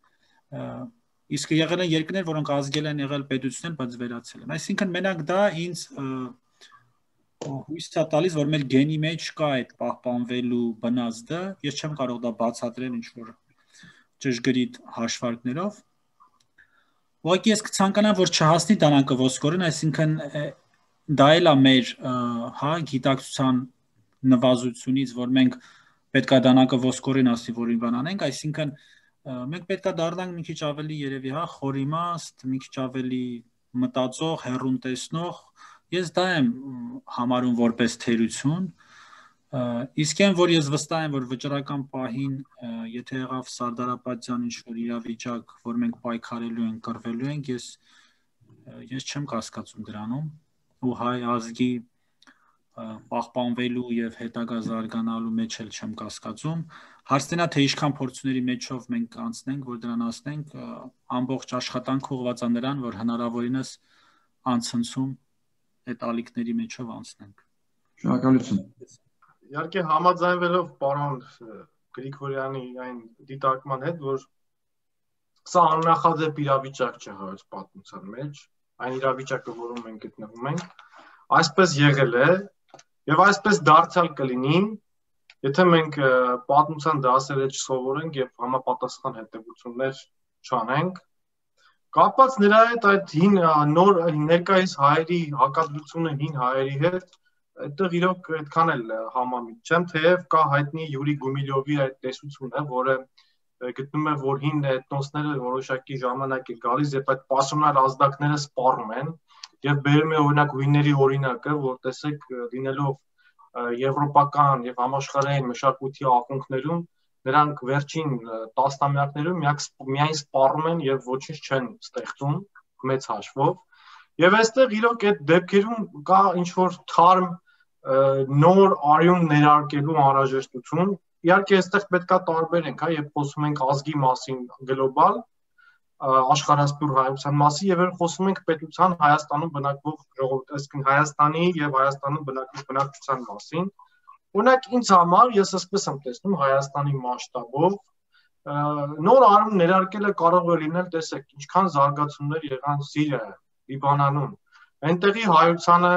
D: Իսկ եղել են երկրներ, որոնք ազգել են եղել պետություն են, բայց վերացել են։ Այսինքն մենակ դա ինձ հույս է տալիս, որ մեր գենի մեջ կա այդ պահպանվելու բնազդը, ես չեմ կարող դա բացատրել ինչ-որ ճշգրիտ հաշվարկներով։ Ուղղակի ես կցանկանամ, որ չհասնի դանակը ոսկորին, այսինքն դա էլ է մեր հա գիտակցության նվազությունից, որ մենք պետք է դանակը ոսկորին ասի, որ բան անենք, այսինքն մենք պետք է դառնանք մի քիչ ավելի երևի հա խորիմաստ, մի քիչ ավելի մտածող, հեռուն տեսնող, ես դա եմ համարում որպես թերություն, իսկ այն որ ես վստահ եմ, որ վճռական պահին, եթե եղավ Սարդարապետյան ինչ-որ իրավիճակ, որ մենք պայքարելու ենք, կռվելու ենք, ես չեմ կասկածում դրանում, ու հայ ազգի պահպանվելու եւ հետագա զարգանալու մեջ էլ չեմ կասկածում, հարցնա թե ինչքան փորձությունների մեջով մենք անցնենք, որ դրան հասնենք, ամբողջ աշխատանք ուղղված է նրան, որ հնարավորինս անցնցում այդ ալիքների մեջով անցնենք։
A: Շնորհակալություն։
B: Իհարկե համաձայնվելով պարոն Գրիգորյանի այն դիտարկման հետ, որ սա աննախադեպ իրավիճակ չէ հայոց պատմության մեջ, այն իրավիճակը, որում մենք գտնվում ենք, այսպես եղել է եւ այսպես դարձյալ կլինի, եթե մենք պատմության դասերը չսովորենք եւ համապատասխան հետևություններ չանենք, Կապված նրա հետ այդ հին նոր ներկայիս հայերի հակադրությունը հին հայերի հետ, այդտեղ իրոք այդքան էլ համամիտ չեմ, թեև կա հայտնի Յուրի Գումիլյովի այդ տեսությունը, որը գտնում է, որ հին էթնոսները որոշակի ժամանակ է գալիս, երբ այդ պասոնար ազդակները սպառում են, եւ բերում է օրինակ հույների օրինակը, որ տեսեք լինելով եվրոպական եւ համաշխարհային մշակույթի ակունքներում նրանք վերջին տասնամյակներում միայն սպառում են եւ ոչինչ չեն ստեղծում մեծ հաշվով եւ այստեղ իրոք այդ դեպքերում կա ինչ որ թարմ նոր արյուն ներարկելու անհրաժեշտություն իհարկե այստեղ պետքա տարբերենք, հա, երբ խոսում ենք ազգի մասին գլոբալ աշխարհասփյուր հայության մասին եւ երբ խոսում ենք պետության Հայաստանում բնակվող ժողովուրդ, այսինքն Հայաստանի եւ Հայաստանում բնակվող բնակչության մասին Օրինակ ինձ համար ես այսպես եմ տեսնում Հայաստանի մասշտաբով նոր արում ներարկելը կարող է լինել, տեսեք, ինչքան զարգացումներ եղան Սիրիայում, Լիբանանում, այնտեղի հայությանը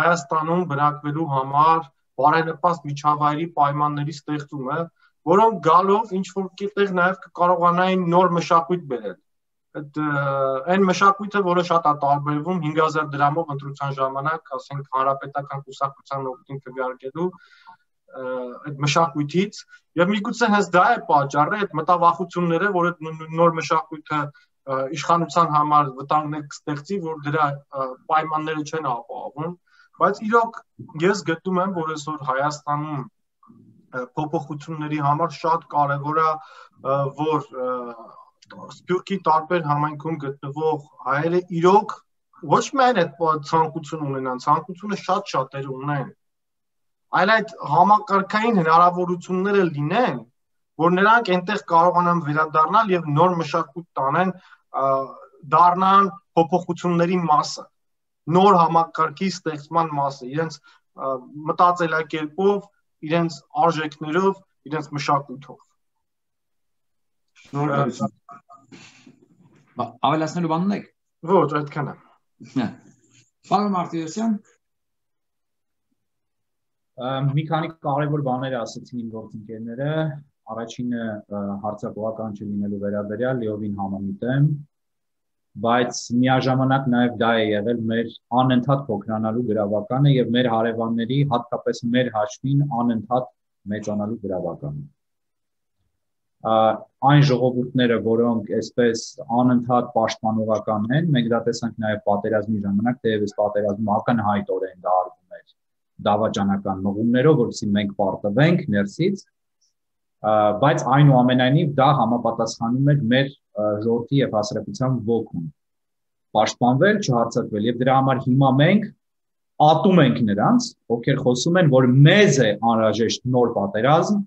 B: Հայաստանում բնակվելու համար բարենպաստ միջավայրի պայմանների ստեղծումը, որոնք գալով ինչ որ կետեղ նաև կարողանային նոր մշակույթ բերել։ Այն մշակույթը, որը շատ է տարբերվում 5000 դրամով ընտրության ժամանակ, ասենք հանրապետական կուսակցության օգտին քվեարկելու այդ մշակույթից եւ միգուցե հենց դա է պատճառը այդ մտավախությունները, որ այդ նոր մշակույթը իշխանության համար վտանգներ կստեղծի, որ դրա պայմանները չեն ապահովում, բայց իրոք ես գտնում եմ, որ այսօր Հայաստանում փոփոխությունների համար շատ կարեւոր է, որ Սփյուռքի տարբեր համայնքում գտնվող հայերը իրոք ոչ միայն այդ ցանկություն ունենան, ցանկությունը շատ-շատերը ունեն, այլ այդ համակարգային հնարավորությունները լինեն, որ նրանք այնտեղ կարողանան վերադառնալ եւ նոր մշակույթ տանեն, դառնան փոփոխությունների մասը, նոր համակարգի ստեղծման մասը, իրենց մտածելակերպով, իրենց արժեքներով, իրենց մշակույթով։
A: Շնորհակալություն։ Ավելացնելու բան ունեք։
B: Ոչ, այդքան է։
A: Պարոն Մարտիրոսյան։
C: Մի քանի կարևոր բաներ ասացին իմ գործընկերները, առաջինը հարցակողական չլինելու վերաբերյալ լիովին համամիտ եմ, բայց միաժամանակ նաև դա է եղել մեր անընդհատ փոքրանալու գրավականը եւ մեր հարևանների, հատկապես մեր հաշվին անընդհատ մեծանալու գրավականը։ Այն ժողովուրդները, որոնք այսպես անընդհատ պաշտպանողական են, մենք դա տեսանք նաև պատերազմի ժամանակ, թեև պատերազմը ակնհայտորեն դա արվում էր դավաճանական մղումներով, որովհետեւ մենք պարտվենք ներսից, բայց այնուամենայնիվ դա համապատասխանում էր մեր ժողովրդի եւ հասարակության ոգուն։ Պաշտպանվել, չհարցակվել եւ դրա համար հիմա մենք ատում ենք նրանց, ովքեր խոսում են, որ մեզ է անհրաժեշտ նոր պատերազմ,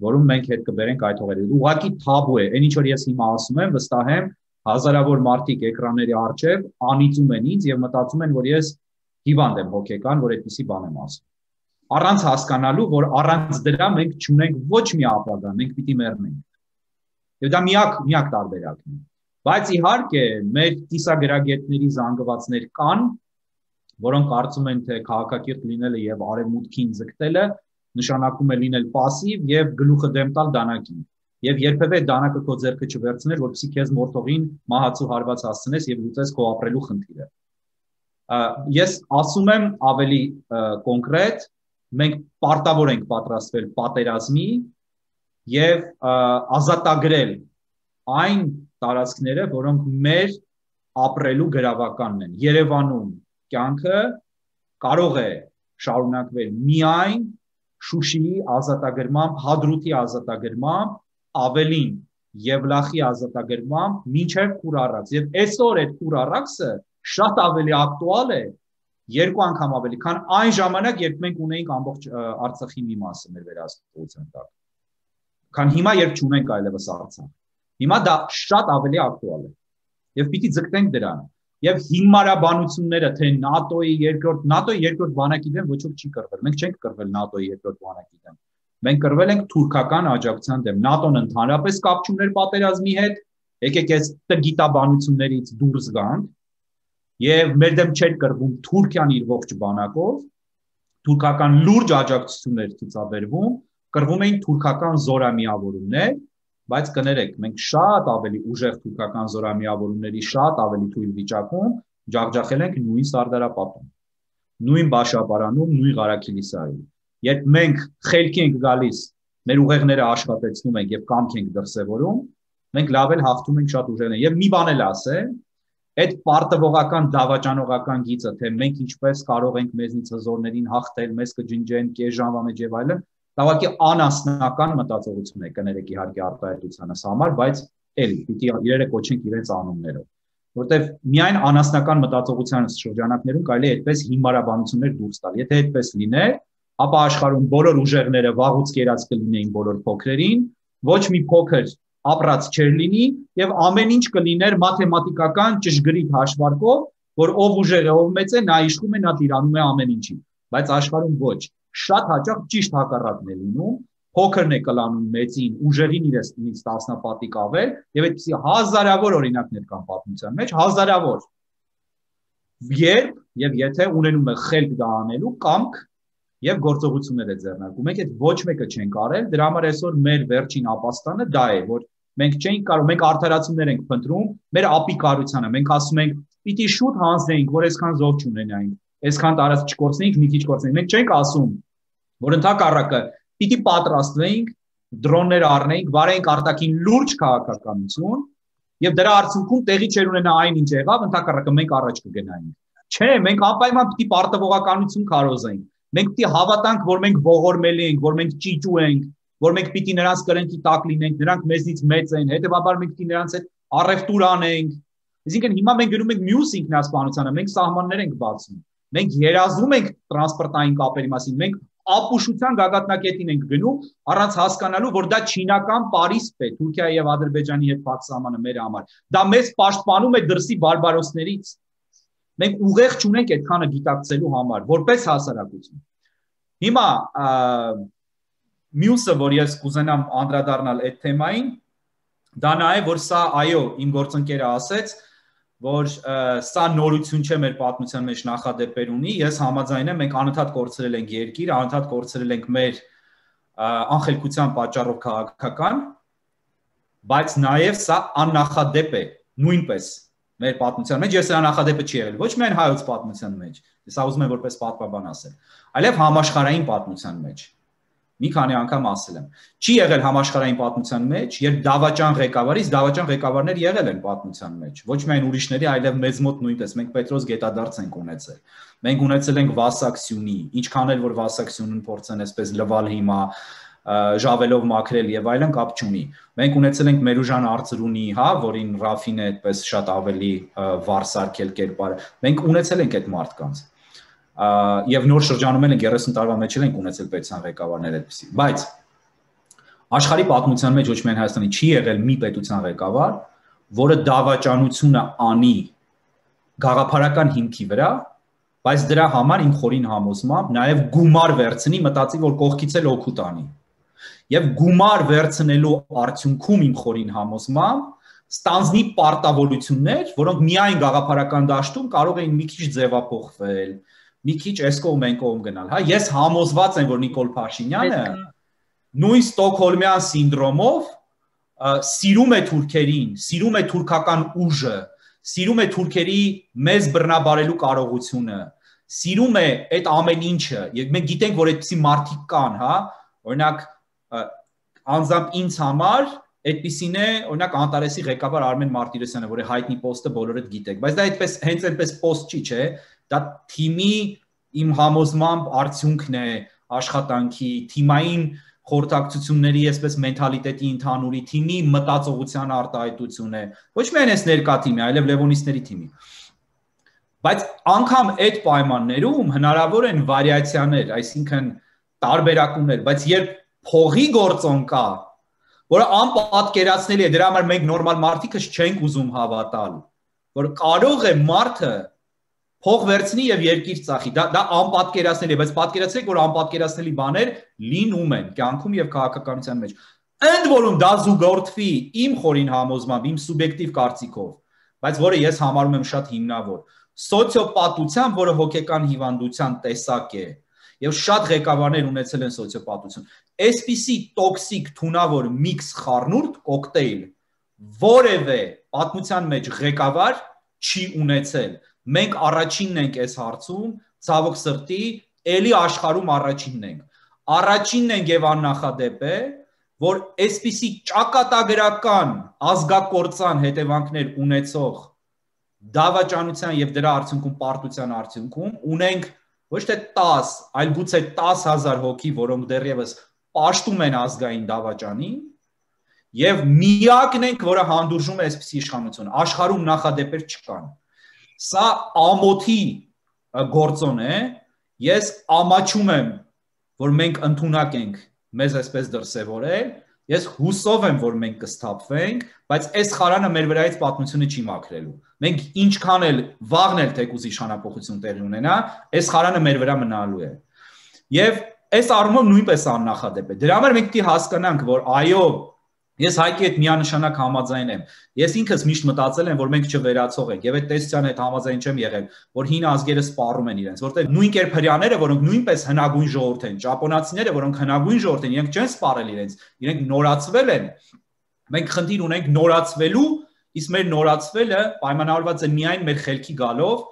C: որում մենք հետ կբերենք այդ հողերը։ Ուղղակի թաբու է, այնինչ որ ես հիմա ասում եմ, վստահ եմ, հազարավոր մարդիկ էկրանների առջև անիծում են ինձ եւ մտածում են, որ ես հիվանդ եմ հոգեկան, որ այդպիսի բան եմ ասում։ Առանց հասկանալու, որ առանց դրա մենք չունենք ոչ մի ապագա, մենք պիտի մեռնենք։ Եվ դա միակ տարբերակն է։ Բայց իհարկե մեր կիսագրագետների զանգվածներ կան, որոնք կարծում են, թե քաղաքակիրթ լինելը եւ արևմուտքին ձգտելը նշանակում է լինել пассив եւ գլուխը դեմ տալ դանակին եւ երբեւե դանակը քո ձեռքը չվերցներ, որպեսզի քեզ մորթողին մահացու հարված հասցնես եւ լուծես քո ապրելու խնդիրը։ Ես ասում եմ ավելի կոնկրետ, մենք պարտավոր ենք պատրաստվել պատերազմի եւ ազատագրել այն տարածքները, որոնք մեր ապրելու գրավականն են։ Երևանում կյանքը կարող է շարունակվել միայն Շուշիի ազատագրմամբ, Հադրութի ազատագրմամբ, ավելին Եվլախի ազատագրմամբ, մինչև Քուրառաքս։ Եվ այսօր այդ Քուրառաքսը շատ ավելի ակտուալ է, երկու անգամ ավելի, քան այն ժամանակ, երբ մենք ունեինք ամբողջ Արցախի մի մասը մեր վերահսկողության տակ։ Քան հիմա, երբ չունենք այլևս Արցախ։ Հիմա դա շատ ավելի ակտուալ է։ Եվ պիտի ձգտենք դրան։ Եվ հիմարաբանությունները, թե ՆԱՏՕ-ի երկրորդ բանակի դեմ ոչ ոք չի կռվել։ Մենք չենք կռվել ՆԱՏՕ-ի երկրորդ բանակի դեմ։ Մենք կռվել ենք թուրքական աջակցության դեմ։ ՆԱՏՕ-ն ընդհանրապես կապ չուներ պատերազմի հետ։ Եկեք այս տգիտաբանություններից դուրս գանք։ Եվ մեր դեմ չէր կռվում Թուրքիան իր ողջ բանակով։ Թուրքական լուրջ աջակցություններ ցուցաբերվում, կռվում էին թուրքական զորամիավորումներ բայց կներեք, մենք շատ ավելի ուժեղ թուրքական զորամիավորումների շատ ավելի թույլ վիճակում ջախջախել ենք նույն Սարդարապատում, նույն Բաշապարանում, նույն Ղարաքիլիսարում։ Երբ մենք խելքի ենք գալիս, մեր ուղեղները աշխատեցնում ենք եւ կամք ենք դրսևորում, մենք լավ էլ հաղթում ենք շատ ուժերներ։ Եվ մի բան էլ ասեմ, այդ պարտվողական դավաճանողական գիծը, թե մենք ինչպես կարող ենք մեզնից հզորներին հաղթել, մեզ կջնջեն կես ժամվա մեջ եւ այլն, Տավակի անասնական մտածողություն է, կներեք իհարկե արտահայտությանս համար, բայց էլի պիտի իրերը կոչենք իրենց անուններով, որտեվ միայն անասնական մտածողության շրջանակներում կարելի է այդպես հիմարաբանություններ դուրս տալ։ Եթե այդպես լիներ, ապա աշխարհում բոլոր ուժեղները վաղուց կերած կլինեին բոլոր փոքրերին, ոչ մի փոքր ապրած չէր լինի եւ ամեն ինչ կլիներ մաթեմատիկական ճշգրիտ հաշվարկով, որ ով ուժեղ է, ով մեծ է, նա իշխում է, նա տիրանում է ամեն ինչին, բայց աշխարհում ոչ, շատ հաճախ ճիշտ հակառակն է լինում, փոքրն է կլանում մեծին, ուժեղին իրենից տասնապատիկ ավել եւ այդպիսի հազարավոր օրինակներ կան պատմության մեջ, հազարավոր։ Երբ եւ եթե ունենում է խելք դա անելու կամք եւ գործողություններ է ձեռնարկում, մենք այդ ոչ մեկը չենք արել, դրա համար այսօր մեր վերջին ապաստանը դա է, որ մենք չենք կարող, մենք արդարացումներ ենք փնտրում մեր ապիկարությանը, մենք ասում ենք պիտի շուտ հանձնեինք, որ այսքան զոհ չունենայինք, այսքան տարածք չկորցնեինք, մի քիչ կորցնեինք, մենք չենք ասում, որ ընդհակառակը պիտի պատրաստվեինք, դրոններ առնեինք, վարեինք արտաքին լուրջ քաղաքականություն եւ դրա արդյունքում տեղի չեր ունենա այնինչ եղավ, ընդհակառակը մենք առաջ կգնայինք։ Չէ, մենք անպայման պիտի պարտվողականություն քարոզենք։ Մենք պիտի հավատանք, որ մենք ողորմելի ենք, որ մենք ճիճու ենք, որ մենք պիտի նրանց կրենքի տակ լինենք, նրանք մեզնից մեծ են, հետեւաբար մենք պիտի նրանց հետ առևտուր անենք։ Այսինքն հիմա մենք գնում ենք մյուս ինքնասպանությանը, մենք սահմաններ ենք բացում։ Մենք երազում ենք տրանսպորտային կապերի մասին, մենք ապուշության գագաթնակետին ենք գնում, առանց հասկանալու, որ դա չինական Փարիսպ է, Թուրքիայի եւ Ադրբեջանի հետ փակ սահմանը մեր համար։ Դա մեզ պաշտպանում է դրսի բարբարոսներից։ Մենք ուղեղ չունենք այդքանը գիտակցելու համար, որպես հասարակություն։ Հիմա մյուսը, որ ես կուզենամ անդրադառնալ այդ թեմային, դա նա է, որ սա, այո, իմ գործընկերը ասեց, որ սա նորություն չէ մեր պատմության մեջ նախադեպեր ունի, ես համաձայն եմ, մենք անընդհատ կորցրել ենք երկիր, անընդհատ կորցրել ենք մեր անխելքության պատճառով քաղաքական, բայց նաև սա աննախադեպ է, նույնպես մեր պատմության մեջ, ես սա նախադեպը չի եղել, ոչ միայն հայոց պատմության մեջ, ես ուզում եմ որպես պատմաբան ասել, այլև համաշխարհային պատմության մեջ, մի քանի անգամ ասել եմ, չի եղել համաշխարհային պատմության մեջ, երբ դավաճան ղեկավարից դավաճան ղեկավարներ եղել են պատմության մեջ, ոչ միայն ուրիշների, այլև մեզ մոտ նույնպես, մենք Պետրոս Գետադարձ ենք ունեցել, մենք ունեցել ենք Վասակսյունի, ինչքան էլ որ Վասակսյունին փորձեն այսպես լվալ հիմա ժավելով մաքրել եւ այլն կապ չունի։ Մենք ունեցել ենք Մերուժան Արծրունի, հա, որին Ռաֆին է այդպես շատ ավելի վարսարկել կերպարը։ Մենք ունեցել ենք այդ մարդկանց։ Եվ նոր շրջանում ենք 30 տարվա մեջ ենք ունեցել պետության ղեկավարներ այդպեսի։ Բայց աշխարհի պատմության մեջ ոչ միայն Հայաստանի չի եղել մի պետության ղեկավար, որը դավաճանությունը անի գաղափարական հիմքի վրա, բայց դրա համար իմ խորին համոզմամբ նաև գումար վերցնի, մտածի, որ կողքից էլ օգուտ անի։ Եվ գումար վերցնելու արդյունքում իմ խորին համոզմամբ ստանձնի պարտավորություններ, որոնք միայն գաղափարական դաշտում կարող էին մի քիչ ձևափոխվել, մի քիչ այս կողմ այն կողմ գնալ, հա, ես համոզված եմ, որ Նիկոլ Փաշինյանը նույն Ստոկհոլմյան սինդրոմով սիրում է թուրքերին, սիրում է թուրքական ուժը, սիրում է թուրքերի մեզ բռնաբարելու կարողությունը, սիրում է այդ ամեն ինչը, եւ մենք գիտենք, որ այդպիսի մարդիկ կան, հա, օրինակ անձամբ ինձ համար այդպիսին է, օրինակ Անտարեսի ղեկավար Արմեն Մարտիրոսյանը, որի հայտնի պոստը բոլորդ գիտեք, բայց դա այդպես հենց այնպես պոստ չի, չէ, դա թիմի իմ համոզմամբ արդյունքն է աշխատանքի, թիմային խորհրդակցությունների այսպես մենթալիտետի ընդհանուրի թիմի մտածողության արտահայտություն է, ոչ միայն այս ներկա թիմի, այլև Լևոնիստների թիմի։ Բայց անգամ այդ պայմաններում հնարավոր են վարիացիաներ, այսինքն տարբերակումներ, բայց երբ փողի գործոն կա, որը անպատկերացնելի է, դրա համար մենք նորմալ մարդիկս չենք ուզում հավատալ, որ կարող է մարդը փող վերցնի եւ երկիր ծախի, դա անպատկերացնելի է, բայց պատկերացրեք, որ անպատկերացնելի բաներ լինում են կյանքում եւ քաղաքականության մեջ։ Ընդ որում դա զուգորդվի իմ խորին համոզմամբ, իմ սուբյեկտիվ կարծիքով, բայց որը ես համարում եմ շատ հիմնավոր, սոցիոպատության, որը հոգեկան հիվանդության տեսակ է, Եվ շատ ղեկավարներ ունեցել են սոցիոպատություն։ Այսպիսի տոքսիկ թունավոր միքս խառնուրդ կոկտեյլ որևէ պատմության մեջ ղեկավար չի ունեցել։ Մենք առաջինն ենք այս հարցում, ցավոք սրտի, էլի աշխարհում առաջինն ենք։ Առաջինն ենք եւ աննախադեպ է, որ այսպիսի ճակատագրական ազգակործան հետևանքներ ունեցող դավաճանության եւ դրա արդյունքում պարտության արդյունքում ունենք ոչ թե 10, այլ գուցե 10,000 հոգի, որոնք դեռևս պաշտում են ազգային դավաճանին, եւ միակն ենք, որը հանդուրժում է այսպիսի իշխանություն։ Աշխարհում նախադեպեր չկան։ Սա ամոթի գործոն է։ Ես ամաչում եմ, որ մենք ընդունակ ենք մեզ այսպես դրսևորել։ Ես հուսով եմ, որ մենք կսթափվենք, բայց այս խարանը մեր վրայից պատմությունը չի մաքրելու։ Մենք ինչքան էլ վաղն էլ թեկուզ իշխանապողություն տեղի ունենա, այս խարանը մեր վրա մնալու է։ Եվ այս առումով նույնպես աննախադեպ է։ Դրա համար մենք պետք է հասկանանք, որ այո, ես Հայկի հետ միանշանակ համաձայն եմ։ Ես ինքս միշտ մտածել եմ, որ մենք չվերացող ենք, եւ այդ տեսության հետ համաձայն չեմ եղել, որ հին ազգերը սպառում են իրենց, որտեղ նույն կերպարյաները, որոնք նույնպես հնագույն ժողովուրդ են, ճապոնացիները, որոնք հնագույն ժողովուրդ են, իրենք չեն սպառել իրենց, իրենք նորացվել են։ Մենք խնդիր ունենք նորացվելու, իսկ մեր նորացվելը պայմանավորված է միայն մեր խելքի գալով,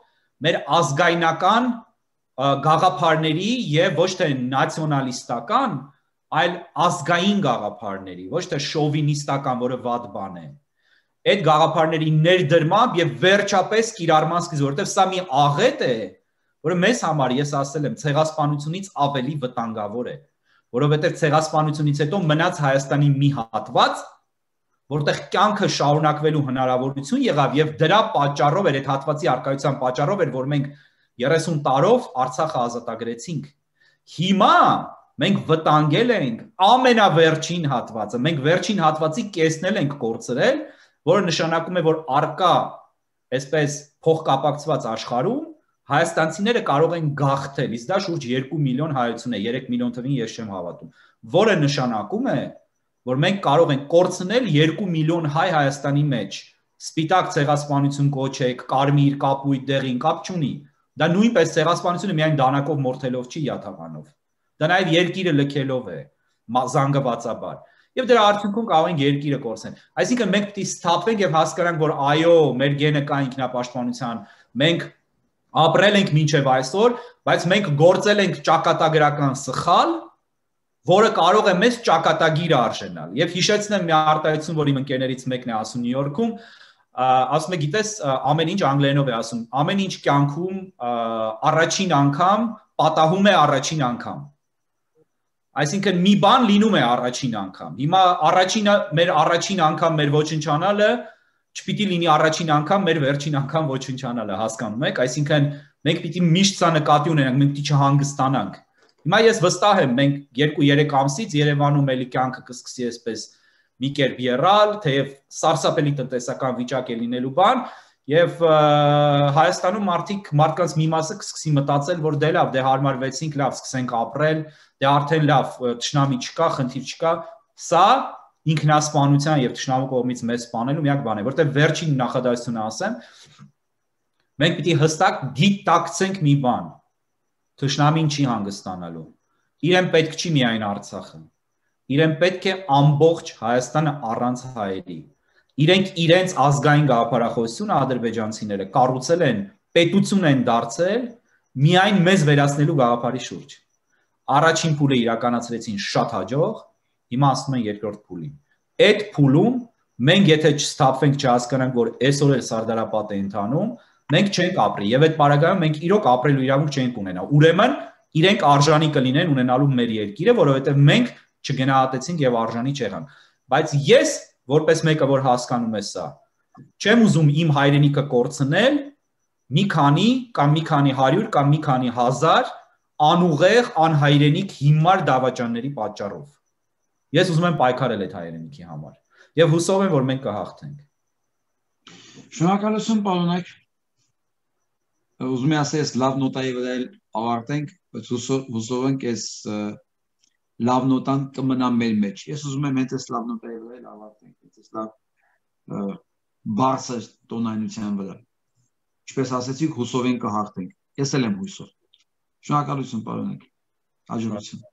C: մեր ազգայնական գաղափարների եւ ոչ թե նացիոնալիստական, այլ ազգային գաղափարների, ոչ թե շովինիստական, որը վատ բան է։ Այդ գաղափարների ներդրմամբ եւ վերջապես կիրառման սկիզբ, որովհետեւ սա մի աղետ է, որը մեզ համար, ես ասել եմ, ցեղասպանությունից ավելի վտանգավոր է, որովհետեւ ցեղասպանությունից հետո մնաց Հայաստանի մի հատված, որտեղ կյանքը շարունակվելու հնարավորություն եղավ եւ դրա պատճառով էր, այդ հատվածի արկայության պատճառով էր, որ մենք 30 տարով Արցախը ազատագրեցինք։ Հիմա մենք վտանգել ենք ամենավերջին հատվածը, մենք վերջին հատվածի կեսն էլ ենք կորցրել, որը նշանակում է, որ արկա այսպես փոխկապակցված աշխարհում հայաստանցիները կարող են գաղթել, իսկ դա շուրջ 2 միլիոն հայություն է, 3 միլիոն թվին ես չեմ հավատում, որը նշանակում է, որ մենք կարող ենք կորցնել 2 միլիոն հայ Հայաստանի մեջ, սպիտակ ցեղասպանություն կոչեք, կարմիր, կապույտ, դեղին կապ չունի, դա նույնպես ցեղասպանությունը միայն դանակով մորթելով չի յաթականով, դա նաև երկիրը լքելով է, զանգվածաբար, եւ դրա արդյունքում կարող ենք երկիրը կորցնել, այսինքն մենք պետք է սթափվենք եւ հասկանանք, որ այո, մեր գենը կա ինքնապաշտպանության, մենք ապրել ենք մինչև այսօր, բայց մենք գործել ենք ճակատագրական սխալ, որը կարող է մեզ ճակատագիրը արժենալ։ Եվ հիշեցնեմ մի արտահայտություն, որ իմ ընկերներից մեկն է ասում Նյու Յորքում, ասում է, գիտես, ամեն ինչ անգլերենով է ասում, ամեն ինչ կյանքում առաջին անգամ պատահում է առաջին անգամ։ Այսինքն մի բան լինում է առաջին անգամ։ Հիմա մեր առաջին անգամ մեր ոչնչանալը չպիտի լինի առաջին անգամ մեր վերջին անգամ ոչնչանալը, հասկանում եք, այսինքն մենք պիտի միշտ սա նկատի ունենանք, մենք պիտի չհանգստանանք։ Հիմա ես վստահ եմ, մենք 2-3 ամսից Երևանում էլի կյանքը կսկսի այսպես մի կերպ եռալ, թեև սարսափելի տնտեսական վիճակ է լինելու բան, եւ Հայաստանում մարդկանց մի մասը կսկսի մտածել, որ դե լավ, դե հարմարվեցինք, լավ, սկսենք ապրել, դե արդեն լավ, թշնամի չկա, խնդիր չկա, սա ինքնասպանության եւ թշնամու կողմից մեզ սպանելու միակ բան է, որտեղ վերջին նախադասությունը ասեմ, մենք պիտի հստակ դիտակցենք մի բան, թշնամին չի հանգստանալու, իրեն պետք չի միայն Արցախը, իրեն պետք է ամբողջ Հայաստանը առանց հայերի, իրենք իրենց ազգային գաղափարախոսությունը ադրբեջանցիները կառուցել են, պետություն են դարձել միայն մեզ վերացնելու գաղափարի շուրջ, առաջին փուլը իրականացրեցին շատ հաջող, հիմա ասում են երկրորդ փուլին, այդ փուլում մենք եթե չստափվենք, չհասկանանք, որ այսօր էլ սարդարապատ է ընթանում, մենք չենք ապրի եւ այդ պարագայում մենք իրոք ապրելու իրավունք չենք ունենա։ Ուրեմն իրենք արժանի կլինեն ունենալու մեր երկիրը, որովհետեւ մենք չգնահատեցինք եւ արժանի չեղանք։ Բայց ես որպես մեկը, որ հասկանում է սա, չեմ ուզում իմ հայրենիքը կորցնել մի քանի կամ մի քանի 100 կամ մի քանի 1000 անուղեղ անհայրենիք հիմար դավաճանների պատճառով։ Ես ուզում եմ պայքարել այդ հայրենիքի համար եւ հուսով եմ, որ մենք կհաղթենք։
A: Շնորհակալություն, պարոնայք։ Ուզում եմ ասել, լավ նոտայի վրա ավարտենք, բայց հուսով ենք այս լավ նոտան կմնա մեր մեջ։ Ես ուզում եմ հենց այս լավ նոտայի վրա ավարտենք, այս լավ բարձր տոնայնության վրա։ Ինչպես ասեցիք, հուսով ենք կհաղթենք։ Ես էլ եմ հույսով։ Շնորհակալություն, պարոնայք։ Հաջողություն։